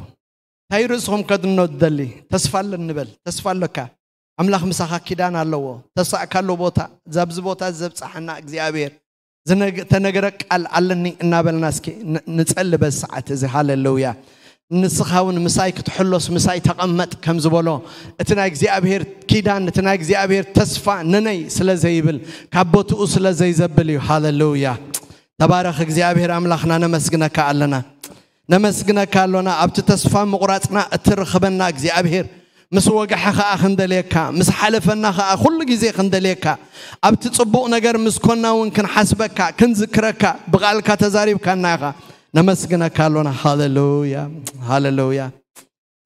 እንታይ ርእስኹም ከድኖ ትደሊ? ተስፋ ኣለኒ በል። ተስፋ ኣለካ። ኣምላኽ ምሳኻ ኪዳን ኣለዎ። ተሳእካሉ ቦታ፣ ዛብዚ ቦታ ዘብጽሓና እግዚኣብሔር። ዝነግ-፣ ተነግረ ቃል ኣለኒ እናበልና እስኪ ን-፣ ንጸሊ በዚ ሰዓት እዚ። ሃሌሉያ። ንስኻ እውን ምሳይ ክትሕሎስ ምሳይ ተቐመጥ ከም ዝበሎ፣ እቲ ናይ እግዚኣብሔር ኪዳን፣ እቲ ናይ እግዚኣብሔር ተስፋ ንነይ ስለ ዘይብል፣ ካብ ቦትኡ ስለ ዘይዘብል እዩ። ሃሌሉያ። ተባረኽ እግዚኣብሔር ኣምላኽና፣ ነመስግነካ ኣለና። ነመስግነካ ኣሎና። ኣብቲ ተስፋ ምቑራጽና እትርኽበና እግዚኣብሔር፣ ምስ ወግሐ ኸኣ ክንደልየካ፣ ምስ ሓለፈና ኸኣ ኩሉ ግዜ ክንደልየካ፣ ኣብቲ ጽቡቕ ነገር ምስ ኮና እውን ክንሓስበካ፣ ክንዝክረካ፣ ብቓልካ ተዛሪብካና ኢኻ። ነመስግነካ ኣሎና። ሃሌሉያ፣ ሃሌሉያ፣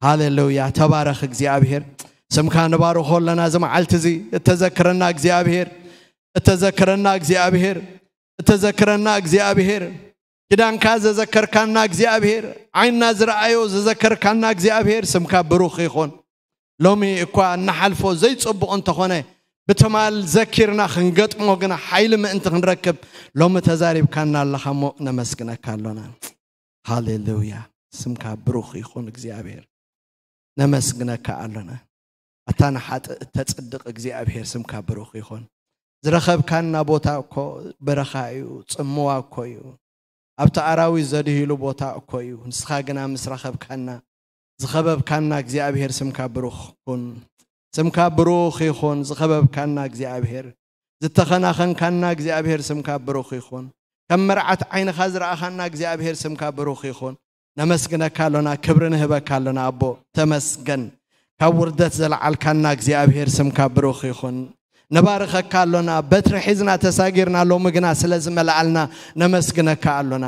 ሃሌሉያ። ተባረኽ እግዚኣብሔር። ስምካ ንባርኾ ኣለና እዚ መዓልቲ እዚ። እተዘክረና እግዚኣብሔር፣ እተዘክረና እግዚኣብሔር፣ እተዘክረና እግዚኣብሔር። ኪዳንካ ዘዘከርካና እግዚኣብሔር፣ ዓይንና ዝረኣዮ ዘዘከርካና እግዚኣብሔር፣ ስምካ ብሩኽ ይኹን። ሎሚ እኳ እንሓልፎ ዘይጽቡቕ እንተኾነ፣ ብትማል ዘኪርና ክንገጥሞ ግና ሓይሊ ምእንቲ ክንረክብ፣ ሎሚ ተዛሪብካና ኣለኻ እሞ ነመስግነካ ኣሎና። ሃሌሉያ። ስምካ ብሩኽ ይኹን እግዚኣብሔር። ነመስግነካ ኣሎና። ኣታ ንሓጥእ እተጽድቕ እግዚኣብሔር፣ ስምካ ብሩኽ ይኹን። ዝረኸብካና ቦታ እኮ በረኻ እዩ፣ ጽምዋ እኮ እዩ። ኣብቲ ኣራዊት ዘድህይሉ ቦታ እኮ እዩ። ንስኻ ግና ምስ ረኸብካና፣ ዝኸበብካና እግዚኣብሔር፣ ስምካ ብሩኽ ኩን። ስምካ ብሩኽ ይኹን። ዝኸበብካና እግዚኣብሔር፣ ዝተኸናኸንካና እግዚኣብሔር፣ ስምካ ብሩኽ ይኹን። ከም መርዓት ዓይንኻ ዝረኣኻና እግዚኣብሔር፣ ስምካ ብሩኽ ይኹን። ነመስግነካ ኣሎና፣ ክብሪ ንህበካ ኣሎና። ኣቦ ተመስገን። ካብ ውርደት ዘለዓልካና እግዚኣብሔር፣ ስምካ ብሩኽ ይኹን። ነባርኸካ ኣሎና። በትሪ ሒዝና ተሳጊርና፣ ሎሚ ግና ስለ ዝመልኣልና ነመስግነካ ኣሎና።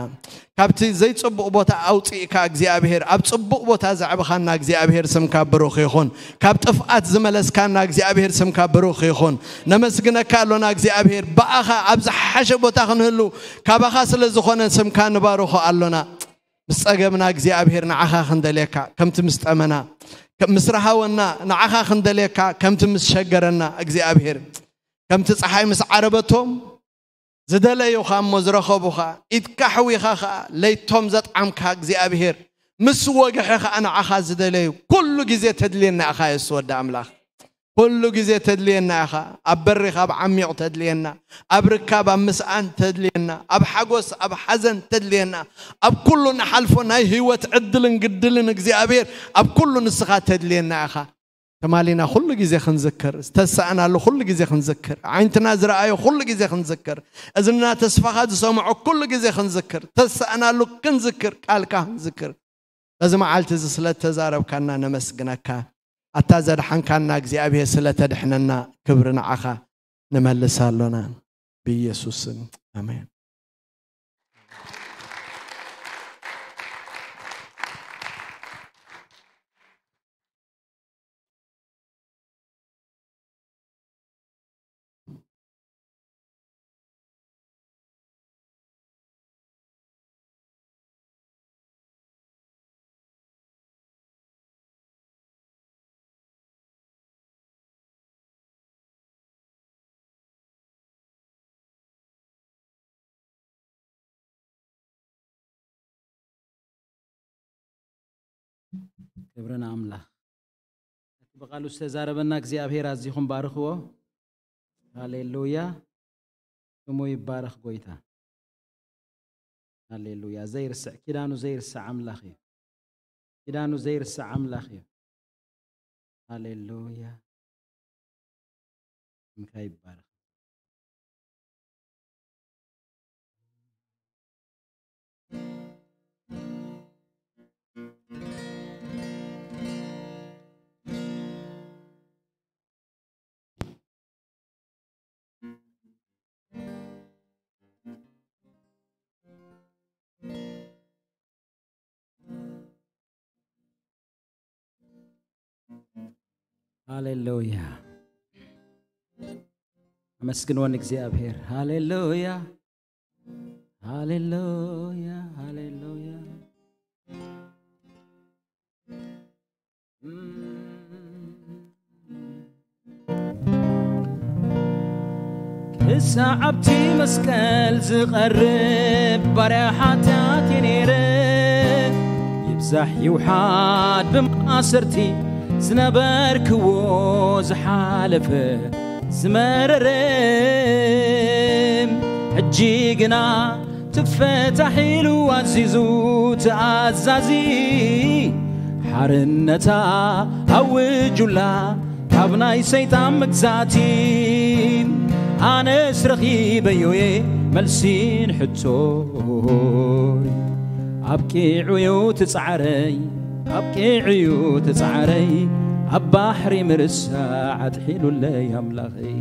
ካብቲ ዘይጽቡቕ ቦታ ኣውጺእካ እግዚኣብሔር፣ ኣብ ጽቡቕ ቦታ ዘዕብኻና እግዚኣብሔር፣ ስምካ ብሩኽ ይኹን። ካብ ጥፍኣት ዝመለስካና እግዚኣብሔር፣ ስምካ ብሩኽ ይኹን። ነመስግነካ ኣሎና እግዚኣብሔር፣ ብኣኻ ኣብ ዝሓሸ ቦታ ክንህሉ ካባኻ ስለ ዝኾነ፣ ስምካ ንባርኾ ኣሎና። ምስ ጸገምና እግዚኣብሔር፣ ንዓኻ ክንደልየካ ከምቲ ምስ ጠመና፣ ከ-፣ ምስ ረሃወና፣ ንዓኻ ክንደልየካ ከምቲ ምስ ሸገረና እግዚኣብሔር። ከምቲ ጸሓይ ምስ ዓረበቶም፣ ዝደለዩኻ እሞ ዝረኸቡኻ፣ ኢድካ ሕዊኻ ኸኣ ለይቶም ዘጥዓምካ እግዚኣብሔር፣ ምስ ወግሐ ኸኣ ንዓኻ ዝደለዩ፣ ኩሉ ግዜ ተድልየና ኢኻ የሱስ ወዲ ኣምላኽ። ኩሉ ግዜ ተድልየና ኢኻ። ኣብ በሪኽ ኣብ ዓሚቕ ተድልየና፣ ኣብ ርካብ ኣብ ምስኣን ተድልየና፣ ኣብ ሓጎስ ኣብ ሓዘን ተድልየና፣ ኣብ ኩሉ ንሓልፎ ናይ ህይወት ዕድልን ግድልን እግዚኣብሔር፣ ኣብ ኩሉ ንስኻ ተድልየና ኢኻ። ትማሊና ኩሉ ግዜ ክንዝክር፣ ዝተሳእናሉ ኩሉ ግዜ ክንዝክር፣ ዓይንትና ዝረኣዮ ኩሉ ግዜ ክንዝክር፣ እዝንና ተስፋኻ ዝሰምዖ ኩሉ ግዜ ክንዝክር፣ ተሳእናሉ ክንዝክር፣ ቃልካ ክንዝክር። በዚ መዓልቲ እዚ ስለ እተዛረብካና ነመስግነካ። ኣታ ዘድሓንካና እግዚኣብሔር ስለ ተድሕነና ክብሪ ንዓኻ ንመልስ ኣሎና። ብኢየሱስ ስም ኣሜን። ክብሪ ንኣምላኽ። እቲ ብቓሉ ዝተዛረበና እግዚኣብሔር ኣዚኹም ባርኽዎ። ሃሌሉያ። ስሙ ይባረኽ ጎይታ። ሃሌሉያ። ዘይርስዕ፣ ኪዳኑ ዘይርስዕ ኣምላኽ እዩ። ኪዳኑ ዘይርስዕ ኣምላኽ እዩ። ሃሌሉያ። ስምካ ይባረኽ። ሃሌሉያ። ኣመስግንዎ ንእግዚኣብሔር። ሃሌሉያ፣ ሃሌሉያ፣ ሃሌሉያ። ክሳዕ ኣብቲ መስቀል ዝቐርብ ባርያ ሓጢኣት እየ ነይረ። ይብዛሕ ይውሓድ ብማእሰርቲ ዝነበርክዎ ዝሓለፈ ዝመረረ፣ ሕጂ ግና ትፈታሕ ኢሉ ኣዚዙ ትኣዛዚ፣ ሓርነታ ኣውጁላ ካብ ናይ ሰይጣን መግዛእቲ። ኣነስ ረኺበዮ'የ መልሲ ንሕቶይ፣ ኣብቂዑ'ዩ ትጻዕረይ፣ ኣብቂዑ'ዩ ትጻዕረይ፣ ኣብ ባሕሪ ምርሳዕ ኣጥሒሉለይ ኣምላኸይ።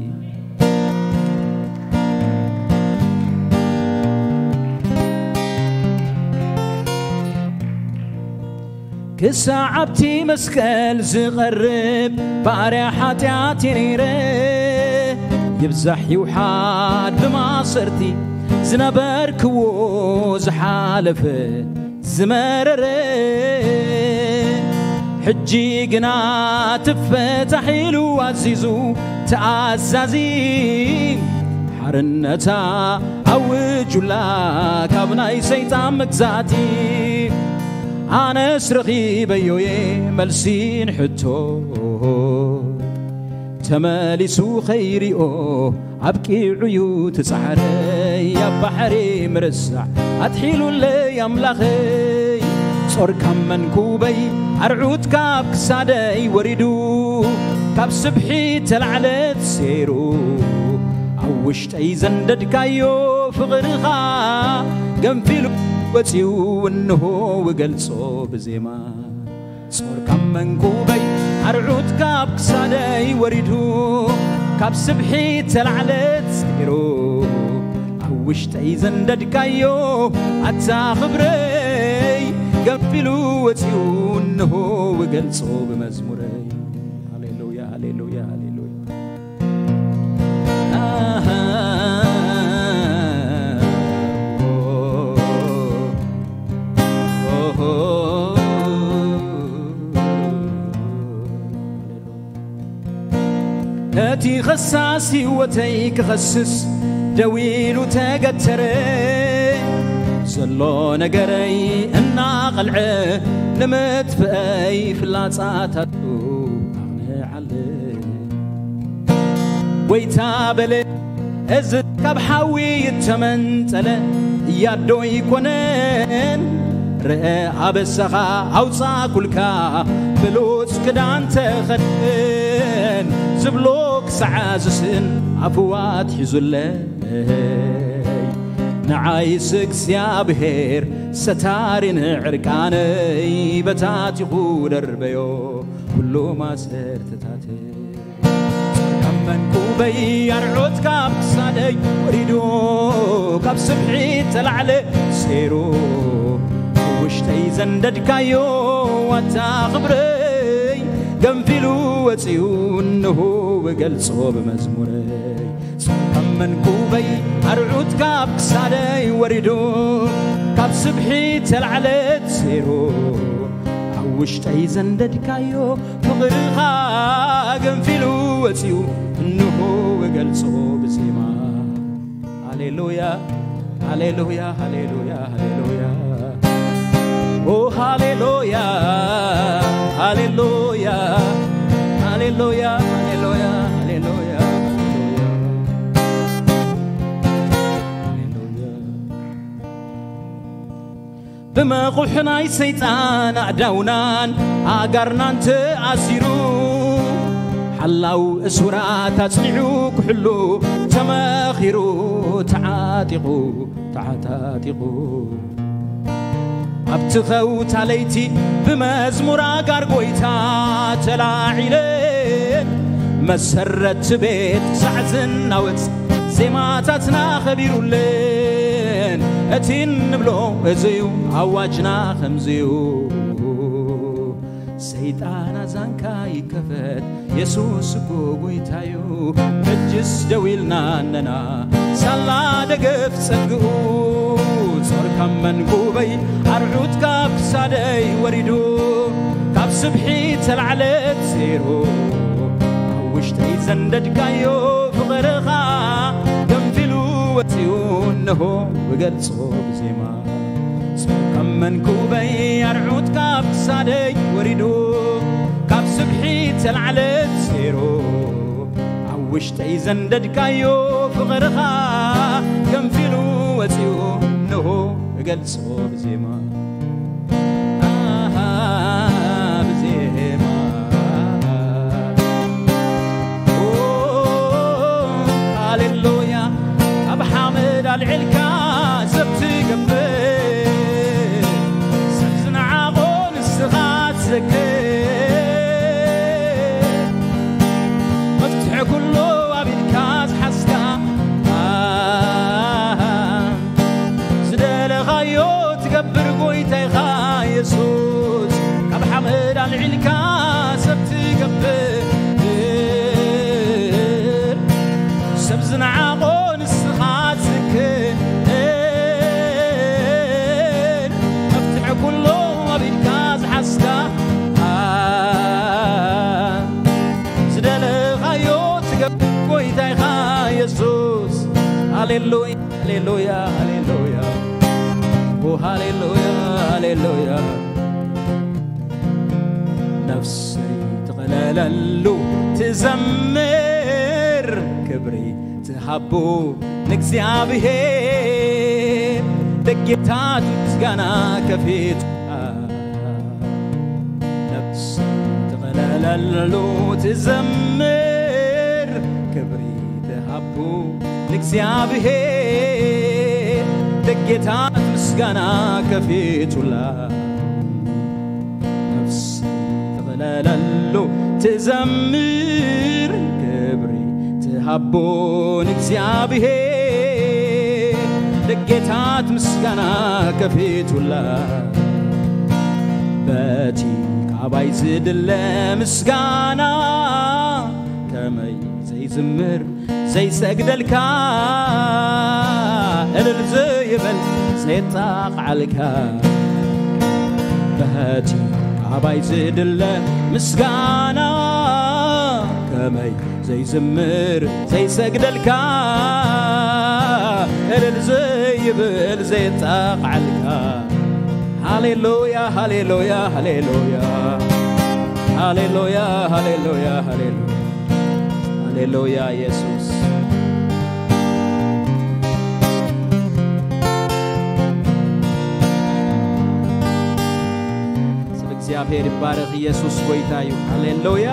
ክሳዕ ኣብቲ መስቀል ዝቐርብ ባርያ ሓጢኣት እየ ነይረ። ይብዛሕ ይውሓድ ብማሰርቲ ዝነበርክዎ ዝሓለፈ ዝመረረ፣ ሕጂ ግና ትፈታሕ ኢሉ ኣዚዙ ተኣዛዚ። ሓርነታ ኣውጁላ ካብ ናይ ሰይጣን መግዛእቲ። ኣነስ ረኺበዮ'የ መልሲ ንሕቶ፣ ተመሊሱ ኸይሪኦ ኣብቂዑ'ዩ እቲ ጻዕረይ። ኣብ ባሕሪ ምርሳዕ ኣትሒሉለይ ኣምላኸይ። ጾር ካብ መንኩበይ ኣርዑት ካብ ክሳደይ ወሪዱ፣ ካብ ስብሒ ተላዕለት ሴሩ ኣብ ውሽጠይ ዘንደድካዮ ፍቕርኻ ገንፊሉ ወጺኡ እንሆ እገልጾ ብዜማ። ጾር ካብ መንኩበይ ኣርዑት ካብ ክሳደይ ወሪዱ፣ ካብ ስብሒ ተላዕለት ሴሩ ኣብ ውሽጠይ ዘንደድካዮ ኣታ ክብረይ ገንፊሉ ወጺኡ እንሆ እገልጾ ብመዝሙረይ። ሃሌሉያ፣ ሃሌሉያ፣ ሃሌሉያ። ኣሃ፣ ኦ፣ ኦ፣ ኦ፣ ሃሌሉያ። ነቲ ኸሳስ ህይወተይ ክኸስስ ደው ኢሉ ተገተረ። ዘሎ ነገረይ እናቐልዐ ንምጥፍአይ ፍላጻታቱ ኣቕንዓለ። ጎይታ በለ፣ እዚ ካብ ሓዊ እተመንጠለ ያዶ ኣይኮነን። ርአ ኣበሳኻ ኣውጻእኩልካ ብሉጽ ክዳን ተኸድን ዝብሎ ክሳዕ ዝስእን ኣፍዋ ኣትሒዙለይ። ንዓይስ እግዚኣብሔር ሰታሪን ዕርቃነይ በታቲኹ ደርበዮ ኩሉ ማሰርትታተይ። ካብ መንኩበይ ኣርዑት ካብ ክሳደይ ወሪዱ፣ ካብ ስብሒ ተላዕለ ሴሩ ውሽጠይ ዘንደድካዮ ዋታ ክብረይ ገንፊሉ ወፂኡ እንሆ እገልጾ ብመዝሙረይ። ካብ መንኩበይ ኣርዑት ካብ ክሳደይ ወሪዱ፣ ካብ ስብሒ ተላዕለት ሴሩ ኣብ ውሽጠይ ዘንደድካዮ ፍቕርኻ ገንፊሉ ወፂኡ እንሆ እገልጾ ብዜማ። ሃሌሉያ፣ ሃሌሉያ፣ ሃሌሉያ፣ ሃሌሉያ። ኦ ሃሌሉያ፣ ሃሌሉያ፣ ሃሌሉያ፣ ሃሌሉያ፣ ሃሌሉያ፣ ሃሌሉያ። ብመቑሕ ናይ ሰይጣን ኣእዳውናን ኣእጋርናን ተኣሲሩ፣ ሓላው እሱራት ኣጽኒዑ ክሕሉ ተመኺሩ፣ ተዓጢቑ፣ ተዓታጢቑ። ኣብቲ ኸውታ ለይቲ ብመዝሙር ኣጋር ጐይታ ተላዒለ፣ መሰረት ቤት ክሳዕ ዝናወጽ ዜማታትና ኸቢሩለን። እቲ እንብሎ እዚዩ ኣዋጅና ኸምዚዩ። ሰይጣን ኣዛንካ ይከፈት፣ የሱስ እኮ ጐይታዩ። ሕጅስ ደው ኢልና እነና ሳላ ደገፍ ጸግኡ። ጾር ካብ መንኩበይ ኣርዑት ካብ ክሳደይ ወሪዱ፣ ካብ ስብሒ ተላዕለት ዜሮ ኣብ ውሽጠይ ዘንደድካዮ ፍቕርኻ ገንፊሉ ወፂኡ እንሆ እገልጾ ብዜማ። ጾር ካብ መንኩበይ ኣርዑት ካብ ክሳደይ ወሪዱ፣ ካብ ስብሒ ተላዕለት ዜሮ ኣብ ውሽጠይ ዘንደድካዮ ፍቕርኻ ገንፊሉ ወፂኡ እንሆ እገልጾ ብዜማ። ኣሃ፣ ብዜማ። ኦ፣ ሃሌሉያ። ካብ ሓመድ ኣልዒልካ ሰብ ትገብር፣ ሰብ ዝነዓቖ ንስኻ ትዘክር። መፍትሒ ኩሉ ኣብ ኢድካ ዝሓዝካ፣ ኣሃ፣ ዝደለኻዮ ትገብር ጐይታ። ልዒልካ ሰብ ትገብር፣ ሰብ ዝነዓቖ ንስኻ ትዝክር፣ መፍትሒ ኩሉ ኣብ ኢድካ ዝሓዝካ፣ ዝደለኻዮ ትገብር ጎይታይኻ የሱስ። ሃሌሉያ፣ ሃሌሉያ፣ ሃሌሉያ። ኦ፣ ሃሌሉያ፣ ሃሌሉያ። ነፍሰይ ትቐለለሉ ትዘምር፣ ክብሪ ትሃቡ ንእግዚኣብሔር፣ ደጌታት ምስጋና ከፊት። ነፍሰይ ትቐለለሉ ትዘምር፣ ክብሪ ትሃቡ ንእግዚኣብሔር፣ ደጌታት ምስጋና ከፊቱላ። ነፍሰይ ትቐለለሉ ትዘምር፣ ክብሪ ትሃቡ ንእግዚኣብሔር፣ ደጌታት ምስጋና ከፊቱላ። በቲ ካባይ ዝድለ ምስጋና ከመይ ዘይዝምር ዘይሰግደልካ፣ እልል ዘይብል ዘየጣቕዓልካ፣ በቲ ካባይ ዝድለ ምስጋና ከመይ ዘይዝምር ዘይሰግደልካ፣ እልል ዘይብል ዘየጣቕዓልካ። ሃሌሉያ፣ ሃሌሉያ፣ ሃሌሉያ። ሃሌሉያ፣ ሃሌሉያ፣ ሃሌሉያ። ሃሌሉያ ኢየሱስ። ስም እግዚኣብሔር ይባረኽ። ኢየሱስ ጎይታ እዩ። ሃሌሉያ።